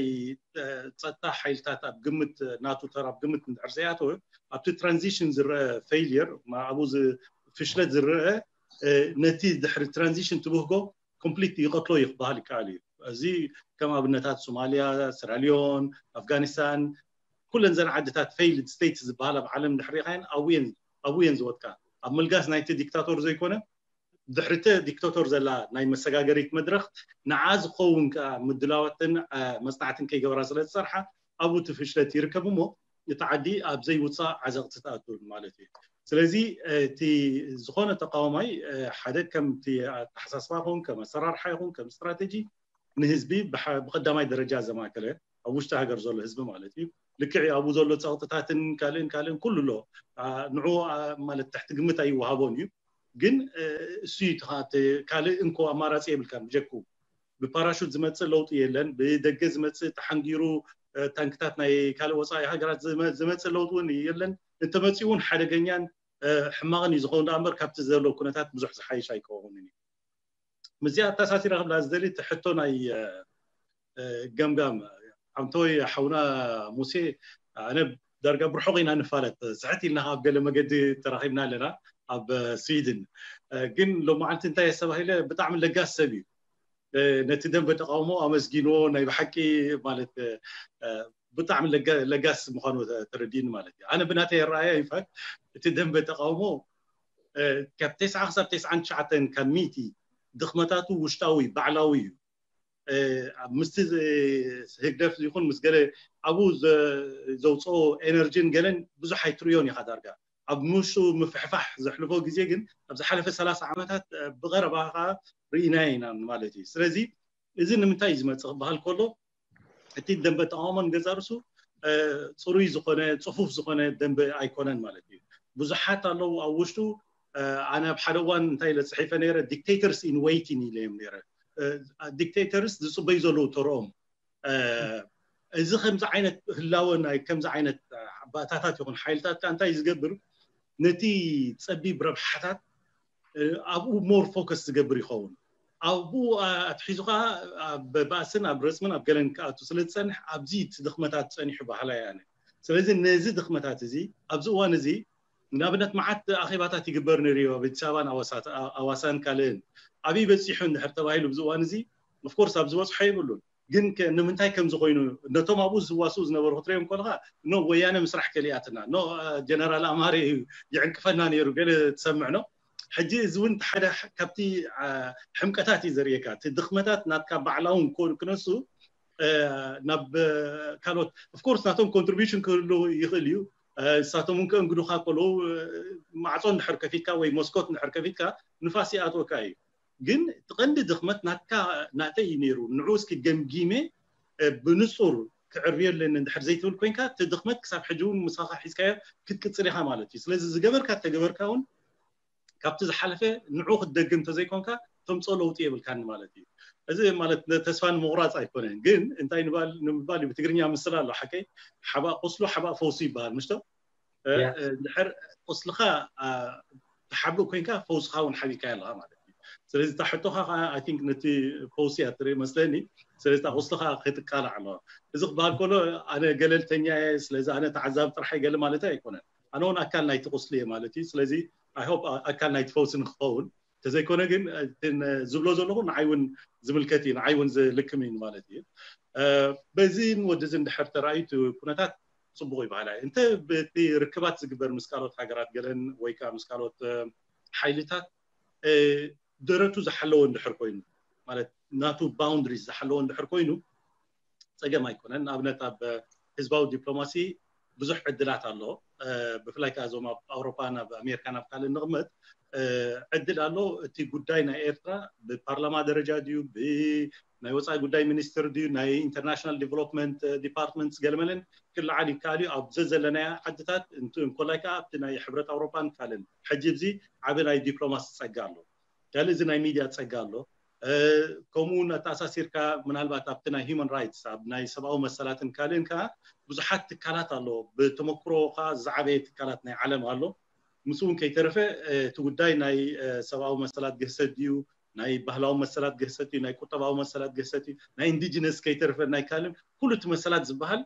ፀጥታ ሓይልታት ኣብ ግምት ናቱ ተራ ኣብ ግምት እንድሕር ዘያተወ ኣብቲ ትራንዚሽን ዝረአ ፌይልየር ኣብኡ ፍሽለት ዝረአ ነቲ ድሕሪ ትራንዚሽን ትብህጎ ኮምፕሊት ይቐትሎ እዩ ክበሃል ይከኣል እዩ። እዚ ከም ኣብነታት ሶማልያ፣ ስራሊዮን፣ ኣፍጋኒስታን ኩለን ዘን ዓድታት ፌይልድ ስቴትስ ዝበሃል ኣብ ዓለም ድሕሪኻየን ኣብየን ኣብየን ዝወጥቃ ኣብ ምልጋስ ናይቲ ዲክታቶር ዘይኮነ ድሕሪተ ዲክታቶር ዘላ ናይ መሰጋገሪት መድረኽ ንዓ ዝኸውን ከዓ ምድላዋትን መፅናዕትን ከይገበራ ስለ ዝፀርሓ ኣብኡ እቲ ፍሽለት ይርከብ እሞ እቲ ዓዲ ኣብ ዘይውፃእ ዓዘቕቲ ትኣቱ ማለት እዩ። ስለዚ እቲ ዝኾነ ተቃዋማይ ሓደ ከምቲ ኣተሓሳስባ ይኹን ከም ኣሰራርሓ ይኹን ከም ስትራቴጂ ንህዝቢ ብቀዳማይ ደረጃ ዘማእከለ ኣብ ውሽጢ ሃገር ዘሎ ህዝቢ ማለት እዩ። ልክዕ ኣብኡ ዘሎ ፀቕጥታትን ካልእን ካልእን ኩሉ ኣሎ። ንዑ ማለት ትሕቲ ግምት ኣይወሃቦን እዩ። ግን እሱ ካልእ እንኮ ኣማራፂ የብልካን ብጀኩ ብፓራሹት ዝመፅእ ለውጢ የለን። ብደገ ዝመፅእ ተሓንጊሩ ታንክታት ናይ ካልእ ወፃኢ ሃገራት ዝመፅእ ለውጢ እውን የለን። እንተመፂኡ እውን ሓደገኛን ሕማቕን እዩ ዝኸውን ዳኣ እምበር ካብቲ ዘሎ ኩነታት ብዙሕ ዝሓይሽ ኣይከውንን እዩ። ምስዚኣ ኣተሳሲረ ክብላ ዝደሊ እቲ ሕቶ ናይ ገምጋም ኣንተወይ ሓውና ሙሴ ኣነ ዳርጋ ብርሑቕ ኢና ንፋለጥ ስሕት ኢልና ኣብ ገለ መገዲ ተራኺብና ኣለና ኣብ ስዊድን ግን ሎማዓንቲ እንታይ ኣስተባሂለ ብጣዕሚ ለጋስ ሰብ እዩ ነቲ ደንበ ተቃውሞ ኣመስጊንዎ ናይ ብሓቂ ማለት ብጣዕሚ ለጋስ ምዃኑ ተረዲኒ ማለት እዩ ኣነ ብናተይ ኣረኣያ ይፋት እቲ ደንበ ተቃውሞ ካብ ተስዓ ክሳብ ተስዓን ትሽዓተን ካብ ሚእቲ ድኽመታቱ ውሽጣዊ ባዕላዊ እዩ ምስቲ ህግደፍ ይኹን ምስ ገለ ኣብኡ ዘውፅኦ ኤነርጂን ገለን ብዙሕ ኣይትርእዮን ኢኻ ዳርጋ ኣብ ምሹ ምፍሕፋሕ ዘሕልፎ ግዜ ግን ኣብ ዝሓለፈ ሰላሳ ዓመታት ብቐረባ ከዓ ርኢናዮ ኢና ማለት እዩ ስለዚ እዚ ንምንታይ እዩ ዝመፅእ ክበሃል ከሎ እቲ ደንበ ተቃውሞ ንገዛ ርሱ ፅሩይ ዝኾነ ፅፉፍ ዝኾነ ደንበ ኣይኮነን ማለት እዩ ብዙሓት ኣለዉ ኣብ ውሽጡ ኣነ ኣብ ሓደ እዋን እንታይ ኢለ ፅሒፈ ነይረ፣ dictators in waiting ኢለ እዮም ነይረ። Dictators ዝፅበዩ ዘለዉ ተርኦም። እዚ ከምዚ ዓይነት ህላወ ናይ ከምዚ ዓይነት ባእታታት ይኹን ሓይልታት ከ እንታይ ዝገብር፣ ነቲ ፀቢብ ረብሓታት ኣብኡ more focus ዝገብር ይኸውን። ኣብኡ ኣትሒዙ ከዓ ኣብ ባእስን ኣብ ረፅምን ኣብ ገለን ክኣቱ ስለ ዝፀንሕ ኣብዚ እቲ ድኽመታት ፀኒሑ ባህላ እየ ኣነ። ስለዚ ነዚ ድኽመታት እዚ ኣብዚ እዋን እዚ ንኣብነት መዓት ኣኼባታት ይግበር ነይሩ እዩ ኣብ ኣዲስ ኣበባን ኣዋሳን ካልእን። ኣብይ በፂሑ እንድሕር ተባሂሉ ኣብዚ እዋን እዚ of course ኣብ ዝበፅሖ የብሉን። ግን ንምንታይ ከምዚ ኮይኑ ነቶም ኣብኡ ዝዋስኡ ዝነበሩ ክትሪኦም ከለካ ኖ ወያነ ምስራሕ ከሊኣትና ኖ ጀነራል ኣማረ እዩ ይዕንቅፈና ነይሩ ገለ ትሰምዕ ኖ። ሕጂ እዚ እውን ሓደ ካብቲ ሕምቀታት እዩ ዘርእየካ። እቲ ድኽመታት ናትካ ባዕላውን ክነሱ ናብ ካልኦት of course ናቶም contribution ክህሉ ይኽእል እዩ። ንሳቶም እውን ከእንግዱኻ ከለዉ ማዕፆ እንድሕር ከፊትካ ወይ መስኮት እንድሕር ከፊትካ ንፋስ ይኣትወካ እዩ። ግን እቲ ቀንዲ ድኽመት ናትካ ናተይ እዩ ነይሩ። ንዑ እስኪ ገምጊመ ብንፁር ክዕርብዮ ኣለኒ እንድሕር ዘይትብል ኮይንካ እቲ ድኽመት ክሳብ ሕጂ እውን ምሳኻ ሒዝካዮ ክትቅፅል ኢኻ ማለት እዩ። ስለዚ ዝገበርካ ተገበርካ እውን ካብቲ ዝሓለፈ ንዑ ክትደግም እንተዘይኮንካ ተምፅኦ ለውጢ የብልካኒ ማለት እዩ። እዚ ማለት ተስፋ ንምቑራፅ ኣይኮነን፣ ግን እንታይ ንምባል እዩ ብትግርኛ ምስላ ኣሎ ሓቀይ ሓባእ ቁስሉ ሓባእ ፈውሱ ይበሃል ምሽቶ። ድሕር ቁስልኻ ትሓብእ ኮይንካ ፈውስኻ እውን ሓቢእካ ኣለኻ ማለት እዩ። ስለዚ እታ ሕቶኻ ከዓ I think ነቲ ፈውሲ እያ ትርኢ መስለኒ። ስለዚ እታ ቁስልኻ ክትቃላዕ ኣለዋ። እዚ ክበሃል ከሎ ኣነ ገለልተኛ እየ፣ ስለዚ ኣነ ተዓዛቢ ጥራሕ እየ ገለ ማለት ኣይኮነን። ኣነ እውን ኣካል ናይቲ ቁስሊ እየ ማለት እዩ። ስለዚ I hope ኣካል ናይቲ ፈውሲ ንክኸውን ተዘይኮነ ግን ዝብሎ ዘለኹ ንዓይ እውን ዝምልከት እዩ፣ ንዓይ እውን ዝልክም እዩ ማለት እዩ። በዚ ወዲ እዚ እንድሕር ተራእዩ እቲ ኩነታት ፅቡቕ ይበሃል። እንተ በቲ ርክባት ዝግበር ምስ ካልኦት ሃገራት ገለን ወይ ከዓ ምስ ካልኦት ሓይልታት ደረቱ ዝሓለወ እንድሕር ኮይኑ ማለት ናቱ boundaries ዝሓለወ እንድሕር ኮይኑ ፀገም ኣይኮነን። ንኣብነት ኣብ ህዝባዊ ዲፕሎማሲ ብዙሕ ዕድላት ኣሎ። ብፍላይ ከዓ እዞም ኣብ ኣውሮፓን ኣብ ኣሜሪካን ኣብ ካልእ ንቕመጥ ዕድል ኣሎ። እቲ ጉዳይ ናይ ኤርትራ ብፓርላማ ደረጃ ድዩ ብናይ ወፃኢ ጉዳይ ሚኒስትር ድዩ ናይ international development department ገለመለን ክለዓል ይከኣል እዩ። ኣብ ዘዘለናያ ዓድታት እንኮላይ ከዓ ኣብቲ ናይ ሕብረት ኣውሮፓን ካልእን ሕጂ እዚ ዓብ ናይ ዲፕሎማሲ ፀጋ ኣሎ። ካልእ እዚ ናይ ሚድያ ፀጋ ኣሎ። ከምኡ እውን ኣተኣሳሲርካ ምናልባት ኣብቲ ናይ human rights ኣብ ናይ ሰብኣዊ መሰላትን ካልእን ከዓ ብዙሓት ትካላት ኣሎ። ብተመክሮ ከዓ ዝዓበየ ትካላት ናይ ዓለም ኣሎ። ምስ እውን ከይተረፈ እቲ ጉዳይ ናይ ሰብኣዊ መሰላት ግህሰት ድዩ ናይ ባህላዊ መሰላት ግህሰት እዩ ናይ ቁጠባዊ መሰላት ግህሰት እዩ ናይ indigenous ከይተረፈ ናይ ካልእን ኩሉ እቲ መሰላት ዝበሃል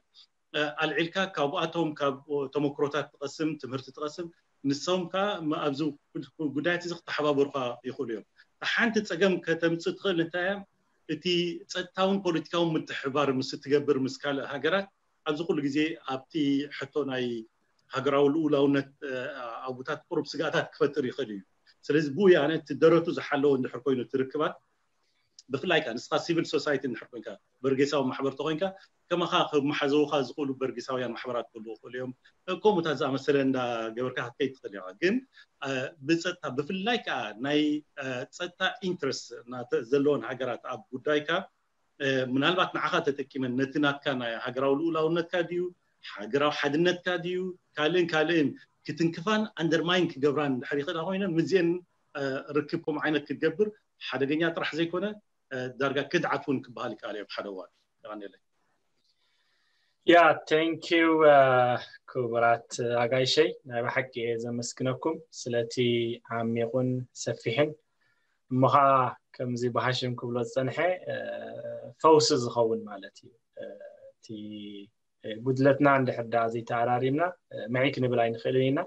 ኣልዒልካ ካብኣቶም ካብ ተመክሮታት ትቐስም ትምህርቲ ትቐስም። ንሶም ከዓ ኣብዚ ጉዳያት እዚ ክተሓባበሩካ ይኽእሉ እዮም። ሓንቲ ፀገም ከተምፅእ ትኽእል እንታይ እያ? እቲ ፀጥታውን ፖለቲካውን ምትሕባር ምስ ትገብር ምስ ካልእ ሃገራት ኣብዚ ኩሉ ግዜ ኣብቲ ሕቶ ናይ ሃገራዊ ልኡላውነት ኣቡታት ቁሩብ ስጋኣታት ክፈጥር ይኽእል እዩ። ስለዚ ብኡ ኣነ እቲ ደረቱ ዝሓለወ እንድሕር ኮይኑ ትርክባት ብፍላይ ከዓ ንስኻ civil society እንድሕር ኮይንካ በርጌሳዊ ማሕበር ተኮይንካ ከማኻ ክመሓዘውካ ዝኽእሉ በርጌሳውያን ማሕበራት ክህልዉ ይኽእሉ እዮም። ከምኡታት ዝኣመሰለ እንዳገበርካ ክትከይድ ትኽእል ኢኻ። ግን ብፀጥታ ብፍላይ ከዓ ናይ ፀጥታ interest ዘለዎን ሃገራት ኣብ ጉዳይካ ምናልባት ንዓኻ ተጠቂመን ነቲ ናትካ ናይ ሃገራዊ ልኡላውነትካ ድዩ ሃገራዊ ሓድነትካ ድዩ ካልእን ካልእን ክትንክፋን undermine ክገብራን እንድሕር ይኽእላ ኮይነን ምስዚአን ርክብ ከምኡ ዓይነት ክትገብር ሓደገኛ ጥራሕ ዘይኮነ ዳርጋ ክድዓት እውን ክበሃል ይከኣል እዮም ሓደ እዋን። የቐንየለይ። ያ thank you ክቡራት ኣጋይሸይ ናይ ብሓቂ እየ ዘመስግነኩም ስለቲ ዓሚቑን ሰፊሕን እሞ ከዓ ከምዚ ብሃሽም ክብሎ ዝፀንሐ ፈውሲ ዝኸውን ማለት እዩ። እቲ ጉድለትና እንድሕር ደኣ ዘይተኣራሪምና ምዕይ ክንብል ኣይንኽእልን ኢና።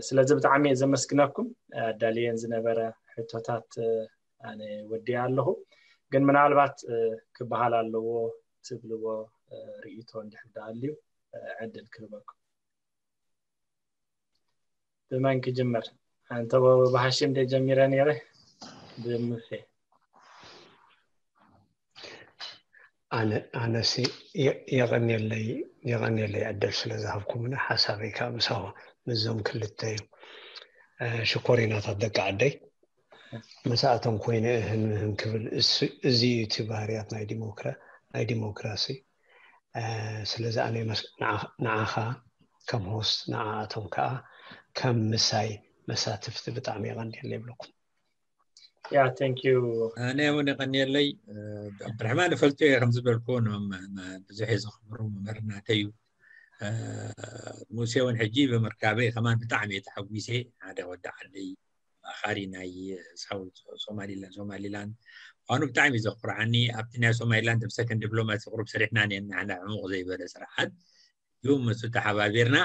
ስለዚ ብጣዕሚ እየ ዘመስግነኩም። ኣዳልየን ዝነበረ ሕቶታት ኣነ ወዲኣ ኣለኹ። ግን ምናልባት ክበሃል ኣለዎ ትብልዎ ርእይቶ እንድሕር ደኣ ኣልዩ ዕድል ክህበኩም። ብመን ክጅምር? ኣንተ ብሃሽም ደ ጀሚረ ነይረ ብሙሴ ኣነሲ የቐንየለይ የቐንየለይ ዕድል ስለ ዝሃብኩምኒ ሓሳበይ ከዓ ምሳኹ ምስዞም ክልተ እዩ። ሽኮሪናታት ደቂ ዓደይ መሳእቶም ኮይነ እህን ምህን ክብል እዚ እዩ እቲ ባህርያት ናይ ዲሞክራ ናይ ዲሞክራሲ። ስለዚ ኣነ ንዓኻ ከም ሆስት ንዓኣቶም ከዓ ከም ምሳይ መሳትፍቲ ብጣዕሚ የቐንየለይ ይብለኩም። Yeah, thank you. ኣነ እውን የቐንየለይ። ዓብድራሕማን እፈልጦ እየ፣ ከም ዝበልኩ ብዙሕ እየ ዘኽብሮ፣ መምህር ናተይ እዩ። ሙሴ እውን ሕጂ ብምርካበይ ከማን ብጣዕሚ እየ ተሓጒሰ። ሓደ ወዲ ዓደይ፣ ኣማኻሪ ናይ ሳውት ሶማሊላንድ፣ ሶማሊላንድ ምዃኑ ብጣዕሚ እዩ ዘኹርዓኒ። ኣብቲ ናይ ሶማሊላንድ ብሰከንድ ዲፕሎማሲ ቁሩብ ሰሪሕና ነና፣ ንሕና ዕሙቕ ዘይበለ ስራሓት እዩ፣ ምስ ተሓባቢርና።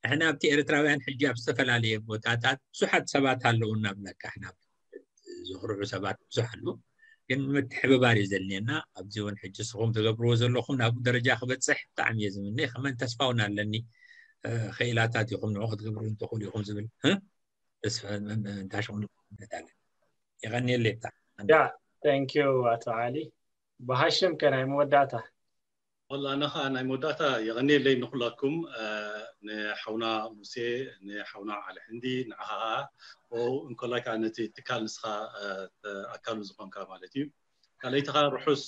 ንሕና ኣብቲ ኤርትራውያን ሕጂ ኣብ ዝተፈላለየ ቦታታት ብዙሓት ሰባት ኣለዉ እናብለካ፣ ሕና ዘኹርዑ ሰባት ብዙሕ ኣለዉ፣ ግን ምትሕብባር እዩ ዘድልየና። ኣብዚ እውን ሕጂ ንስኹም ትገብርዎ ዘለኹም ናብኡ ደረጃ ክበፅሕ ብጣዕሚ እየ ዝምነ። ከመን ተስፋ እውን ኣለኒ። ክኢላታት ኢኹም፣ ንዑ ክትገብሩ እንተኽእሉ ኢኹም ዝብል ተስፋ እንታሽኹም። የቐንየለይ ብጣዕሚ። Yeah, thank you ኣቶ ዓሊ። ብሃሽም ከ ናይ መወዳእታ? ወላ ኣነ ኸዓ ናይ መወዳእታ የቐንየለይ ንኹላትኩም፣ ንሓውና ሙሴ፣ ንሓውና ዓሊ ሕንዲ፣ ንዓኻ ኸዓ፣ እንኮላይ ከዓ ነቲ ትካል ንስኻ ኣካሉ ዝኾንካ ማለት እዩ። ካልኣይቲ ኸዓ ርሑስ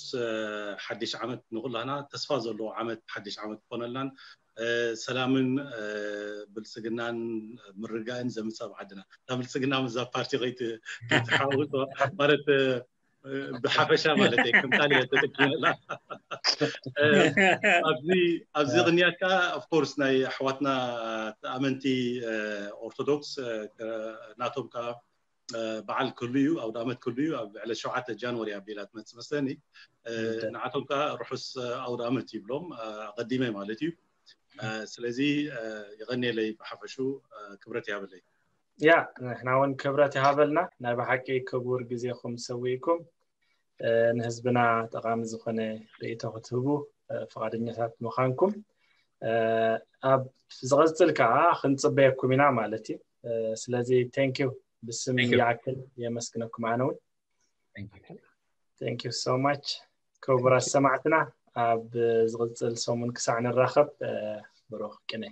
ሓድሽ ዓመት ንኹላህና፣ ተስፋ ዘለዎ ዓመት፣ ሓድሽ ዓመት ክኾነልናን ሰላምን ብልፅግናን ምርጋእን ዘምፅእ ኣብ ዓድና። እታ ብልፅግና ምስዛ ፓርቲ ከይትሓውሶ ማለት ብሓፈሻ ማለት እየ፣ ከም ቃል እየ ተጠቂመላ። ኣብዚ ኣብዚ ቅንያት ከዓ of course ናይ ኣሕዋትና ኣመንቲ ኦርቶዶክስ ናቶም ከዓ በዓል ክህሉ እዩ፣ ኣውደ ኣመት ክህሉ እዩ። ኣብ ዕለት ሸውዓተ ጃንዋሪ ኣቢላ ትመፅእ መስለኒ። ንዓቶም ከዓ ርሑስ ኣውደ ኣመት ይብሎም ኣቐዲመ ማለት እዩ። ስለዚ የቐንየለይ፣ ብሓፈሹ ክብረት ይሃበለይ። ያ፣ ንሕና እውን ክብረት ይሃበልና። ናይ ብሓቂ ክቡር ግዜኹም ሰዊእኩም ንህዝብና ጠቓሚ ዝኾነ ርእይቶ ክትህቡ ፍቓደኛታት ምዃንኩም፣ ኣብ ዝቐፅል ከዓ ክንፅበየኩም ኢና ማለት እዩ። ስለዚ thank you፣ ብስም ይኣክል የመስግነኩም ኣነ እውን። Thank you so much ክቡራት ሰማዕትና፣ ኣብ ዝቕፅል ሰሙን ክሳዕ ንራኸብ ብሩኽ ቅነ።